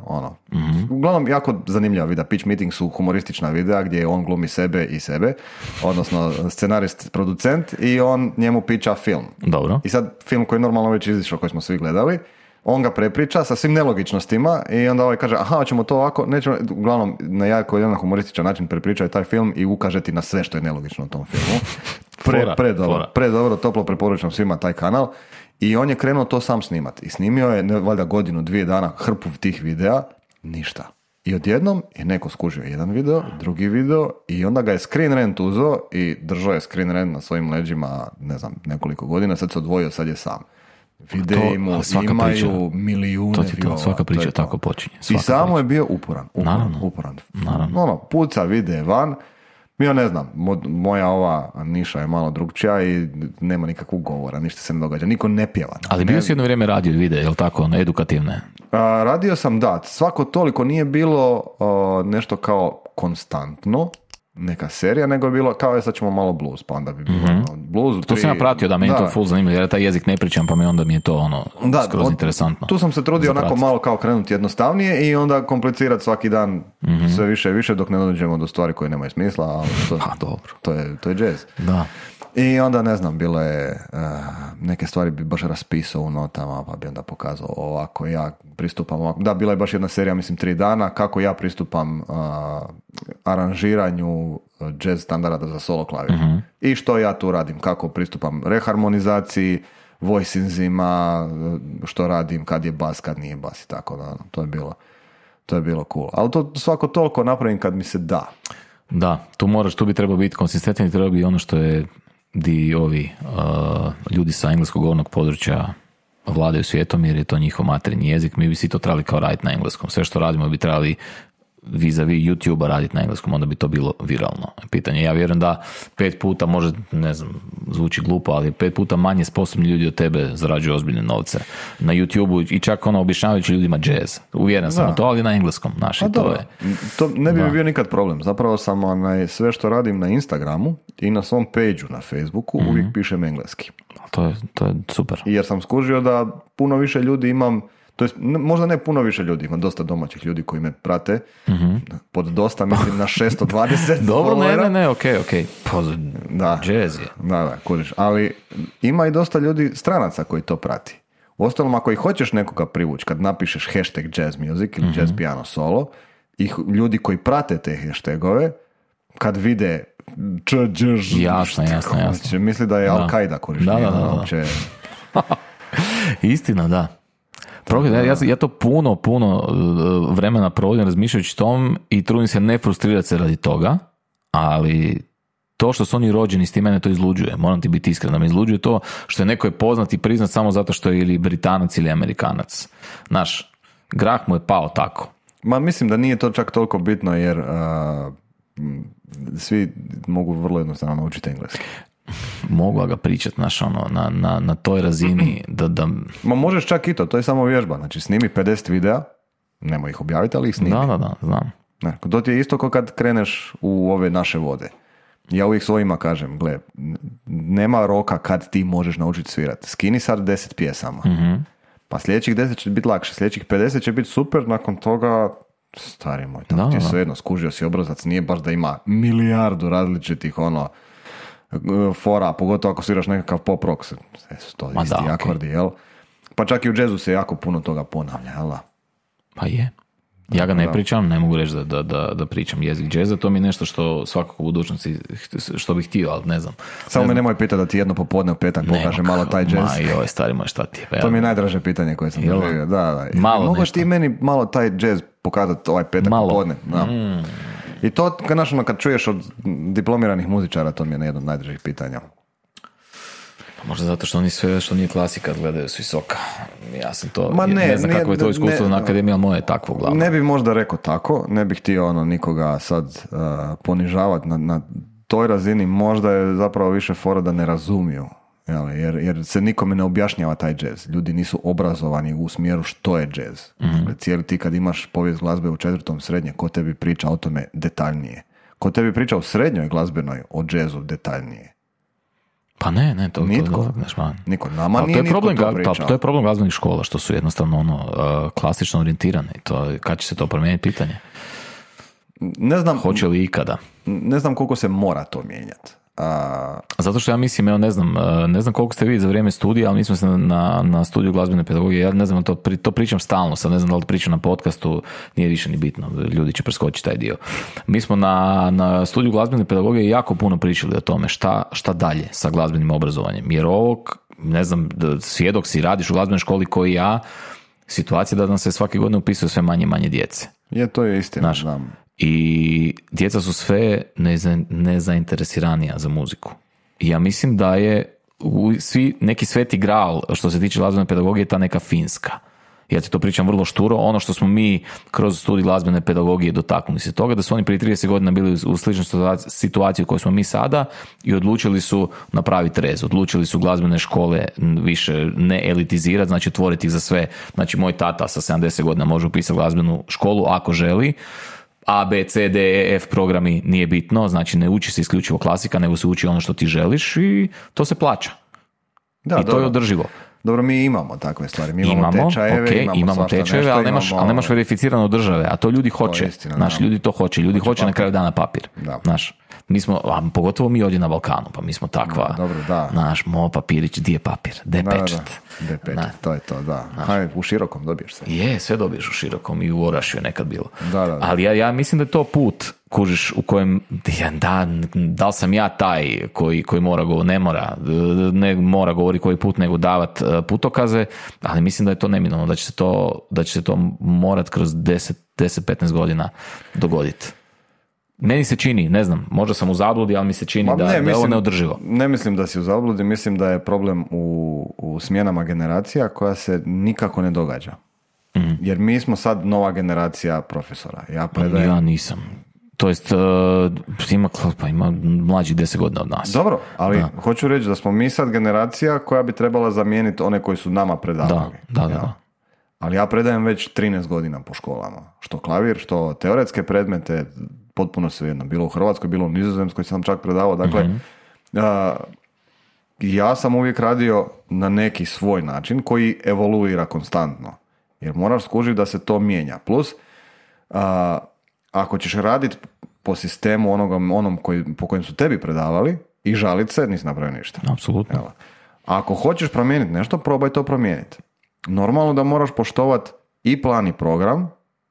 [SPEAKER 2] uglavnom jako zanimljiva videa. Pitch meetings su humoristična videa gdje on glumi sebe i sebe, odnosno scenarist, producent i on njemu piča film.
[SPEAKER 1] Dobro.
[SPEAKER 2] I sad film koji je normalno već izišao, koji smo svi gledali, on ga prepriča sa svim nelogičnostima i onda ovaj kaže, aha, hoćemo to ovako, nećemo, uglavnom na jako jedan humorističan način prepriča taj film i ukaže ti na sve što je nelogično u tom filmu. Predobro, toplo preporučam svima taj kanal. I on je krenuo to sam snimati. I snimio je, valjda 1-2 dana, hrpu tih videa, ništa. I odjednom je neko skužio jedan video, drugi video i onda ga je Screen Rant uzeo i držao je Screen Rant na svojim leđima, ne znam, nekoliko godina, sad se odvojio, sad je sam. Videi mu imaju milijune viewova.
[SPEAKER 1] Svaka priča tako počinje.
[SPEAKER 2] I samo je bio uporan. Naravno. Puca vide van. Ja ne znam, moja ova niša je malo drugčija i nema nikakvog govora, ništa se ne događa, niko ne pjeva.
[SPEAKER 1] Ali bio si jedno vrijeme radio vide, je li tako, edukativne?
[SPEAKER 2] Radio sam, da, svako toliko nije bilo nešto kao konstantno, neka serija, nego je bilo kao sad ćemo malo blues, pa onda bi bilo blues.
[SPEAKER 1] To sam ja pratio, da, meni to full zanimljivo, jer taj jezik ne pričam, pa onda mi je to skroz interesantno.
[SPEAKER 2] Tu sam se trudio onako malo kao krenuti jednostavnije i onda komplicirati svaki dan sve više i više dok ne dođemo do stvari koje nemaju smisla, ali to je jazz.
[SPEAKER 1] Da.
[SPEAKER 2] I onda, ne znam, bilo je neke stvari bi baš raspisao u notama, pa bi onda pokazao ovako ja pristupam ovako. Da, bila je baš jedna serija, mislim 3 dana, kako ja pristupam aranžiranju jazz standarda za solo klavir. I što ja tu radim, kako pristupam reharmonizaciji, voicingzima, što radim, kad je bas, kad nije bas i tako da, to je bilo cool. Ali to svako toliko napravim kad mi se da.
[SPEAKER 1] Da, tu bi trebao biti konsistentan i treba bi ono što je di ovi ljudi sa engleskog govornog područja vladaju svijetom jer je to njihov materinji jezik, mi bi svi to trebali kao raditi na engleskom. Sve što radimo bi trebali vis-a-vis YouTube-a raditi na engleskom, onda bi to bilo viralno pitanje. Ja vjerujem da 5 puta, može, ne znam, zvuči glupo, ali 5 puta manje sposobni ljudi od tebe zarađuju ozbiljne novce na YouTube-u i čak objašnjavajući ljudima jazz. Uvjeren sam u to, ali na engleskom.
[SPEAKER 2] To ne bi bio nikad problem. Zapravo sam sve što radim na Instagramu i na svom page-u na Facebooku uvijek pišem engleski.
[SPEAKER 1] To je super.
[SPEAKER 2] Jer sam skužio da puno više ljudi imam, to jest, možda ne puno više ljudi, ima dosta domaćih ljudi koji me prate, pod dosta mislim na 620.
[SPEAKER 1] Dobro, ne, okej. Da, jazz je.
[SPEAKER 2] Da, kuriš. Ali ima i dosta ljudi, stranaca koji to prati. Uostalom, ako i hoćeš nekoga privući, kad napišeš hashtag jazz music ili jazz piano solo, i ljudi koji prate te hashtagove, kad vide
[SPEAKER 1] jasno.
[SPEAKER 2] Misli da je Al-Qaida kuriš.
[SPEAKER 1] Da. Istina, da. Ja to puno vremena provodim razmišljajući tom i trudim se ne frustrirati se radi toga, ali to što su oni rođeni s tim mene to izluđuje. Moram ti biti iskren, da me izluđuje to što je neko je poznat i priznat samo zato što je ili Britanac ili Amerikanac. Znaš, grah mu je pao tako.
[SPEAKER 2] Ma mislim da nije to čak toliko bitno jer svi mogu vrlo jednostavno naučiti engleski.
[SPEAKER 1] Mogu ga pričati, znaš, ono, na toj razini da...
[SPEAKER 2] Ma možeš čak i to je samo vježba. Znači, snimi 50 videa, nemoj ih objaviti, ali ih snimi.
[SPEAKER 1] Da, znam.
[SPEAKER 2] Ne, to ti je isto kao kad kreneš u ove naše vode. Ja uvijek svojima kažem, gle, nema roka kad ti možeš naučiti svirati. Skini sad 10 pjesama. Pa sljedećih 10 će biti lakše, sljedećih 50 će biti super, nakon toga, stari moj, tako ti je svejedno, skužio si obrazac, nije baš da ima milijardu različitih fora, pogotovo ako sviraš nekakav pop rock, su to isti akordi, jel? Pa čak i u jazzu se jako puno toga ponavlja, jel?
[SPEAKER 1] Pa je. Ja ga ne pričam, ne mogu reći da pričam jezik džeza, to mi je nešto što svakako u budućnosti što bih htio, ali ne znam.
[SPEAKER 2] Samo me nemoj pitati da ti jedno popodne u petak pokaže malo taj džez.
[SPEAKER 1] Joj, stari moj, šta ti je?
[SPEAKER 2] To mi je najdraže pitanje koje sam doživio. Da. Mogu ti meni malo taj džez pokazati ovaj petak popodne? Da. I to, kad čuješ od diplomiranih muzičara, to mi je jedno od najdražih pitanja.
[SPEAKER 1] Možda zato što oni sve što nije klasika gledaju s visoka. Ja sam to, ne znam kako je to iskustvo na akademiji, ali moje je takvo glavno.
[SPEAKER 2] Ne bi možda rekao tako, ne bih htio nikoga sad ponižavati na toj razini, možda je zapravo više fora da ne razumiju. Jer se nikome ne objašnjava taj džez. Ljudi nisu obrazovani u smjeru što je džez. Dakle, cijeli ti kad imaš povijest glazbe u 4. srednje, ko tebi priča o tome detaljnije? Ko tebi priča u srednjoj glazbenoj o džezu detaljnije?
[SPEAKER 1] Pa ne, to
[SPEAKER 2] nitko. Niko, nama nije
[SPEAKER 1] to je
[SPEAKER 2] nitko
[SPEAKER 1] problem,
[SPEAKER 2] to pričao.
[SPEAKER 1] Pa to je problem glazbenih škola, što su jednostavno klasično orijentirane. Kad će se to promijeniti, pitanje?
[SPEAKER 2] Ne znam.
[SPEAKER 1] Hoće li ikada?
[SPEAKER 2] Ne znam koliko se mora to mijenjati.
[SPEAKER 1] Zato što ja mislim, ne znam koliko ste vi za vrijeme studija, ali mi smo se na studiju glazbene pedagogije, ja ne znam, to pričam stalno, sad ne znam da li pričam na podcastu, nije više ni bitno, ljudi će preskočiti taj dio. Mi smo na studiju glazbene pedagogije jako puno pričali o tome šta dalje sa glazbenim obrazovanjem, jer ovog, ne znam, svjedok si, radiš u glazbenoj školi koji ja, situacija da nam se svake godine upisuje sve manje i manje djece.
[SPEAKER 2] To je istina, znam.
[SPEAKER 1] I djeca su sve nezainteresiranija za muziku. I ja mislim da je neki sveti gral što se tiče glazbene pedagogije ta neka Finska. Ja ti to pričam vrlo šturo, ono što smo mi kroz studij glazbene pedagogije dotaknuli se toga, da su oni prije 30 godina bili u sličnoj situaciji u kojoj smo mi sada i odlučili su napraviti rez, odlučili su glazbene škole više ne elitizirati, znači otvoriti ih za sve. Znači moj tata sa 70 godina može upisati glazbenu školu ako želi, A, B, C, D, E, F programi nije bitno, znači ne uči se isključivo klasika, nego se uči ono što ti želiš i to se plaća. I to je održivo.
[SPEAKER 2] Dobro, mi imamo takve stvari. Mi imamo tečajeve,
[SPEAKER 1] imamo tečajeve, ali nemaš verificirano od države, a to ljudi hoće. Ljudi to hoće. Ljudi hoće na kraju dana papir. Naš. Mi smo, pogotovo mi ovdje na Balkanu, pa mi smo takva, naš papirić, di je papir, de pečat.
[SPEAKER 2] To je to, da. Hajde, u Širokom dobiješ se.
[SPEAKER 1] Sve dobiješ u Širokom i u Orašju je nekad bilo. Ali ja mislim da je to put, kužiš, u kojem, da li sam ja taj koji mora govoriti, ne mora govoriti koji put, nego davat putokaze, ali mislim da je to neminovno, da će se to morat kroz 10-15 godina dogoditi. Meni se čini, ne znam, možda sam u zabludi, ali mi se čini da je ovo neodrživo.
[SPEAKER 2] Ne mislim da si u zabludi, mislim da je problem u smjenama generacija koja se nikako ne događa. Jer mi smo sad nova generacija profesora.
[SPEAKER 1] Ja nisam. To jest, ima mlađih 10 godina od nas.
[SPEAKER 2] Dobro, ali hoću reći da smo mi sad generacija koja bi trebala zamijeniti one koji su nama predavali.
[SPEAKER 1] Da.
[SPEAKER 2] Ali ja predajem već 13 godina po školama. Što klavir, što teoretske predmete, potpuno svejedno. Bilo u Hrvatskoj, bilo u Nizozemskoj sam čak predavao. Dakle, ja sam uvijek radio na neki svoj način koji evoluira konstantno. Jer moraš skužiti da se to mijenja. Plus, ako ćeš raditi po sistemu onom po kojem su tebi predavali i žalit se, nisi napravio ništa.
[SPEAKER 1] Apsolutno.
[SPEAKER 2] Evo. Ako hoćeš promijeniti nešto, probaj to promijeniti. Normalno da moraš poštovati i plan i program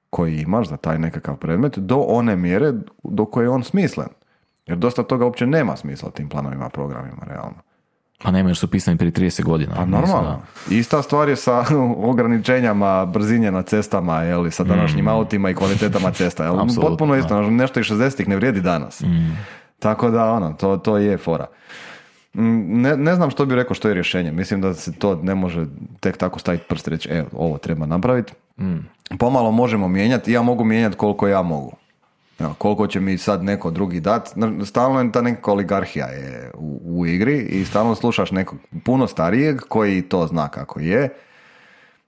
[SPEAKER 2] koji imaš za taj nekakav predmet do one mjere do koje je on smislen. Jer dosta toga uopće nema smisla u tim planovima, programima, realno.
[SPEAKER 1] Pa nema, jer su pisani prije 30 godina.
[SPEAKER 2] Pa normalno. Ista stvar je sa ograničenjama brzine na cestama, sa današnjim autima i kvalitetama cesta. Potpuno isto, nešto iz 60-ih ne vrijedi danas. Tako da, to je fora. Ne znam što bi rekao što je rješenje. Mislim da se to ne može tek tako staviti prst i reći, ovo treba napraviti. Pomalo možemo mijenjati i ja mogu mijenjati koliko ja mogu. Evo, koliko će mi sad neko drugi dat, stalno je ta neka oligarhija je u igri i stalno slušaš nekog puno starijeg koji to zna kako je,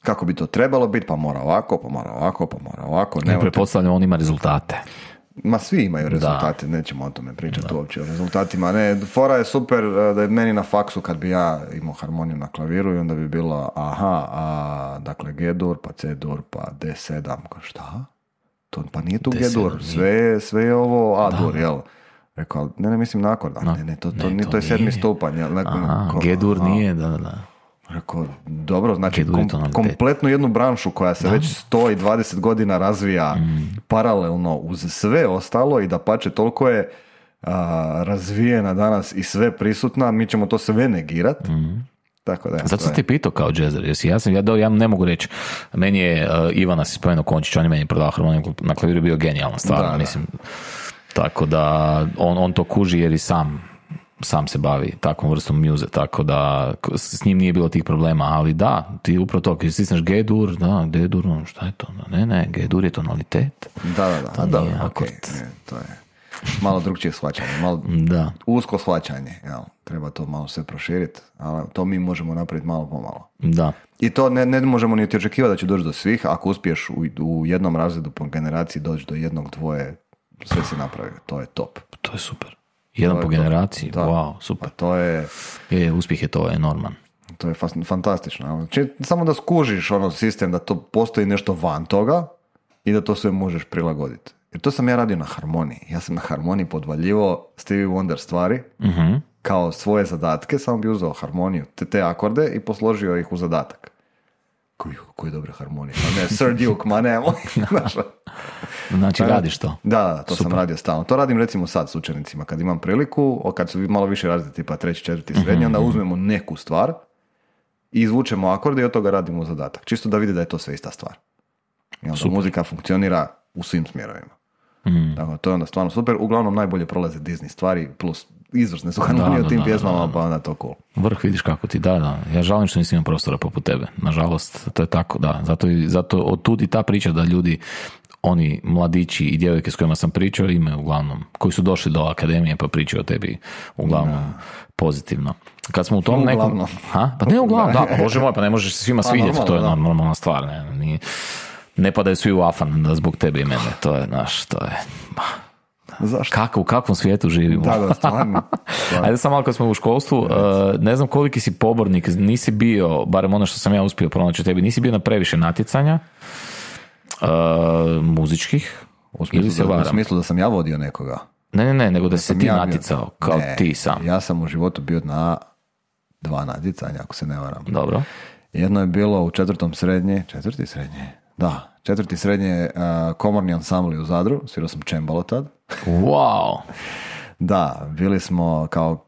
[SPEAKER 2] kako bi to trebalo biti, pa mora ovako, pa mora ovako, pa mora ovako.
[SPEAKER 1] Ne pretpostavljam, on ima rezultate.
[SPEAKER 2] Ma svi imaju rezultate, nećemo o tome pričati uopće o rezultatima. Ne, fora je super da je meni na faksu kad bi ja imao harmoniju na klaviru i onda bi bilo dakle G-dur, pa C-dur, pa D7, šta? To, pa nije tu G-dur, sve je ovo A-dur, jel? Rekao, ne, mislim na akord. Ne, to je 7. stupanj.
[SPEAKER 1] G-dur nije, da.
[SPEAKER 2] Rekao, dobro, znači kompletnu jednu branšu koja se već 120 godina razvija paralelno uz sve ostalo i da pače toliko je razvijena danas i sve prisutna, mi ćemo to sve negirati. Tako da,
[SPEAKER 1] zato sam ti pitao kao džezer, ja ne mogu reći, meni je Ivana si spomenuo Končić, on je meni prodao harmoniju na klaviru, bio genijalan stvarno, mislim, tako da on to kuži jer i sam se bavi takvom vrstom muze, tako da s njim nije bilo tih problema, ali da, ti upravo to, kad stisneš G-dur, da, D-dur, šta je to? Ne, G-dur je tonalitet.
[SPEAKER 2] Da, to je malo drugčije shvaćanje, malo usko shvaćanje, jel? Treba to malo sve proširiti, ali to mi možemo napraviti malo po malo.
[SPEAKER 1] Da.
[SPEAKER 2] I to ne možemo niti očekivati da će doći do svih, ako uspiješ u jednom razredu po generaciji doći do jednog, dvoje, sve si napravio, to je top.
[SPEAKER 1] To je super. Jedan po generaciji, wow, super.
[SPEAKER 2] To je...
[SPEAKER 1] uspjeh je to enorman.
[SPEAKER 2] To je fantastično. Samo da skužiš sistem, da to postoji nešto van toga i da to sve možeš prilagoditi. Jer to sam ja radio na harmoniji. Ja sam na harmoniji podvaljivao Stevie Wonder stvari kao svoje zadatke, samo bi uzeo harmoniju, te akorde i posložio ih u zadatak. Koji dobre harmonije. Ne, Sir Duke, ma nemoj.
[SPEAKER 1] Znači radiš to?
[SPEAKER 2] Da, to super. Sam radio stalno. To radim recimo sad s učenicima. Kad imam priliku, kad su malo više razredi, tipa 3., 4. srednje, onda uzmemo neku stvar i izvučemo akorde i od toga radimo zadatak. Čisto da vide da je to sve ista stvar. I onda muzika funkcionira u svim smjerovima. Dakle, to je onda stvarno super. Uglavnom najbolje prolaze Disney stvari, plus izvrsne su harmonije u tim pjesmama, pa onda to cool.
[SPEAKER 1] Vrh, vidiš kako ti, da. Ja žalim što nisam imao prostora poput tebe. Nažalost, to je tako, da. Zato otud i ta priča da ljudi, oni mladići i djevojke s kojima sam pričao, imaju uglavnom, koji su došli do akademije pa pričaju o tebi uglavnom pozitivno. Kad smo u tom nekom... Pa ne uglavnom, da, Bože moj, pa ne možeš se svima svidjeti, to je normalna stvar, ne padaju svi u afan zbog tebe i mene, to je to je... Zašto? U kakvom svijetu živimo?
[SPEAKER 2] Da, stvarno.
[SPEAKER 1] Ajde sam malo kad smo u školstvu, ne znam koliki si pobornik, nisi bio, barem ono što sam ja uspio pronaći u tebi, nisi bio na previše natjecanja muzičkih,
[SPEAKER 2] u smislu da sam ja vodio nekoga.
[SPEAKER 1] Ne, nego da se ti natjecao, kao ti sam.
[SPEAKER 2] Ja sam u životu bio na 2 natjecanja, ako se ne varam.
[SPEAKER 1] Dobro.
[SPEAKER 2] Jedno je bilo u 4. srednje, 4. srednje? Da, 4. srednje komorni ansambli u Zadru, svirao sam čembalo tad.
[SPEAKER 1] Wow!
[SPEAKER 2] Da, bili smo kao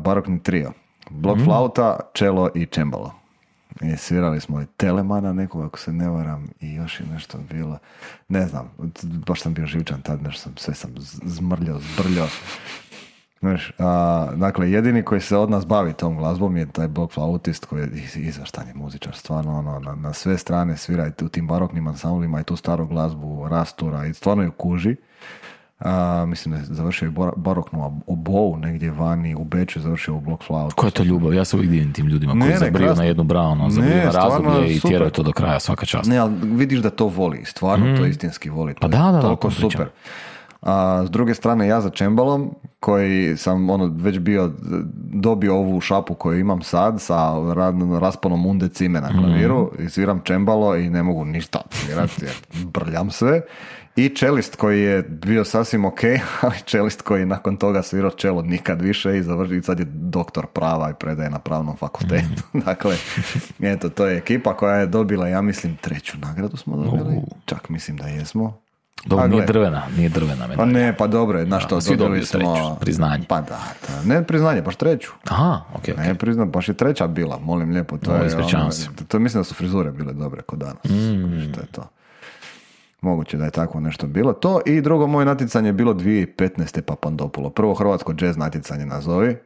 [SPEAKER 2] barokni trio. Blok flauta, čelo i čembalo. I svirali smo i Telemana nekog, ako se ne varam, i još je nešto bilo. Ne znam, baš sam bio živčan tad, sve sam zmrljao, zbrljao. Znaš, dakle, jedini koji se od nas bavi tom glazbom je taj blok flautist koji je izvrstan je muzičar, stvarno na sve strane svira i u tim baroknim ansamblima i tu staru glazbu rastura i stvarno ju kuži. Mislim da je završio i baroknu obovu negdje vani u Beču, završio u blok flautu.
[SPEAKER 1] Koja je to ljubav? Ja se uvijek divim tim ljudima koji zabriju na jednu branu, zabriju na razdoblje i tjeraju to do kraja, svaka čast.
[SPEAKER 2] Ne, ali vidiš da to voli, stvarno to istinski voli.
[SPEAKER 1] Pa da,
[SPEAKER 2] toliko super. A s druge strane ja za čembalom koji sam već dobio ovu šapu koju imam sad sa rasponom unde cime na klaviru i sviram čembalo i ne mogu ništa svirati jer brljam sve. I čelist koji je bio sasvim ok, ali čelist koji nakon toga svirao čelo nikad više i završi, sad je doktor prava i predaje na pravnom fakultetu. Dakle, eto, to je ekipa koja je dobila, ja mislim, 3. nagradu smo dobili, čak mislim da jesmo.
[SPEAKER 1] Dobro, nije drvena medalja.
[SPEAKER 2] Pa ne, pa dobro je, znaš što,
[SPEAKER 1] svi dobili smo
[SPEAKER 2] priznanje. Pa da, ne priznanje, baš 3.
[SPEAKER 1] Aha, ok.
[SPEAKER 2] Ne priznanje, baš je 3. bila, molim lijepo. To mislim da su frizure bile dobre kod danas. Što je to? Moguće da je tako nešto bilo. To i drugo moje natjecanje je bilo 2015. Papandopulo. Prvo hrvatsko jazz natjecanje nazovi.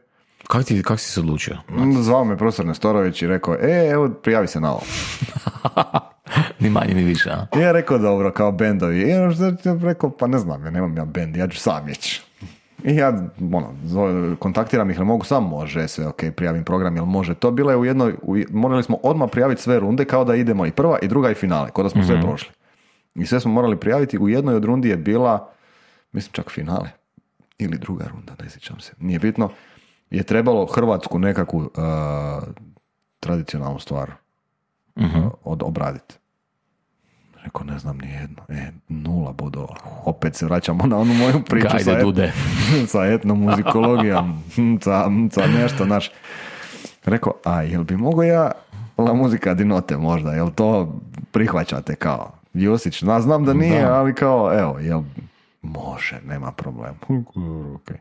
[SPEAKER 1] Kako si se odlučio?
[SPEAKER 2] Zvao me profesor Nestorović i rekao, evo, prijavi se na ovo.
[SPEAKER 1] Ni manje ni više, a?
[SPEAKER 2] Ja rekao dobro, kao bendovi. I ja rekao, pa ne znam, ja nemam ja bend, ja ću sam ići. I ja, kontaktiram ih, ne mogu sam, može, sve ok, prijavim program, jel može. To bilo je morali smo odmah prijaviti sve runde kao da idemo i prva i druga i finale, kao da smo sve prošli. I sve smo morali prijaviti, u jednoj od rundi je bila, mislim čak finale, ili druga runda, ne sjećam se, nije bitno, je trebalo hrvatsku nekakvu tradicionalnu stvar obraditi. Rekao, ne znam ni jedno. 0 bodova. Opet se vraćamo na onu moju priču sa etnomuzikologijom, sa nešto naš. Rekao, a jel bi mogo ja la muzika di note možda, jel to prihvaćate kao Josić? Znam da nije, ali kao, evo, jel može, nema problema. Okay.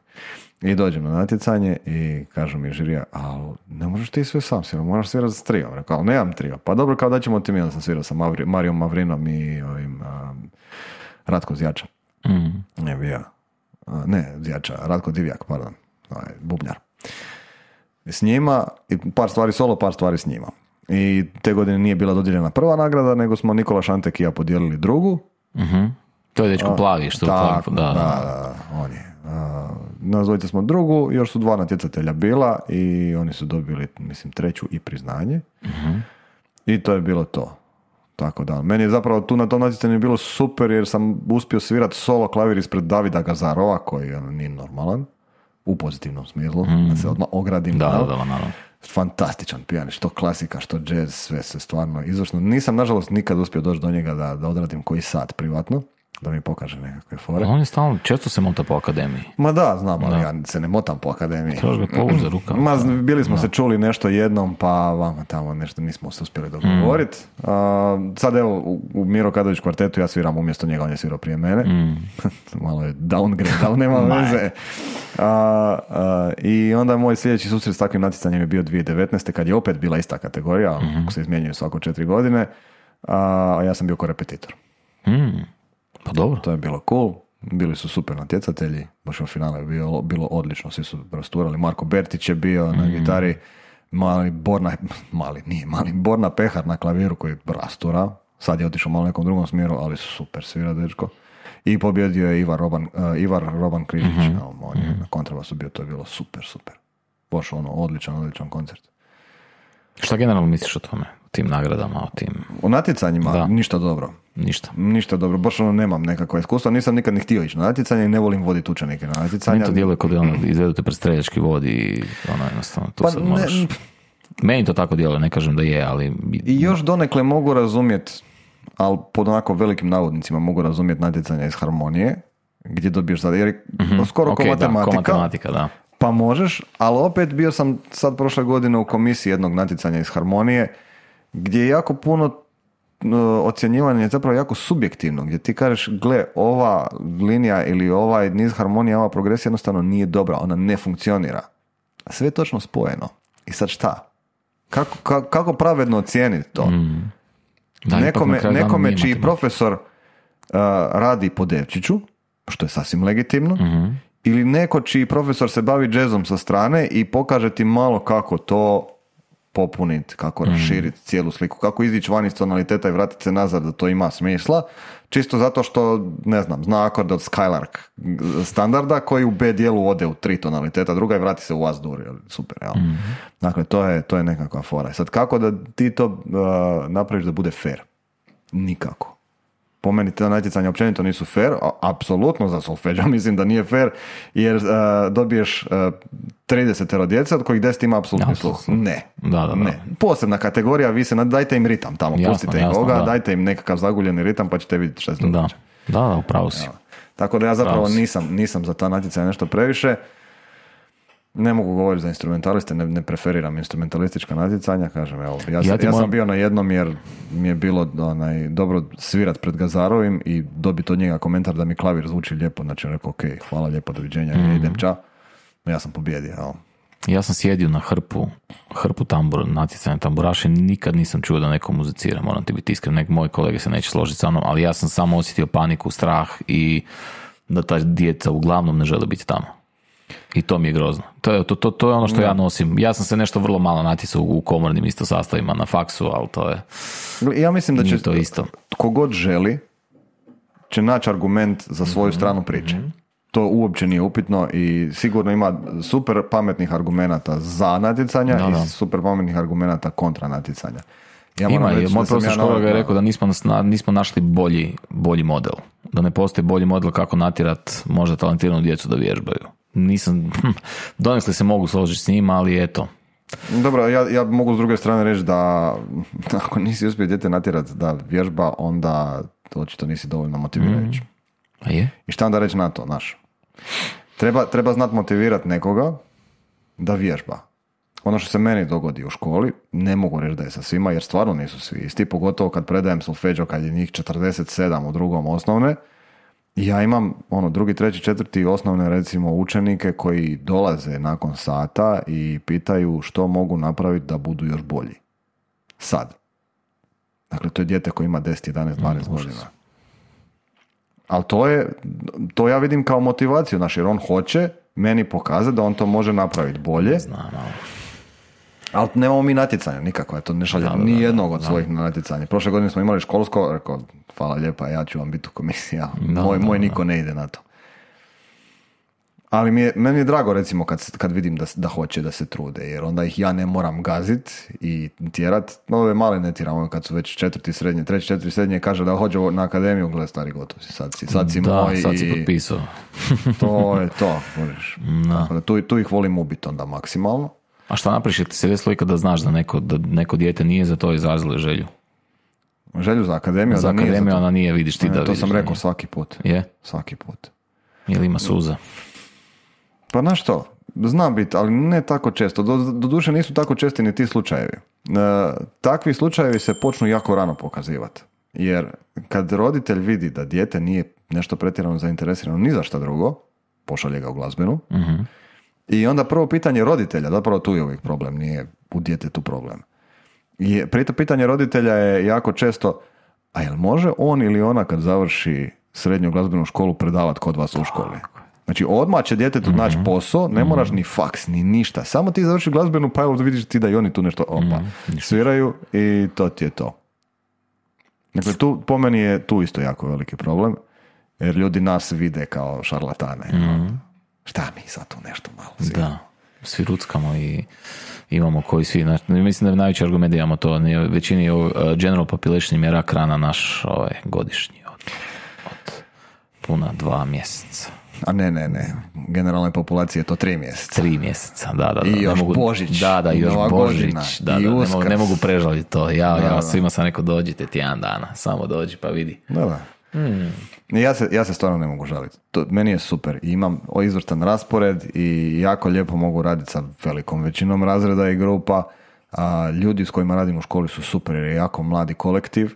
[SPEAKER 2] I dođem na natjecanje i kažu mi žirija, ali ne možeš ti sve sam svirati, moraš svirati s trijom. Rekao, ali nemam trio. Pa dobro, kao da ćemo ti mi, onda sam svirao sa Marijom Mavrinom i Ratko Zjača. Ne bio. Zjača, Ratko Divjak, pardon. Bubnjar. I s njima, i par stvari solo, par stvari s njima. I te godine nije bila dodijeljena prva nagrada, nego smo Nikola Šantek i ja podijelili drugu.
[SPEAKER 1] To je dečko plavi, što
[SPEAKER 2] tako, da, on je. Nazvojite smo drugu, još su 2 natjecatelja bila i oni su dobili, mislim, 3. i priznanje. I to je bilo to. Tako da, meni je zapravo tu na tom natjecanju bilo super jer sam uspio svirati solo klavir ispred Davida Gazarova, koji nije normalan, u pozitivnom smislu, da se odmah ogradim.
[SPEAKER 1] Naravno.
[SPEAKER 2] Fantastičan pijan, što klasika, što jazz, sve se stvarno izvršno. Nisam, nažalost, nikad uspio doći do njega da odradim koji sat privatno, da mi pokaže nekakve fore.
[SPEAKER 1] On je stalno, često se mota po akademiji.
[SPEAKER 2] Ma da, znam, ali ja se ne motam po akademiji.
[SPEAKER 1] Trebaš ga povući za rukama.
[SPEAKER 2] Bili smo se čuli nešto jednom, pa vama tamo nešto nismo se uspjeli dogovoriti. Sad evo, u Miro Kadović kvartetu ja sviram umjesto njega, on je svirao prije mene. Malo je downgrade, ali nema veze. I onda moj sljedeći susret s takvim natjecanjem je bio 2019. kad je opet bila ista kategorija, se izmjenjuje svako 4 godine, a ja sam bio korepetitor.
[SPEAKER 1] Pa dobro.
[SPEAKER 2] To je bilo cool, bili su super natjecatelji, baš u finale je bilo odlično, svi su rasturali. Marko Bertić je bio na gitari, Borna Pehar na klaviru koji rastura, sad je otišao malo nekom drugom smjeru, ali super svira dečko. I pobjedio je Ivar Roban Križić, on je na kontrabasu bio, to je bilo super. Baš odličan koncert.
[SPEAKER 1] Šta generalno misliš o tome? O tim nagradama, o tim...
[SPEAKER 2] O natjecanjima? Ništa dobro. Ništa dobro, baš nemam nekakva iskustva, nisam nikad ni htio ići na natjecanje i ne volim voditi učenike na natjecanja.
[SPEAKER 1] Meni to djeluje kod izvedu te pred streljački vod i jednostavno tu sad moraš... Meni to tako djeluje, ne kažem da je, ali...
[SPEAKER 2] I još donekle mogu razumjeti, ali pod onako velikim navodnicima mogu razumjeti natjecanja iz harmonije, gdje dobiješ sad, jer skoro ko matematika,
[SPEAKER 1] da.
[SPEAKER 2] Pa možeš, ali opet bio sam sad prošle godine u komisiji jednog natjecanja iz harmonije, gdje je jako puno ocjenjivanje je zapravo jako subjektivno, gdje ti kažeš, gle, ova linija ili ovaj niz harmonija, ova progresija jednostavno nije dobra, ona ne funkcionira. A sve je točno spojeno. I sad šta? Kako pravedno ocijeniti to?
[SPEAKER 1] Da,
[SPEAKER 2] nekome čiji profesor radi po devčiću, što je sasvim legitimno, ili neko čiji profesor se bavi džezom sa strane i pokaže ti malo kako to popuniti, kako raširiti cijelu sliku, kako izići van iz tonaliteta i vratiti se nazad da to ima smisla, čisto zato što, ne znam, zna akord od Skylark standarda koji u B dijelu ode u 3 tonaliteta, druga i vrati se u As-dur, super, jel? Dakle, to je nekakva fora. Sad, kako da ti to napraviš da bude fair? Nikako. Po meni te natjecanja općenito nisu fair, apsolutno za solfeđa mislim da nije fair, jer dobiješ 30 djece od kojih 10 ima apsolutni sluh. Ne. Ne. Posebna kategorija, vi se dajte im ritam tamo, pustite im Boga, dajte im nekakav zaguljeni ritam pa ćete vidjeti šta se događa.
[SPEAKER 1] Da, upravo si.
[SPEAKER 2] Tako da ja zapravo nisam za ta natjecanja nešto previše. Ne mogu govoriti za instrumentaliste, ne preferiram instrumentalistička natjecanja, kažem, evo, ja sam bio na jednom jer mi je bilo dobro svirat pred Gazarovim i dobiti od njega komentar da mi klavir zvuči lijepo, znači rekao, ok, hvala lijepo, doviđenja, idem ča, ja sam pobjedio, evo.
[SPEAKER 1] Ja sam sjedio na hrpu natjecanja tamburaša i nikad nisam čuo da neko muzicira, moram ti biti iskren, moji kolege se neće složiti sa mnom, ali ja sam samo osjetio paniku, strah i da ta djeca uglavnom ne žele biti tamo. I to mi je grozno. To je ono što ja nosim. Ja sam se nešto vrlo malo natjecao u komornim isto sastavima na faksu, ali to je...
[SPEAKER 2] Ja mislim da će
[SPEAKER 1] to isto.
[SPEAKER 2] Tko god želi će naći argument za svoju stranu priče. To uopće nije upitno i sigurno ima super pametnih argumenata za natjecanja i super pametnih argumenata kontra natjecanja. Ja
[SPEAKER 1] ima, moj profesor škola ga je rekao da nismo našli bolji model. Da ne postoji bolji model kako natjerat možda talentiranu djecu da vježbaju. Donekle se mogu složiti s njima, ali eto.
[SPEAKER 2] Dobro, ja mogu s druge strane reći da ako nisi uspio dijete natjerat da vježba, onda očito nisi dovoljno motivirajući.
[SPEAKER 1] A je?
[SPEAKER 2] I šta onda reći na to, znaš? Treba znat motivirati nekoga da vježba. Ono što se meni dogodi u školi, ne mogu reći da je sa svima, jer stvarno nisu svi isti, pogotovo kad predajem solfeđo, kad je njih 47 u drugom osnovne. Ja imam drugi, treći, četvrti osnovne recimo učenike koji dolaze nakon sata i pitaju što mogu napraviti da budu još bolji. Sad. Dakle, to je dijete koji ima 10, 11, 12 godina. Ali to ja vidim kao motivaciju, znaš, jer on hoće meni pokazati da on to može napraviti bolje.
[SPEAKER 1] Znam,
[SPEAKER 2] ali nemamo mi natjecanja nikakva, to ne šalje ni jednog od svojih natjecanja. Prošle godine smo imali školsko, rekao, hvala lijepa, ja ću vam biti u komisiji, moj niko ne ide na to. Ali meni je drago recimo kad vidim da hoće da se trude, jer onda ih ja ne moram gazit i tjerat. Ove male ne tiram, kad su već treći, četiri srednje, kaže da hoće na akademiju, gleda stari, gotov si, sad si moj.
[SPEAKER 1] Sad si potpisao.
[SPEAKER 2] To je to, da tu ih volim ubiti onda maksimalno.
[SPEAKER 1] A šta napraviš, jer ti se desilo ikada da znaš da neko dijete nije za to izrazilo želju?
[SPEAKER 2] Želju za akademiju?
[SPEAKER 1] Za akademiju ona nije, vidiš ti da vidiš.
[SPEAKER 2] To sam rekao svaki put.
[SPEAKER 1] Je?
[SPEAKER 2] Svaki put.
[SPEAKER 1] Ili ima suza?
[SPEAKER 2] Pa znaš što, zna biti, ali ne tako često. Doduše nisu tako česti ni ti slučajevi. Takvi slučajevi se počnu jako rano pokazivati. Jer kad roditelj vidi da dijete nije nešto pretjerano zainteresirano ni za šta drugo, pošalje ga u glazbenu. I onda prvo pitanje roditelja, zapravo tu je uvijek problem, nije u djetetu problem. I prito pitanje roditelja je jako često, a jel može on ili ona kad završi srednju glazbenu školu predavati kod vas u školi? Znači odmah će djetetu naći posao, ne moraš ni faks, ni ništa. Samo ti završi glazbenu, pa evo vidiš ti da i oni tu nešto sviraju i to ti je to. Dakle, tu, po meni je tu isto jako veliki problem, jer ljudi nas vide kao šarlatane. Šta mi sad tu nešto malo sviramo?
[SPEAKER 1] Da, svi ruckamo i imamo koji svi, mislim da je najveći argument da imamo to, većini general population je rak rana naš godišnji od puna 2 mjeseca.
[SPEAKER 2] A ne. Generalnoj populaciji je to 3 mjeseca.
[SPEAKER 1] 3 mjeseca, da.
[SPEAKER 2] I još Božić.
[SPEAKER 1] Da, i još Božić. Da, ne mogu prežaliti to. Ja svima sam rekao, dođite tjedan dana. Samo dođi pa vidi.
[SPEAKER 2] Da. Ja se stvarno ne mogu žaliti. Meni je super. Imam izvrstan raspored i jako lijepo mogu raditi sa velikom većinom razreda i grupa. Ljudi s kojima radim u školi su super jer je jako mladi kolektiv.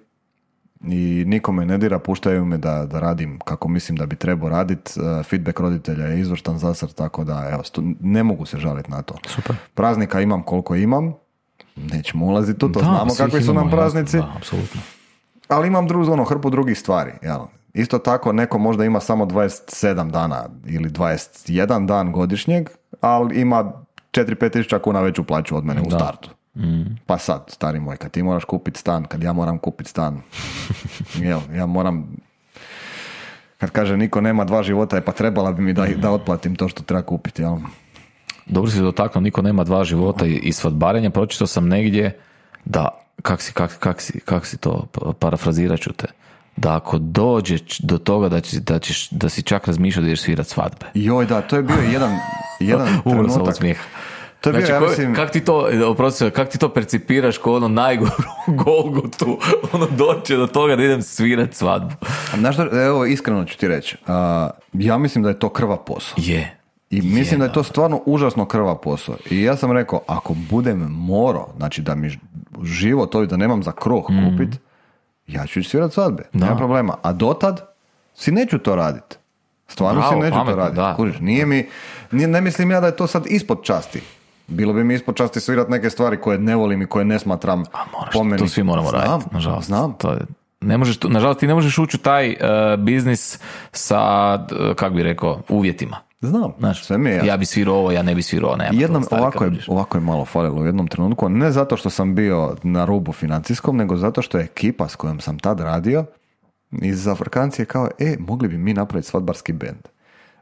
[SPEAKER 2] I nikome ne dira, puštaju me da radim kako mislim da bi trebao raditi. Feedback roditelja je izvrstan zasad, tako da evo, ne mogu se žaliti na to.
[SPEAKER 1] Super.
[SPEAKER 2] Praznika imam koliko imam, nećemo ulaziti tu, to znamo kakvi su nam praznici.
[SPEAKER 1] Da, apsolutno.
[SPEAKER 2] Ali imam hrpu drugih stvari. Jel? Isto tako neko možda ima samo 27 dana ili 21 dan godišnjeg, ali ima 4-5 tisuća kuna veću plaću od mene u startu. Pa sad, stari moj, kad ti moraš kupiti stan, kad ja moram kupiti stan, ja moram, kad kaže niko nema 2 života, pa trebala bi mi da otplatim to što treba kupiti. Jel?
[SPEAKER 1] Dobro si dotaknuo, niko nema 2 života i svadbarenja, pročitao sam negdje da, kak si to, parafrazirat ću te, da ako dođe do toga da si čak razmišljao da ideš svirat svadbe.
[SPEAKER 2] Joj, da, to je bio jedan trenutak.
[SPEAKER 1] Smijeha.
[SPEAKER 2] To je bio,
[SPEAKER 1] znači,
[SPEAKER 2] ja mislim...
[SPEAKER 1] Kak ti to percipiraš kao najgoru Golgotu, doće do toga da idem svirat svadbu?
[SPEAKER 2] Znaš što, evo, iskreno ću ti reći, ja mislim da je to krvav posao.
[SPEAKER 1] Je.
[SPEAKER 2] I mislim da je to stvarno užasno krvav posao. I ja sam rekao, ako budem morao, znači da mi život da nemam za kruh kupit, ja ću svirat svadbe, nema problema. A dotad si neću to raditi. Stvarno si neću to raditi. Kuriš, ne mislim ja da je to sad ispod časti. Bilo bi mi ispod časti svirat neke stvari koje ne volim i koje ne smatram po meni.
[SPEAKER 1] To svi moramo raditi, nažalost.
[SPEAKER 2] Znam.
[SPEAKER 1] Nažalost, ti ne možeš ući u taj biznis sa, kak bi rekao, uvjetima.
[SPEAKER 2] Znam,
[SPEAKER 1] Znaš,
[SPEAKER 2] sve mi je jasno.
[SPEAKER 1] ja bi svirao ovo, ja ne bi svirao, nema
[SPEAKER 2] Jednom,
[SPEAKER 1] to, stari, kad
[SPEAKER 2] ovako je malo falilo u jednom trenutku, ne zato što sam bio na rubu financijskom, nego zato što je ekipa s kojom sam tad radio iz Afrikancije kao, mogli bi mi napraviti svadbarski bend.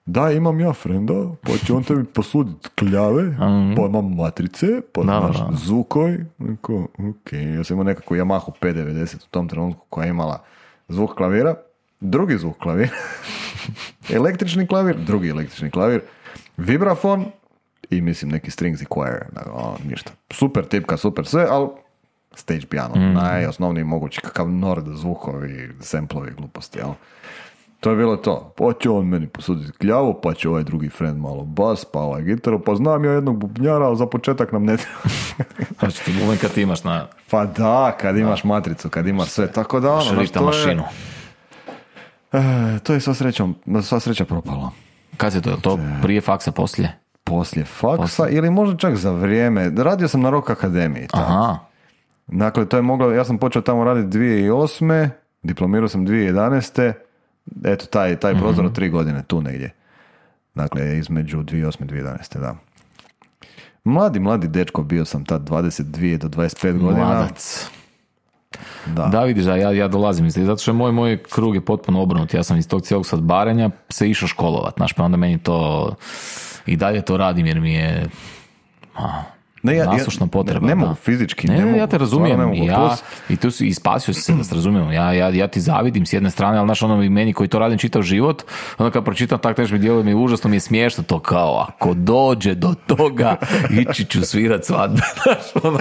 [SPEAKER 2] Da, imam ja frenda, pa će on tebi posuditi kljave, pa imam matrice, pa znaš, zvukoj. Ok, ja sam imao nekakvu Yamahu P90 u tom trenutku koja je imala zvuk klavira, drugi zvuk klavira, električni klavir, drugi električni klavir, vibrafon i mislim neki strings i choir, ništa. Super tipka, super sve, ali stage piano, najosnovniji mogući, kakav nord zvukovi, samplovi, gluposti, jel? To je bilo to. Pa će on meni posuditi kljavu, pa će ovaj drugi friend malo bas, pa ovaj gitaru, pa znam ja jednog bubnjara, ali za početak nam ne treba.
[SPEAKER 1] Znači ti buben kad ti imaš na...
[SPEAKER 2] Pa da, kad imaš matricu, kad imaš sve, tako da ono...
[SPEAKER 1] Šrifta mašinu.
[SPEAKER 2] To je sva sreća propalo.
[SPEAKER 1] Kad se to prije faksa, poslije?
[SPEAKER 2] Poslije faksa ili možda čak za vrijeme. Radio sam na Rock Akademiji.
[SPEAKER 1] Aha.
[SPEAKER 2] Dakle, to je moglo, ja sam počeo tamo raditi 2008. Diplomirao sam 2011. Eto, taj prozor od 3 godine, tu negdje. Dakle, između 2008. i 2011. Da. Mladi dečko, bio sam tad 22 do 25 godina.
[SPEAKER 1] Mladac. Da, vidiš, ja dolazim iz zato što moj krug je potpuno obrnut. Ja sam iz tog cijelog sadbarenja se išao školovat, znaš, pa onda meni to i dalje to radim jer mi je nasušna potreba.
[SPEAKER 2] Ne mogu fizički,
[SPEAKER 1] ja te razumijem i tu si spasio se da se razumijem. Ja ti zavidim s jedne strane, ali znaš, ono meni koji to radim čitav život, onda kad pročitam tak tež mi djeluje mi užasno mi je smiješno to kao, ako dođe do toga ići ću svirat svadbe. Znaš, ono,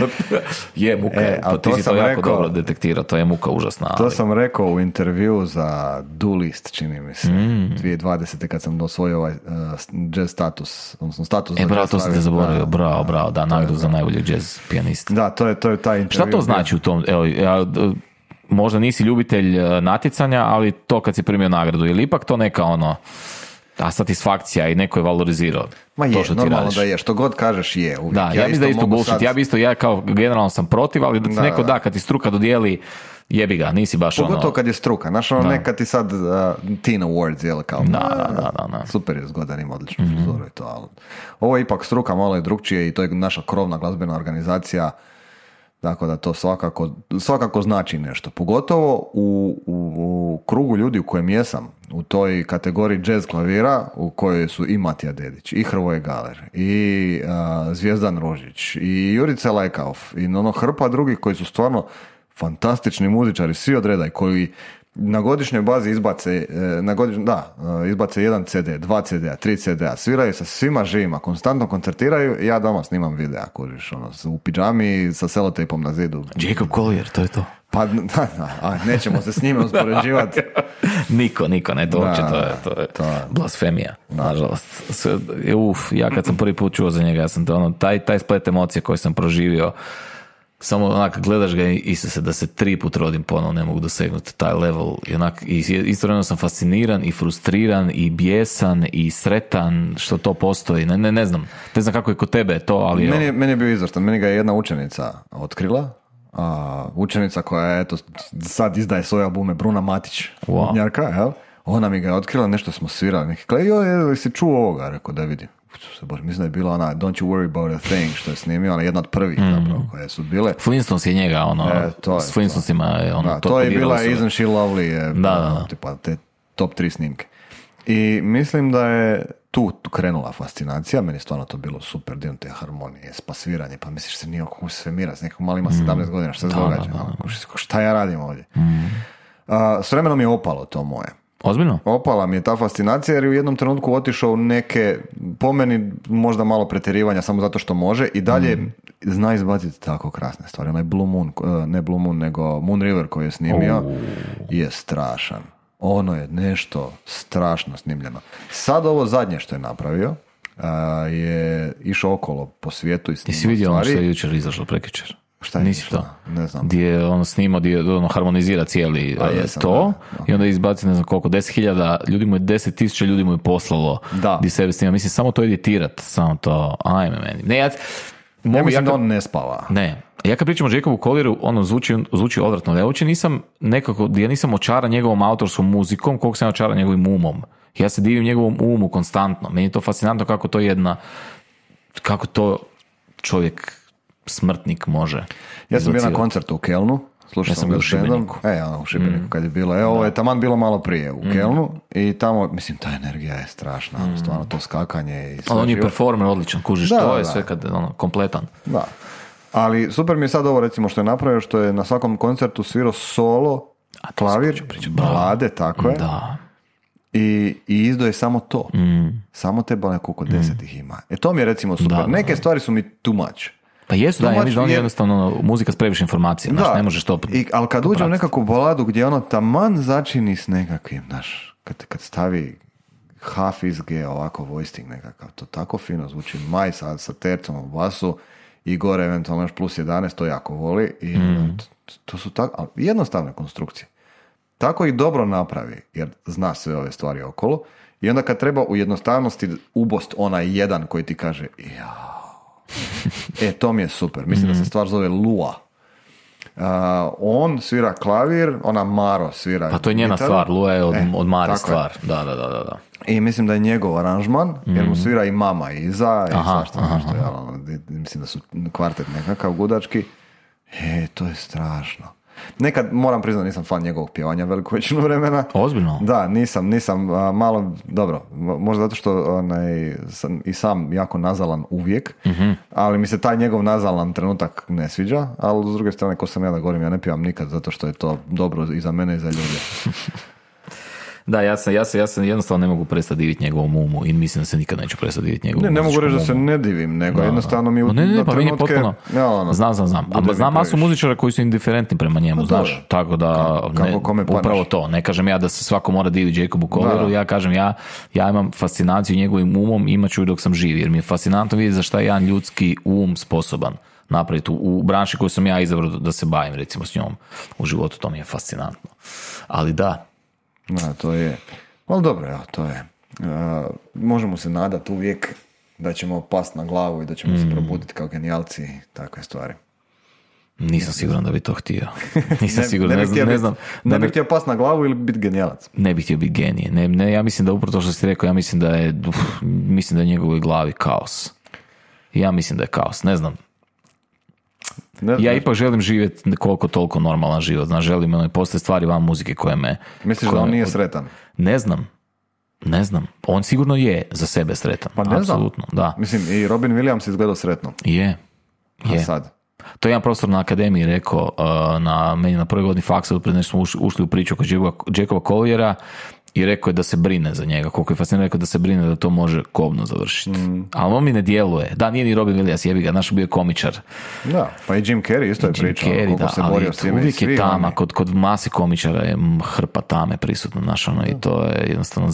[SPEAKER 1] je muka, ti si to jako dobro detektirao, to je muka užasna.
[SPEAKER 2] To sam rekao u intervju za Duelist, čini mi se, 2020. kad sam osvojio ovaj jazz status, odnosno status.
[SPEAKER 1] Bravo, to sam te zaboravio, bravo, da, nagradu za najboljeg jazz pijanista.
[SPEAKER 2] Da, to je taj intervju.
[SPEAKER 1] Šta to znači u tom, možda nisi ljubitelj natjecanja, ali to kad si primio nagradu, ili ipak to neka ta satisfakcija i neko je valorizirao
[SPEAKER 2] Ma je,
[SPEAKER 1] to što ti
[SPEAKER 2] normalno
[SPEAKER 1] radiš.
[SPEAKER 2] Da je, što god kažeš je uvijek.
[SPEAKER 1] Da, ja mislim da je isto bullshit, ja kao generalno sam protiv, ali da ti neko da, kad ti struka dodijeli, jebi ga, nisi baš
[SPEAKER 2] pogotovo kad je struka, znaš nekad ti sad Teen Awards, jel, kao
[SPEAKER 1] da.
[SPEAKER 2] Super je zgodan, ima odličnu frizuru i to, ali ovo je ipak struka, malo je drugčije i to je naša krovna glazbena organizacija, tako da to svakako znači nešto, pogotovo u krugu ljudi u kojem jesam, u toj kategoriji jazz klavira u kojoj su i Matija Dedić, i Hrvoje Galer, i Zvijezdan Rožić, i Jurica Lajkauf, i hrpa drugih koji su stvarno fantastični muzičari, svi od reda, koji na godišnjoj bazi izbace jedan CD, 2 CD-a, 3 CD-a, sviraju sa svima živima, konstantno koncertiraju, ja doma snimam videa, kužiš, u pidžami sa selotejpom na zidu.
[SPEAKER 1] Jacob Collier, to je to.
[SPEAKER 2] Pa, nećemo se s njime uspoređivati.
[SPEAKER 1] Niko, ne, to uopće, to je blasfemija, nažalost. Ja kad sam prvi put čuo za njega, ja sam taj splet emocije koji sam proživio, samo onak gledaš ga i se da se 3 put rodim ponovno, ne mogu dosegnuti taj level. I istovremeno sam fasciniran i frustriran i bijesan i sretan što to postoji. Ne znam kako je kod tebe to, ali...
[SPEAKER 2] Meni je bio izvrstan. Meni ga je jedna učenica otkrila. Učenica koja je sad izdaje svoje albume, Bruna Matić.
[SPEAKER 1] Wow.
[SPEAKER 2] Njarka, jel? Ona mi ga je otkrila, nešto smo svirali. Neki si čuo ovoga? Rekao da vidim. Mislim da je bila ona Don't You Worry About A Thing što je snimio, ona jedna od prvih zapravo koje su bile.
[SPEAKER 1] Flintstones je njega, s Flintstonesima je
[SPEAKER 2] to je bila Isn't She Lovely,
[SPEAKER 1] da.
[SPEAKER 2] Tipa te top 3 snimke. I mislim da je tu krenula fascinacija, meni stvarno to bilo super, dio te harmonije, spasviranje, pa misliš se nije kako se svemira, s nekom malima 17 godina, šta se događa? Šta ja radim ovdje? S vremenom je opalo to moje.
[SPEAKER 1] Ozbiljno?
[SPEAKER 2] Opala mi je ta fascinacija jer je u jednom trenutku otišao u neke, po meni možda malo pretjerivanja samo zato što može i dalje zna izbaciti tako krasne stvari. Onaj Blue Moon, ne Blue Moon nego Moon River koji je snimio je strašan. Ono je nešto strašno snimljeno. Sad ovo zadnje što je napravio je išao okolo po svijetu i snimao stvari.
[SPEAKER 1] Jesi vidio ono što je jučer izašlo prekjučer?
[SPEAKER 2] Šta je
[SPEAKER 1] nisi to?
[SPEAKER 2] Ne znam.
[SPEAKER 1] Gdje je on snimao, gdje harmonizira cijeli to i onda izbaci ne znam koliko, 10.000 ljudi mu je, 10.000 ljudi mu je poslalo gdje sebe snima. Mislim, samo to editirat, samo to, ajme meni. Ne,
[SPEAKER 2] Ja mislim da on ne spava.
[SPEAKER 1] Ne. Ja kad pričam o Jacobu Collieru, ono zvuči odvratno. Ja uopće nisam nekako, ja nisam očaran njegovom autorskom muzikom, koliko sam očaran njegovim umom. Ja se divim njegovom umu konstantno. Meni je to fascinantno kako to čovjek smrtnik može.
[SPEAKER 2] Ja sam bio na koncertu u Kelnu. Slušao sam ga u Šibeniku. U Šibeniku kad je bilo. Ovo je taman bilo malo prije u Kelnu i tamo, mislim, ta energija je strašna. Stvarno to skakanje i sve.
[SPEAKER 1] Ali on je performer odličan, kužiš, to je sve kad kompletan.
[SPEAKER 2] Da. Ali super mi je sad ovo recimo što je napravio, što je na svakom koncertu svirao solo, klavir, balade, tako je.
[SPEAKER 1] Da.
[SPEAKER 2] I izdo je samo to. Samo te balade, koliko 10 ih ima. To mi je recimo super.
[SPEAKER 1] Da.
[SPEAKER 2] Neke stvari su mi too much.
[SPEAKER 1] Pa jesu, da, ja mislim da on je jednostavno muzika s previše informacija, znaš, ne možeš to.
[SPEAKER 2] Ali kad uđe u nekakvu baladu gdje ono taman začini s nekakvim, znaš, kad stavi Hafiz G, ovako voisting nekakav, to tako fino zvuči, Maj sa tercom u basu i gore eventualno još plus 11, to jako voli i to su tako, jednostavne konstrukcije. Tako ih dobro napravi, jer zna sve ove stvari okolo i onda kad treba u jednostavnosti ubost onaj jedan koji ti kaže to mi je super. Mislim da se stvar zove Lua. On svira klavir, ona Maro svira.
[SPEAKER 1] Pa to je njena gitaru. Stvar, Lua je od Mare stvar. Je. Da.
[SPEAKER 2] I mislim da je njegov aranžman, jer mu svira i mama iza, i svašta nešto. Mislim da su kvartet nekakav gudački. To je strašno. Nekad, moram priznati, nisam fan njegovog pjevanja veliku većinu vremena.
[SPEAKER 1] Ozbiljno?
[SPEAKER 2] Da, nisam malo, dobro, možda zato što sam i sam jako nazalan uvijek, ali mi se taj njegov nazalan trenutak ne sviđa, ali s druge strane, ko sam ja da govorim, ja ne pjevam nikad zato što je to dobro i za mene i za ljude.
[SPEAKER 1] Da, ja se jednostavno ne mogu prestati diviti njegovom umu i mislim da se nikad neću prestati diviti njegovom umu.
[SPEAKER 2] Ne mogu reći da se ne divim, nego jednostavno mi
[SPEAKER 1] pa trenutke... Znam. Ali znam masu muzičara koji su indiferentni prema njemu, znaš. Tako da, upravo to. Ne kažem ja da se svako mora diviti Jacobu Collieru, ja kažem ja imam fascinaciju njegovim umom, imat ću dok sam živ, jer mi je fascinantno vidjeti za šta je jedan ljudski um sposoban napraviti u branši koju sam ja izabrao da se bavim, recimo s njom u životu, to mi je fascinantno. Ali da,
[SPEAKER 2] to je, ali dobro, to je. Možemo se nadati uvijek da ćemo pasti na glavu i da ćemo se probuditi kao genijalci i takve stvari.
[SPEAKER 1] Nisam siguran da bi to htio. Nisam siguran, ne znam.
[SPEAKER 2] Ne bih htio pasti na glavu ili biti genijalac?
[SPEAKER 1] Ne bih htio biti genije. Ne, ja mislim da upravo to što si rekao, ja mislim da je u njegovoj glavi kaos. Ja mislim da je kaos, ne znam. Ja ipak želim živjeti koliko toliko normalan život. Znaš, želim, postoje stvari van muzike koje me...
[SPEAKER 2] Misliš da on nije sretan?
[SPEAKER 1] Ne znam. On sigurno je za sebe sretan.
[SPEAKER 2] Pa ne
[SPEAKER 1] apsolutno,
[SPEAKER 2] znam.
[SPEAKER 1] Da.
[SPEAKER 2] Mislim, i Robin Williams izgledao sretno.
[SPEAKER 1] Je.
[SPEAKER 2] A sad?
[SPEAKER 1] To je jedan profesor na akademiji rekao, meni na prvoj godini faksa, pred nešto smo ušli u priču oko Jacoba Colliera i rekao je da se brine za njega. Koliko je fascinantno, rekao da se brine da to može kobno završiti. Ali on mi ne djeluje. Da, nije ni Robin Williams, jebi ga, naš bio je komičar.
[SPEAKER 2] Da, pa i Jim Carrey isto je pričao. Koliko se borio s time.
[SPEAKER 1] Uvijek je tama, kod masi komičara je hrpa tame prisutna naša, i to je jednostavno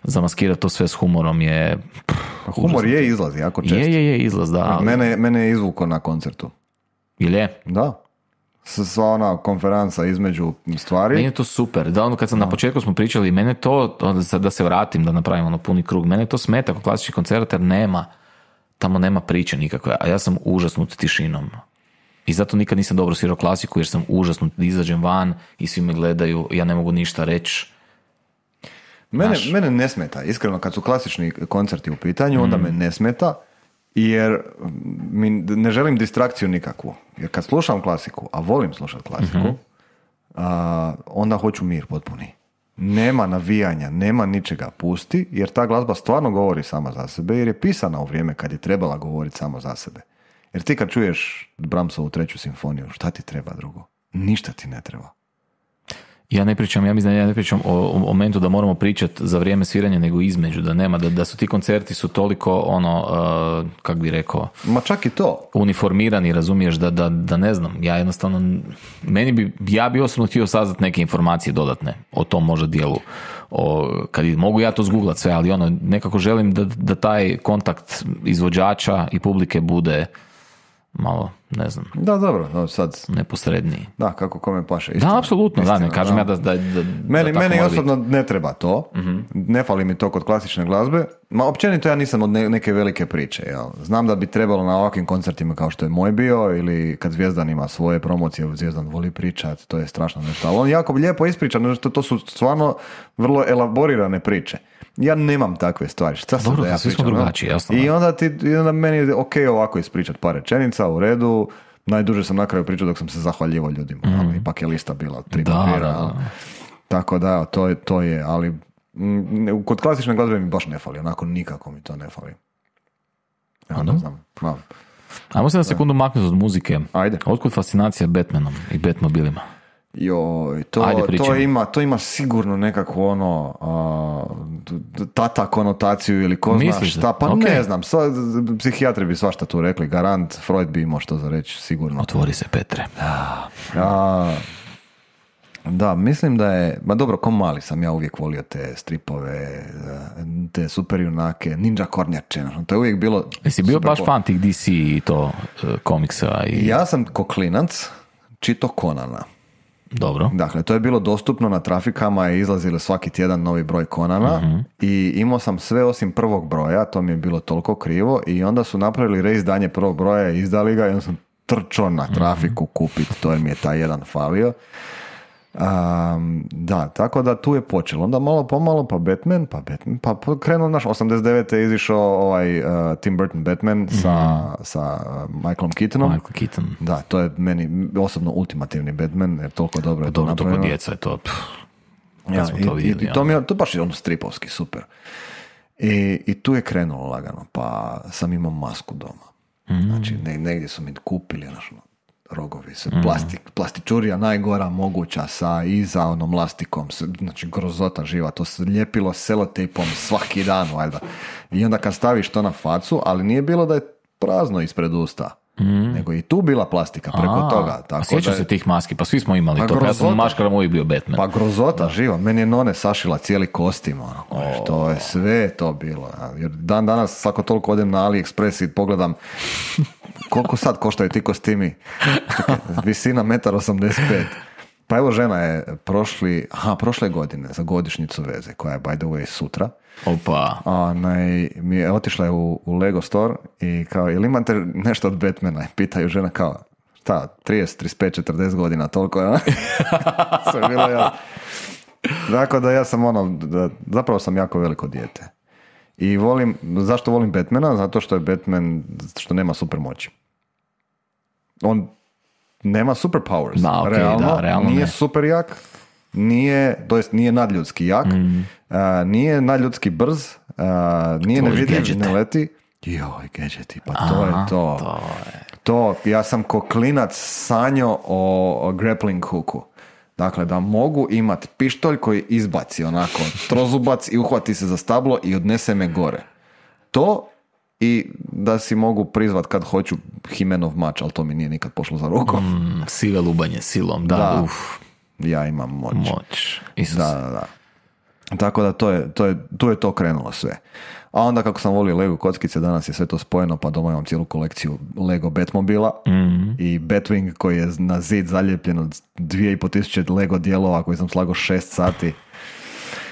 [SPEAKER 1] zamaskirat to sve s humorom je...
[SPEAKER 2] Humor je izlaz, jako često.
[SPEAKER 1] Je izlaz, da.
[SPEAKER 2] Mene je izvuko na koncertu.
[SPEAKER 1] Ili je?
[SPEAKER 2] Da. Sva ona konferenca između stvari.
[SPEAKER 1] Meni je to super. Da, kad sam na početku smo pričali, mene to, da se vratim, da napravim puni krug, mene to smeta kod klasičnih koncerta jer tamo nema priče nikakve, a ja sam užasnut tišinom. I zato nikad nisam dobro svirao klasiku, jer sam užasnut, izađem van i svi me gledaju, ja ne mogu ništa reći.
[SPEAKER 2] Mene ne smeta, iskreno, kad su klasični koncerti u pitanju, onda me ne smeta, jer ne želim distrakciju nikakvu. Jer kad slušam klasiku, a volim slušati klasiku, onda hoću mir potpuni. Nema navijanja, nema ničega, pusti, jer ta glazba stvarno govori sama za sebe, jer je pisana u vrijeme kad je trebala govoriti samo za sebe. Jer ti kad čuješ Brahmsovu 3. simfoniju, šta ti treba drugo? Ništa ti ne treba.
[SPEAKER 1] Ja ne pričam o momentu da moramo pričati za vrijeme sviranja, nego između, da nema, da su ti koncerti su toliko kak bi rekao,
[SPEAKER 2] ma čak i to
[SPEAKER 1] uniformirani, razumiješ, da ne znam, ja jednostavno ja bi osobno htio saznati neke informacije dodatne o tom možda dijelu, kad mogu ja to zgooglat sve, ali nekako želim da taj kontakt izvođača i publike bude malo, ne znam,
[SPEAKER 2] Da, dobro, sad,
[SPEAKER 1] neposredniji.
[SPEAKER 2] da, kako kome paše.
[SPEAKER 1] Da, apsolutno, da, ne kažem ja da
[SPEAKER 2] Meni osobno ne treba to, ne fali mi to kod klasične glazbe, ma općenito ja nisam od neke velike priče, jel? Znam da bi trebalo na ovakvim koncertima kao što je moj bio, ili kad Zvijezdan ima svoje promocije, Zvijezdan voli pričat, to je strašno nešto, ali on jako lijepo ispriča, nešto, to su stvarno vrlo elaborirane priče. Ja nemam takve stvari, šta sam da ja
[SPEAKER 1] svi
[SPEAKER 2] pričam?
[SPEAKER 1] Smo drugačiji, jasno.
[SPEAKER 2] I onda meni je ok ovako ispričat par rečenica, u redu, najduže sam na kraju pričao dok sam se zahvaljivao ljudima, ali ipak je lista bila 3 papira. Da. Tako da, to je, ali kod klasične glazbe mi baš ne fali, onako nikako mi to ne fali. Ja ne znam.
[SPEAKER 1] Ajmo se na sekundu maknuti od muzike.
[SPEAKER 2] Ajde.
[SPEAKER 1] Otkud fascinacija Batmanom i Batmobilima?
[SPEAKER 2] Joj, to ima sigurno nekakvu tata konotaciju ili ko zna šta, pa okay. Ne znam, psihijatri bi svašta tu rekli, garant, Freud bi imao što za reći, sigurno.
[SPEAKER 1] Otvori se, Petre.
[SPEAKER 2] Da, mislim da je, ma dobro, ko mali sam ja uvijek volio te stripove, te super junake, ninja kornjače, to je uvijek bilo...
[SPEAKER 1] Jesi bio baš fan tih DC i to komiksa?
[SPEAKER 2] Ja sam ko klinac čito Conana.
[SPEAKER 1] Dobro.
[SPEAKER 2] Dakle, to je bilo dostupno na trafikama i izlazilo svaki tjedan novi broj Conana i imao sam sve osim prvog broja, to mi je bilo toliko krivo i onda su napravili reizdanje prvog broja i izdali ga i onda sam trčao na trafiku kupiti, to je mi je taj jedan falio. Da, tako da tu je počelo. Onda malo pomalo, pa Batman, pa krenuo naš 89. je izišao Tim Burton Batman sa Michaelom Keatonom.
[SPEAKER 1] Michael Keaton.
[SPEAKER 2] Da, to je meni osobno ultimativni Batman, jer toliko dobro je to napravljeno.
[SPEAKER 1] Toliko djeca je to.
[SPEAKER 2] I to baš je ono stripovski, super. I tu je krenulo lagano, pa sam imao masku doma. Znači, negdje su mi kupili, rogovi, plastičurija najgora moguća iza onom lastikom, znači grozota živa, to se lijepilo selotejpom svaki dan, valjda. I onda kad staviš to na facu, ali nije bilo da je prazno ispred usta, nego i tu bila plastika preko toga. Tako
[SPEAKER 1] sjećam se tih maski, pa svi smo imali to, ja sam maškaram uvijek bio Batman.
[SPEAKER 2] Pa grozota živa, meni je none sašila cijeli kostim, to je sve to bilo. Jer dan danas, ako toliko odem na AliExpress i pogledam koliko sad koštaju ti kostimi? Čekaj, visina 1,85 m. Pa evo žena je prošle godine za godišnjicu veze, koja je by the way sutra.
[SPEAKER 1] Opa.
[SPEAKER 2] Mi je otišla je u Lego store i kao, jel imate nešto od Batmana? I pitaju žena kao, šta, 30, 35, 40 godina, toliko je. Sve je bilo jasno. Dakle, da ja sam zapravo sam jako veliko dijete. I zašto volim Batmana? Zato što je Batman, što nema super moći. On nema superpowers.
[SPEAKER 1] Da, okay, realno
[SPEAKER 2] nije
[SPEAKER 1] ne.
[SPEAKER 2] super jak, nije nadljudski jak, nije nadljudski brz, nije nevidljiv, ne leti. Joj, gadgeti, pa to je to. Ja sam ko klinac sanjao o grappling hooku. Dakle, da mogu imati pištolj koji izbaci onako trozubac i uhvati se za stablo i odnese me gore. To i da si mogu prizvat kad hoću Himenov mač, ali to mi nije nikad pošlo za rukom.
[SPEAKER 1] Sile lubanje silom, da.
[SPEAKER 2] Ja imam moć.
[SPEAKER 1] Isus.
[SPEAKER 2] Da. Tako da tu je to krenulo sve. A onda kako sam volio Lego kockice, danas je sve to spojeno, pa doma imam cijelu kolekciju Lego Batmobila i Batwing koji je na zid zaljepljen od 2500 Lego dijelova koji sam slagao 6 sati.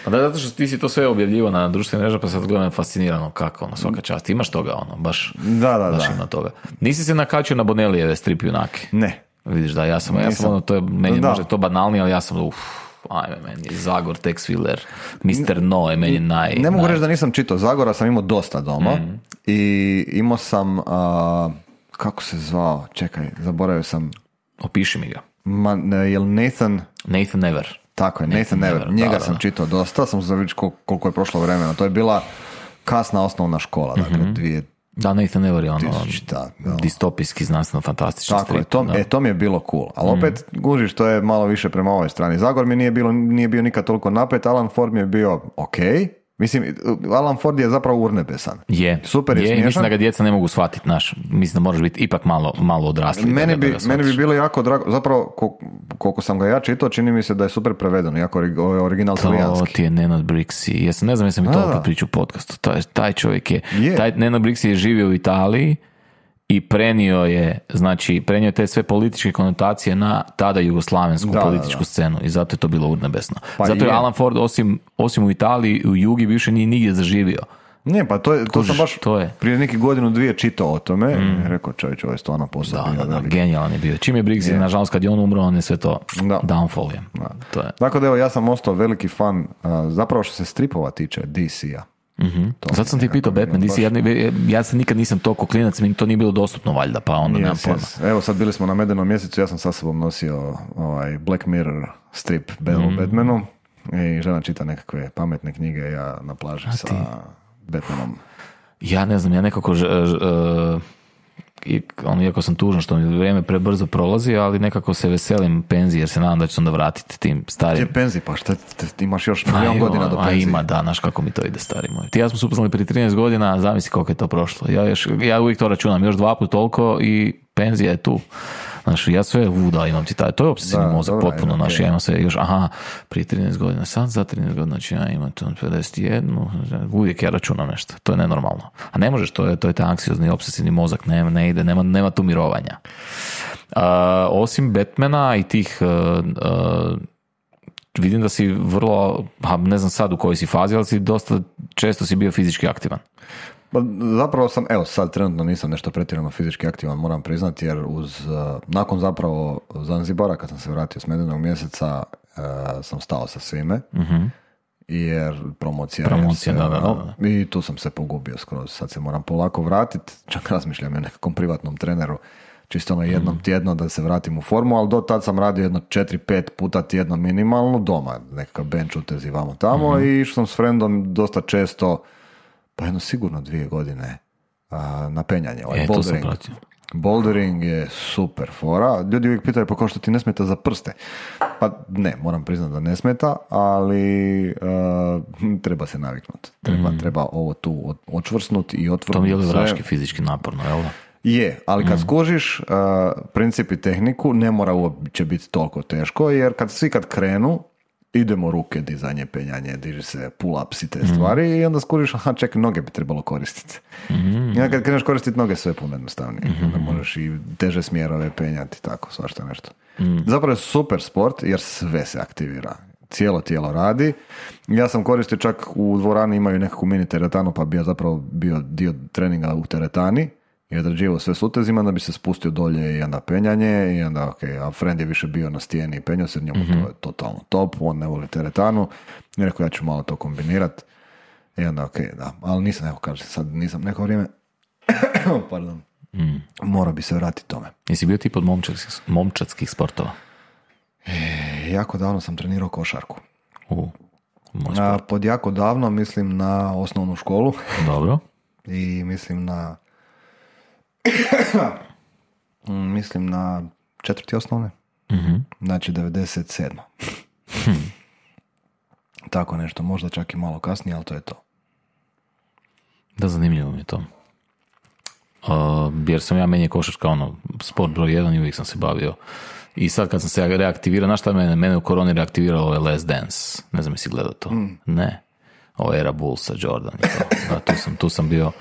[SPEAKER 1] Pa da, zato što ti si to sve objavljivo na društvenim mrežama, pa sad gledam fascinirano kako, svaka čast. Imaš toga, baš ima toga. Nisi se nakačio na Bonelijeve strip junake?
[SPEAKER 2] Ne.
[SPEAKER 1] Vidiš da, ja sam to je, meni može to banalnije, ali ja sam ajme, meni Zagor, Tex Willer, Mr. No je meni
[SPEAKER 2] Ne mogu reći da nisam čitao Zagora, sam imao dosta doma i imao sam, kako se zvao, čekaj, zaboravio sam.
[SPEAKER 1] Opiši mi ga.
[SPEAKER 2] Jel Nathan
[SPEAKER 1] Never.
[SPEAKER 2] Tako je, Nathan Never. Njega sam čitao dosta, sam se vidio koliko je prošlo vremena. To je bila kasna osnovna škola, dakle,
[SPEAKER 1] Da, Nathan Never je distopijski, znanstveno, fantastičan strip.
[SPEAKER 2] Tako je, to mi je bilo cool. Ali opet, gužiš, to je malo više prema ovoj strani. Zagor mi nije bio nikad toliko napet, Alan Ford mi je bio okej. Mislim, Alan Ford je zapravo urnebesan. Super je smiješan.
[SPEAKER 1] Mislim da ga djeca ne mogu shvatiti, mislim da moraš biti ipak malo odrasli.
[SPEAKER 2] Meni bi bilo jako drago, zapravo koliko sam ga ja čitao, čini mi se da je super prevedeno, jako original talijanski.
[SPEAKER 1] To ti je Nenad Brixi. Ne znam jesam mi to opet priču u podcastu. Taj čovjek je. Taj Nenad Brixi je živio u Italiji i prenio je te sve političke konotacije na tada jugoslavensku političku scenu i zato je to bilo urnebesno.
[SPEAKER 2] Pa
[SPEAKER 1] zato je Alan Ford osim u Italiji, u Jugi više nije nigdje zaživio.
[SPEAKER 2] Ne, pa to sam baš prije neki godinu dvije čitao o tome i rekao čovječ, ovo je stvarno posao.
[SPEAKER 1] Genijalan je bio. Čim je Briggs, nažalost kad je on umro, on je sve to downfall je. To je.
[SPEAKER 2] Dakle, evo, ja sam ostao veliki fan, zapravo što se stripova tiče DC-a.
[SPEAKER 1] Zato sam ti pitao Batman, DC, ja se nikad nisam toliko klinac, mi to nije bilo dostupno valjda, pa onda nemam pojma.
[SPEAKER 2] Evo sad bili smo na Medenom mjesecu, ja sam sa sobom nosio Black Mirror strip o Batmanu i žena čita nekakve pametne knjige, ja na plaži sa Batmanom.
[SPEAKER 1] Ja ne znam, ja nekako iako sam tužan što mi vrijeme prebrzo prolazi, ali nekako se veselim penziji jer se nadam da ću se onda vratiti tim starim.
[SPEAKER 2] Gdje penziji? Pa šta ti imaš još milijon godina do penzije?
[SPEAKER 1] Ima, da, znaš kako mi to ide, stari moj. Ti ja smo se upoznali prije 13 godina, zamisli koliko je to prošlo. Ja uvijek to računam, još 2 puta toliko i penzija je tu. Znaš, ja sve imam ti to je obsesivni mozak potpuno, znaš, ja imam sve još, prije 13 godina, sad za 13 godina, znači ja imam 51, uvijek ja računam nešto, to je nenormalno. A ne možeš, to je taj anksiozni, obsesivni mozak, ne ide, nema tu mirovanja. Osim Batmana i tih, vidim da si vrlo, ne znam sad u kojoj si fazi, ali si dosta često si bio fizički aktivan.
[SPEAKER 2] Zapravo sam, evo sad trenutno nisam nešto pretjerano fizički aktivan, moram priznati, jer nakon zapravo Zanzibara, kad sam se vratio s Medenog mjeseca, sam stao sa svime, jer promocija da. I tu sam se pogubio skroz, sad se moram polako vratiti, čak razmišljam o nekakvom privatnom treneru, čisto jednom tjedno da se vratim u formu, ali do tad sam radio jedno 4-5 puta tjedno minimalno doma, nekakav bench utezi vamo tamo i išao sam s frendom dosta često, pa jedno sigurno 2 godine na penjanje. Bouldering je super fora. Ljudi uvijek pitaju pa kao što ti ne smeta za prste. Pa ne, moram priznati da ne smeta, ali treba se naviknuti. Treba ovo tu očvrsnuti i otvrnuti.
[SPEAKER 1] To mi je li vraški fizički naporno, jel da?
[SPEAKER 2] Je, ali kad skužiš princip i tehniku, ne mora uopće biti toliko teško, jer kad krenu, idemo ruke, dizanje, penjanje, diži se pull-ups i te stvari i onda skužiš, čekaj, noge bi trebalo koristiti. I onda kad kreneš koristiti noge, sve je puno jednostavnije. Onda možeš i teže smjerove penjati, tako, svašta nešto. Zapravo je super sport, jer sve se aktivira. Cijelo tijelo radi. Ja sam koristio čak u dvorani, imaju nekakvu mini teretanu, pa bi ja zapravo bio dio treninga u teretani i odrađivao sve s utezima, da bi se spustio dolje i onda penjanje i onda, a friend je više bio na stijeni i penjao se, njemu to je totalno top, on ne voli teretanu i rekao ja ću malo to kombinirati i onda da, ali nisam, evo kažem, sad nisam neko vrijeme pardon, morao bi se vratiti tome.
[SPEAKER 1] Jesi bio tip od momčadskih sportova?
[SPEAKER 2] Jako davno sam trenirao košarku. Pod jako davno mislim na osnovnu školu.
[SPEAKER 1] Dobro.
[SPEAKER 2] I mislim na 4. osnovne. Znači 97. Tako nešto, možda čak i malo kasnije, ali to je to.
[SPEAKER 1] Da, zanimljivo mi je to. Jer sam meni je košarka sport broj 1 i uvijek sam se bavio. I sad kad sam se reaktivirao, znaš šta mene u koroni reaktiviralo ovaj Last Dance? Ne znam jesi gledao to? Ne. Ovo era Bullsa, Jordan i to. Da, tu sam bio.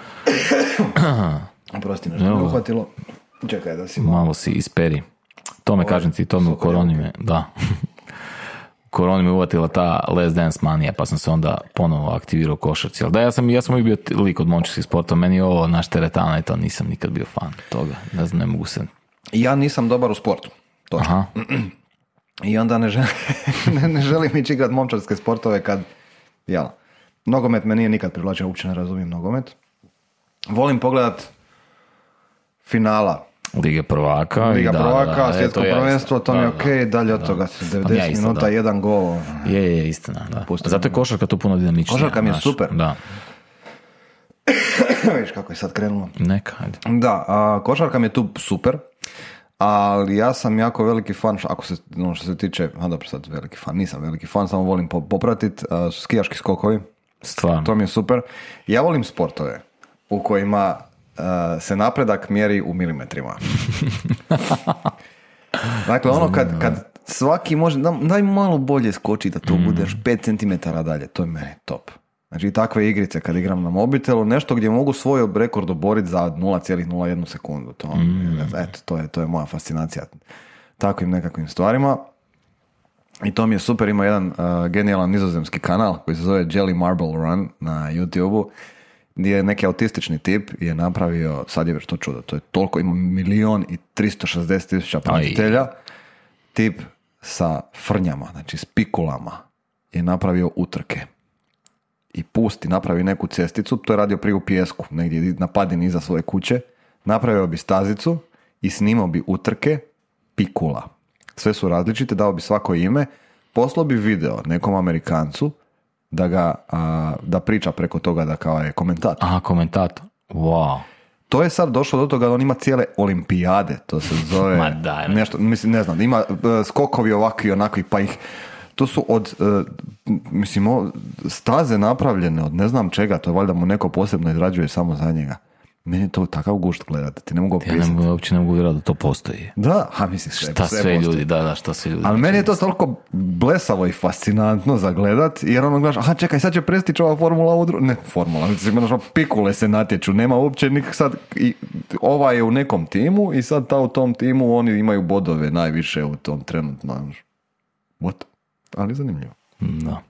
[SPEAKER 2] Oprosti, nešto me uhvatilo. Čekaj da si
[SPEAKER 1] malo si isperi. To me kažem ti, to me u koroni me, da. U koroni me uvatila ta Last Dance manija, pa sam se onda ponovo aktivirao u košarci. Ali da, ja sam uvijek bio lik od momčarskih sporta, meni je ovo naš teretana i to nisam nikad bio fan toga. Ne znam, ne mogu se...
[SPEAKER 2] Ja nisam dobar u sportu. Točno. I onda ne želim ići igrat momčarske sportove kad, nogomet me nije nikad privlačio, uopće ne razumijem nogomet. Volim pogledat finala.
[SPEAKER 1] Liga prvaka,
[SPEAKER 2] svjetsko prvenstvo, to mi je okej, dalje od toga 90 minuta, jedan gol.
[SPEAKER 1] Je, istina, da. Zato je košarka tu puno dinamičnija.
[SPEAKER 2] Košarka mi je super.
[SPEAKER 1] Da.
[SPEAKER 2] Viš kako je sad krenulo.
[SPEAKER 1] Neka, ajde.
[SPEAKER 2] Da, košarka mi je tu super, ali ja sam jako veliki fan, ako se, što se tiče, dobro sad veliki fan, nisam veliki fan, samo volim popratit, skijaški skokovi.
[SPEAKER 1] Stvarno.
[SPEAKER 2] To mi je super. Ja volim sportove u kojima se napredak mjeri u milimetrima. Dakle, kad svaki može, daj malo bolje skoči da tu budeš 5 cm dalje, to je meni top. Znači i takve igrice kad igram na mobitelu, nešto gdje mogu svoj rekord oboriti za 0,01 sekundu. To je moja fascinacija takvim nekakvim stvarima. I to mi je super, ima jedan genijalan nizozemski kanal koji se zove Jelly Marble Run na YouTube-u, gdje je neki autistični tip je napravio, sad je već to čudo, to je toliko, ima 1.360.000 pratitelja, tip sa frnjama, znači s pikulama je napravio utrke i napravi neku cesticu, to je radio prije u pijesku, negdje na padini iza svoje kuće, napravio bi stazicu i snimao bi utrke pikula. Sve su različite, dao bi svako ime, poslao bi video nekom Amerikancu da priča preko toga da kao je komentator.
[SPEAKER 1] Aha, komentator. Wow.
[SPEAKER 2] To je sad došlo do toga da on ima cijele olimpijade, to se zove nešto, mislim, ne znam, ima skokovi ovakvi i onakvi, pa ih, to su od, staze napravljene od ne znam čega, to je valjda mu neko posebno izrađuje samo za njega. Meni je to takav gušt gledati, ti ne mogu opisati.
[SPEAKER 1] Ja uopće ne mogu vjerati da to postoji.
[SPEAKER 2] Da,
[SPEAKER 1] šta sve ljudi, šta sve ljudi.
[SPEAKER 2] Ali meni je to toliko blesavo i fascinantno za gledat, jer ono gledaš, čekaj, sad će prestići ova formula u ne formula, pikule se natječu, nema uopće sad, ova je u nekom timu i sad u tom timu oni imaju bodove najviše u tom trenutno. What? Ali zanimljivo.
[SPEAKER 1] Da.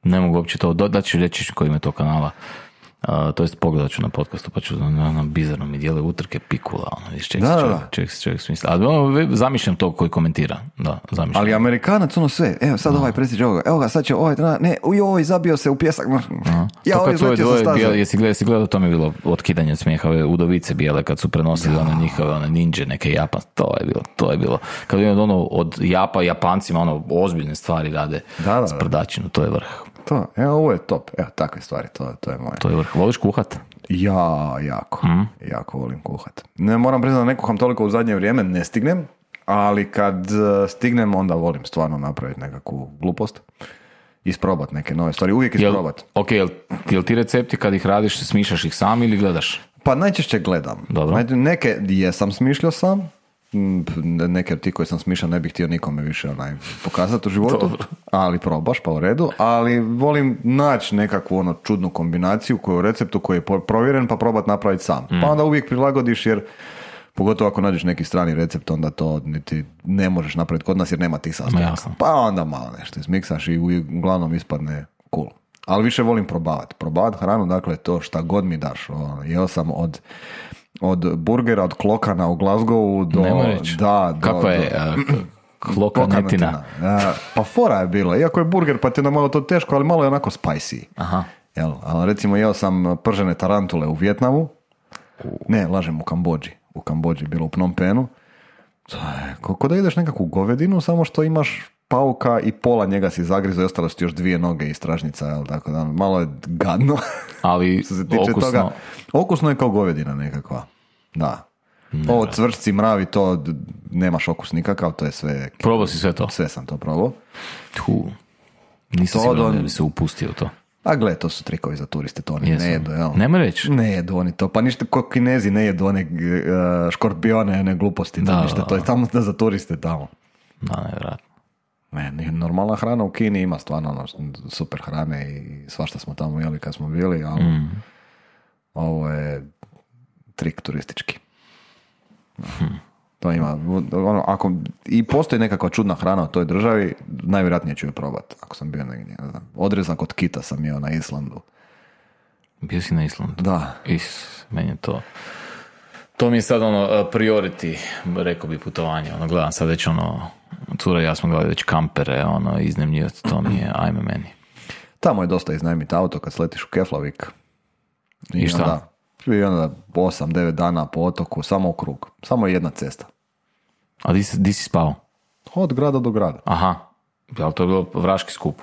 [SPEAKER 1] Ne mogu uopće to, da ću reći koji ime to kanala. To jest pogledat ću na podcastu pa ću bizarno mi dijele utrke pikula, čovjek smisla. Ali zamišljam to koji komentira. Da, zamišljam.
[SPEAKER 2] Ali Amerikanac sve, evo sad ovaj prestiđe ovoga, evo ga sad će ovaj zabio se u pjesak. Ja ovaj izletio sa staze.
[SPEAKER 1] Jesi gledao, to mi je bilo otkidanje smijeha, ove udovice bijele kad su prenosili njihove ninja, neke Japan, to je bilo. Kad je od Japancima ozbiljne stvari rade s prdačinu, to je vrh.
[SPEAKER 2] Ovo je top. Evo, takve stvari, to je moje.
[SPEAKER 1] To je vrh. Voliš kuhat?
[SPEAKER 2] Ja, jako volim kuhat. Ne moram priznati da ne kuham toliko u zadnje vrijeme, ne stignem, ali kad stignem onda volim stvarno napraviti nekakvu glupost. Isprobat neke nove stvari, uvijek isprobat.
[SPEAKER 1] Jel ti recepti kad ih radiš, smišljaš ih sam ili gledaš?
[SPEAKER 2] Pa najčešće gledam.
[SPEAKER 1] Dobro.
[SPEAKER 2] Neke jesam smišljao sam, neke od ti koje sam smišljao ne bih htio nikome više pokazati u životu, ali probaš pa u redu, ali volim naći nekakvu čudnu kombinaciju koju u receptu koji je provjeren pa probat napraviti sam. Pa onda uvijek prilagodiš jer pogotovo ako nađeš neki strani recept onda to niti ne možeš napraviti kod nas jer nema tih sastojaka. Pa onda malo nešto izmiksaš i uglavnom ispadne cool. Ali više volim probavati hranu, dakle to šta god mi daš. Jeo sam od burgera, od klokana u Glasgowu do...
[SPEAKER 1] Kako je klokanetina?
[SPEAKER 2] Pa fora je bila. Iako je burger, pa ti je malo to teško, ali malo je onako spicy.
[SPEAKER 1] Aha.
[SPEAKER 2] Ali recimo jeo sam pržene tarantule u Vijetnamu. Ne, lažem, u Kambodži. U Kambodži, bilo u Phnom Penhu. Kako da ideš nekakvu govedinu, samo što imaš pauka i pola njega si zagrizo i ostalo su ti još 2 noge i stražnica, tako da malo je gadno.
[SPEAKER 1] Ali okusno.
[SPEAKER 2] Toga, okusno je kao govedina nekakva. Da. Ovo cvršci, mravi, to nemaš okus nikakav, to je sve...
[SPEAKER 1] Probao si sve to?
[SPEAKER 2] Sve sam to probao.
[SPEAKER 1] Nisam siguran da bi se upustio to.
[SPEAKER 2] A gle, to su trikovi za turiste, to oni ne jedu, jel?
[SPEAKER 1] Nema reći?
[SPEAKER 2] Ne jedu oni to, pa ništa ko Kinezi ne jedu one škorpione, one gluposti, to ništa, to je tamo za turiste tamo.
[SPEAKER 1] Da, nevjerojatno.
[SPEAKER 2] Ne, normalna hrana u Kini ima stvarno super hrane i svašta smo tamo jeli kad smo bili, ali ovo je trik turistički. To ima, ako i postoji nekakva čudna hrana u toj državi, najvjerojatnije ću je probati, ako sam bio negdje, ne znam. Odrezak od kita sam jeo na Islandu.
[SPEAKER 1] Bio si na Islandu?
[SPEAKER 2] Da.
[SPEAKER 1] Meni je to... To mi je sad priority, rekao bi, putovanje. Gledam sad već cura i ja smo gledali već kampere, iznajmljivati, to mi je, ajme meni.
[SPEAKER 2] Tamo je dosta iznajmiti auto kad sletiš u Keflavik.
[SPEAKER 1] I šta?
[SPEAKER 2] I onda 8-9 dana po otoku, samo u krug. Samo jedna cesta.
[SPEAKER 1] A di si spao?
[SPEAKER 2] Od grada do grada.
[SPEAKER 1] Aha, ali to je bilo vraški skup.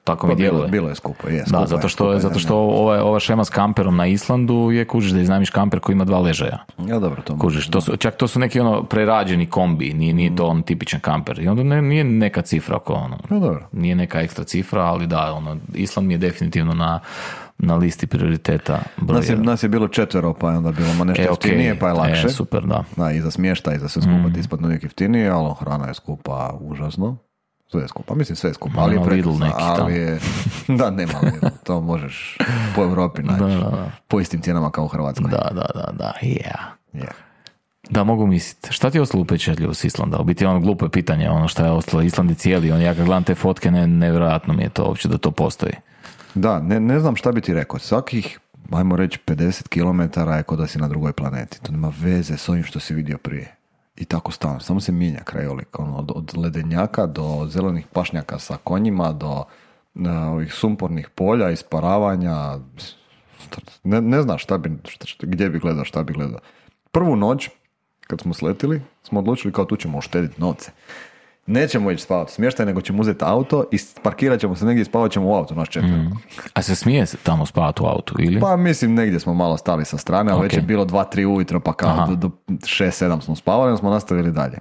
[SPEAKER 1] Tako mi djeluje.
[SPEAKER 2] Bilo je skupo, je.
[SPEAKER 1] Da, zato što ova šema s kamperom na Islandu je, kužiš, da iznajmiš kamper koji ima 2 ležaja.
[SPEAKER 2] Ja, dobro, to
[SPEAKER 1] kužiš, to su neki prerađeni kombi, nije to tipičan kamper. I onda nije neka cifra oko
[SPEAKER 2] ja, dobro.
[SPEAKER 1] Nije neka ekstra cifra, ali da, Island mi je definitivno na listi prioriteta broja.
[SPEAKER 2] Nas je bilo 4, pa je onda bilo nešto jeftinije, pa je lakše.
[SPEAKER 1] Super, da.
[SPEAKER 2] Da, i za smještaj, i za sve skupa ti ispadne uvijek jeftinije, ali hrana je skupa užasno. Sve skupa, mislim sve skupa,
[SPEAKER 1] Ma,
[SPEAKER 2] ali je
[SPEAKER 1] nema Lidl
[SPEAKER 2] prekrasno,
[SPEAKER 1] neki
[SPEAKER 2] ali
[SPEAKER 1] tamo.
[SPEAKER 2] je, da, nema Lidl, to možeš po Europi naći, po istim cijenama kao u Hrvatskoj.
[SPEAKER 1] Da, yeah.
[SPEAKER 2] Je.
[SPEAKER 1] Da, mogu misliti. Šta ti je ostalo upečatljivo s Islanda? U biti ono glupo je pitanje, ono šta je ostalo. Island je cijeli, ja kad gledam te fotke, nevjerojatno mi je to uopće da to postoji.
[SPEAKER 2] Da, ne znam šta bi ti rekao, svakih, ajmo reći, 50 km je kod da si na drugoj planeti, to nema veze s ovim što si vidio prije. I tako stalno, samo se mijenja krajolik, ono, od ledenjaka do zelenih pašnjaka sa konjima, do ovih sumpornih polja, isparavanja, ne znam gdje bi gledao, šta bi gledao. Prvu noć, kad smo sletili, smo odlučili kao tu ćemo uštediti novce. Nećemo ići spavati smještaj, nego ćemo uzeti auto i parkirat ćemo se negdje i spavat ćemo u auto, naš četvrlo.
[SPEAKER 1] A se smije se tamo spavati u autu, ili?
[SPEAKER 2] Pa mislim, negdje smo malo stali sa strane, ali već je bilo 2-3 ujutro, pa kao do 6-7 smo spavali, onda smo nastavili dalje.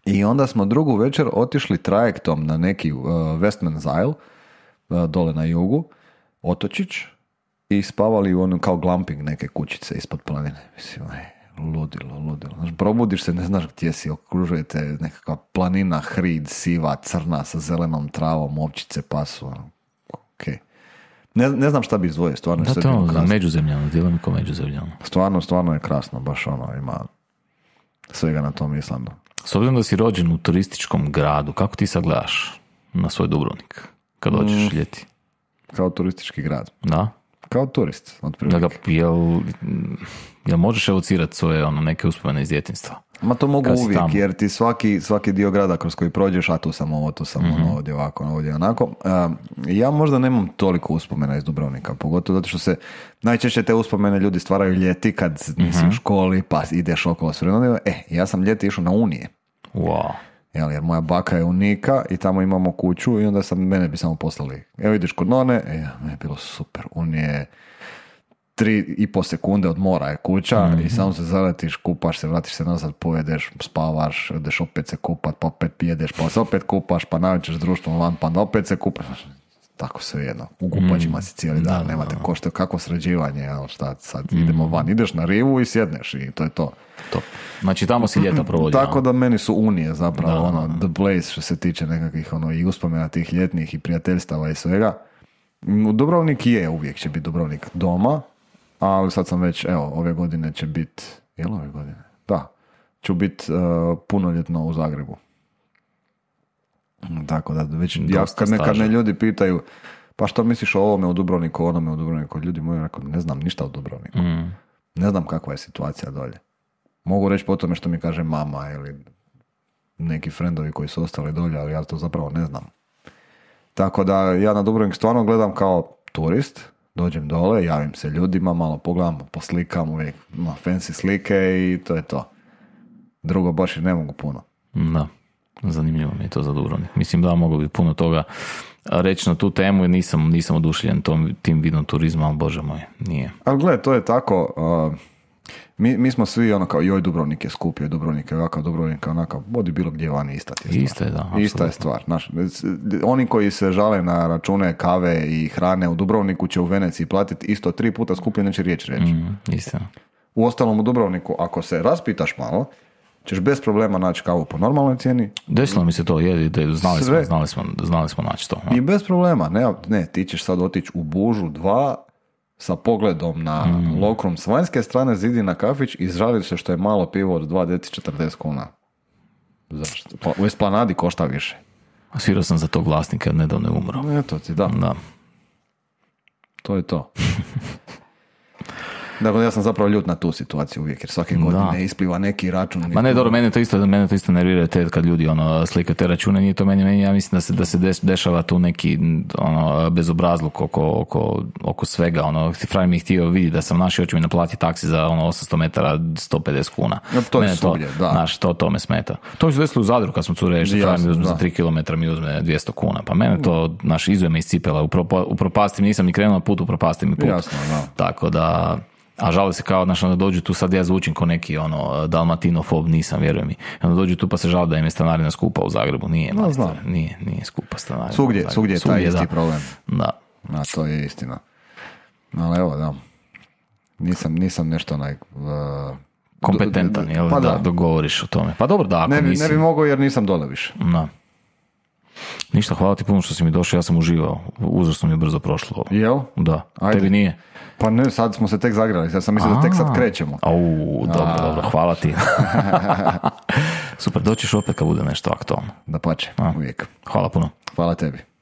[SPEAKER 2] I onda smo drugu večer otišli trajektom na neki Westman's Isle, dole na jugu, otočić, i spavali u onom kao glamping neke kućice ispod planine. Mislim, ludilo. Znaš, probudiš se, ne znaš gdje si, okružujete nekakva planina, hrid, siva, crna, sa zelenom travom, ovčice pasu. Okay. Ne znam šta bi izdvojio, stvarno.
[SPEAKER 1] Da, to je ono međuzemljano, djeluje mi kao međuzemljano.
[SPEAKER 2] Stvarno je krasno, baš ono, ima svega na tom Islandu.
[SPEAKER 1] S obzirom da si rođen u turističkom gradu, kako ti sad gledaš na svoj Dubrovnik kad dođeš ljeti?
[SPEAKER 2] Kao turistički grad.
[SPEAKER 1] Da?
[SPEAKER 2] Kao turist, otprilike.
[SPEAKER 1] Jel možeš evocirati svoje neke uspomene iz djetinjstva?
[SPEAKER 2] Ma to mogu uvijek, jer ti svaki dio grada kroz koji prođeš, a tu sam ovo, tu sam ono, ovdje ovako, ovdje onako. Ja možda nemam toliko uspomena iz Dubrovnika, pogotovo zato što se najčešće te uspomene ljudi stvaraju ljeti kad nisi u školi, pa ideš okolo s vremenom. Ja sam ljeti išao na Unije.
[SPEAKER 1] Wow.
[SPEAKER 2] Jer moja baka je unika i tamo imamo kuću i onda mene bi samo poslali. Evo ideš kod none, meni je bilo super. Unije 3,5 sekunde od mora je kuća i samo se zaletiš, kupaš se, vratiš se nazad, pojedeš, spavaš, ideš opet se kupat, pa opet pijedeš, pa se opet kupaš, pa navečer s društvom van, pa opet se kupaš. Tako sve jedno. U kupačima si cijeli dan, nemate košte, kako sređivanje, šta sad idemo van, ideš na rivu i sjedneš i to je to.
[SPEAKER 1] Top. Znači tamo si ljeta provodio.
[SPEAKER 2] Tako da meni su Unije zapravo the place što se tiče nekakvih i uspomena tih ljetnih i prijateljstava i svega. Dubrovnik uvijek će biti Dubrovnik doma, ali sad sam već, ove godine će biti, ove godine? Da, ću biti punoljetno u Zagrebu. Tako da već, kad me ljudi pitaju, pa što misliš o ovome u Dubrovniku, onome u Dubrovniku, ljudi moji rekao, ne znam ništa o Dubrovniku. Ne znam kakva je situacija dolje. Mogu reći po tome što mi kaže mama ili neki frendovi koji su ostali dolje, ali ja to zapravo ne znam. Tako da ja na Dubrovnik stvarno gledam kao turist, dođem dole, javim se ljudima, malo pogledam, poslikam uvijek fancy slike i to je to. Drugo baš i ne mogu puno.
[SPEAKER 1] Da, zanimljivo mi je to za Dubrovnik. Mislim da mogu bi puno toga reći na tu temu jer nisam oduševljen tim vidom turizma, ali bože moj, nije. Ali
[SPEAKER 2] gledaj, to je tako, mi smo svi kao joj Dubrovnik je skup, joj Dubrovnik je ovakav, Dubrovnik je onakav, vodi bilo gdje vani ista je stvar.
[SPEAKER 1] Ista je, da.
[SPEAKER 2] Ista je stvar. Znaš, oni koji se žale na račune kave i hrane u Dubrovniku će u Veneciji platiti isto 3 puta skuplje, neće riječ reći.
[SPEAKER 1] Istina.
[SPEAKER 2] Uostalom u Dubrovniku, ako se raspitaš malo, ćeš bez problema naći kavu po normalnoj cijeni.
[SPEAKER 1] Desilo mi se to, znali smo naći to.
[SPEAKER 2] I bez problema, ne, ti ćeš sad otići u Bužu 2 sa pogledom na Lokrum s vanjske strane, zidi na kafić i žališ se što je malo pivo od 2 deci 40 kuna. Zašto? Pa u Esplanadi košta više.
[SPEAKER 1] Svirao sam za tog vlasnika, nedavno je umro.
[SPEAKER 2] Eto ti, da. To je to. Dakle, ja sam zapravo ljut na tu situaciju uvijek, jer svake godine ispliva neki račun.
[SPEAKER 1] Ma ne, dobro, mene to isto nervira kad ljudi slike te račune, nije to meni, ja mislim da se dešava tu neki bezobrazluk oko svega, frajer mi je htio vidjeti da sam naši hoće mi naplati taksi za 800 metara 150 kuna.
[SPEAKER 2] No, to je svugdje, da.
[SPEAKER 1] Znaš, to me smeta. To se desilo u Zadru kad smo cure, što frajer mi uzme za 3 km mi uzme 200 kuna, pa mene to, izuje me iz cipela, upropastim, nisam ni krenuo na put, upropastim mi put.
[SPEAKER 2] Jasno, da.
[SPEAKER 1] Tako da... A žali se kao, da dođu tu, sad ja zvučim ko neki dalmatinofob, nisam, vjerujem mi. Onda dođu tu pa se žali da im je stanarina skupa u Zagrebu. Nije, nije skupa stanarina.
[SPEAKER 2] Svugdje je taj isti problem.
[SPEAKER 1] Da.
[SPEAKER 2] A to je istina. Ali evo, da. Nisam nešto
[SPEAKER 1] kompetentan, jel? Pa da dogovoriš o tome. Pa dobro, da, ako nisi...
[SPEAKER 2] Ne bi mogao jer nisam dole više.
[SPEAKER 1] Da. Ništa, hvala ti puno što si mi došao, ja sam uživao. Uzasno mi je brzo prošlo.
[SPEAKER 2] Jel?
[SPEAKER 1] Da,
[SPEAKER 2] Ajde.
[SPEAKER 1] tebi nije?
[SPEAKER 2] Pa ne, sad smo se tek zagrali, ja sam mislio da tek sad krećemo.
[SPEAKER 1] Dobro, hvala ti. Super, doćiš opet kad bude nešto aktualno.
[SPEAKER 2] Dapače, uvijek.
[SPEAKER 1] Hvala puno.
[SPEAKER 2] Hvala tebi.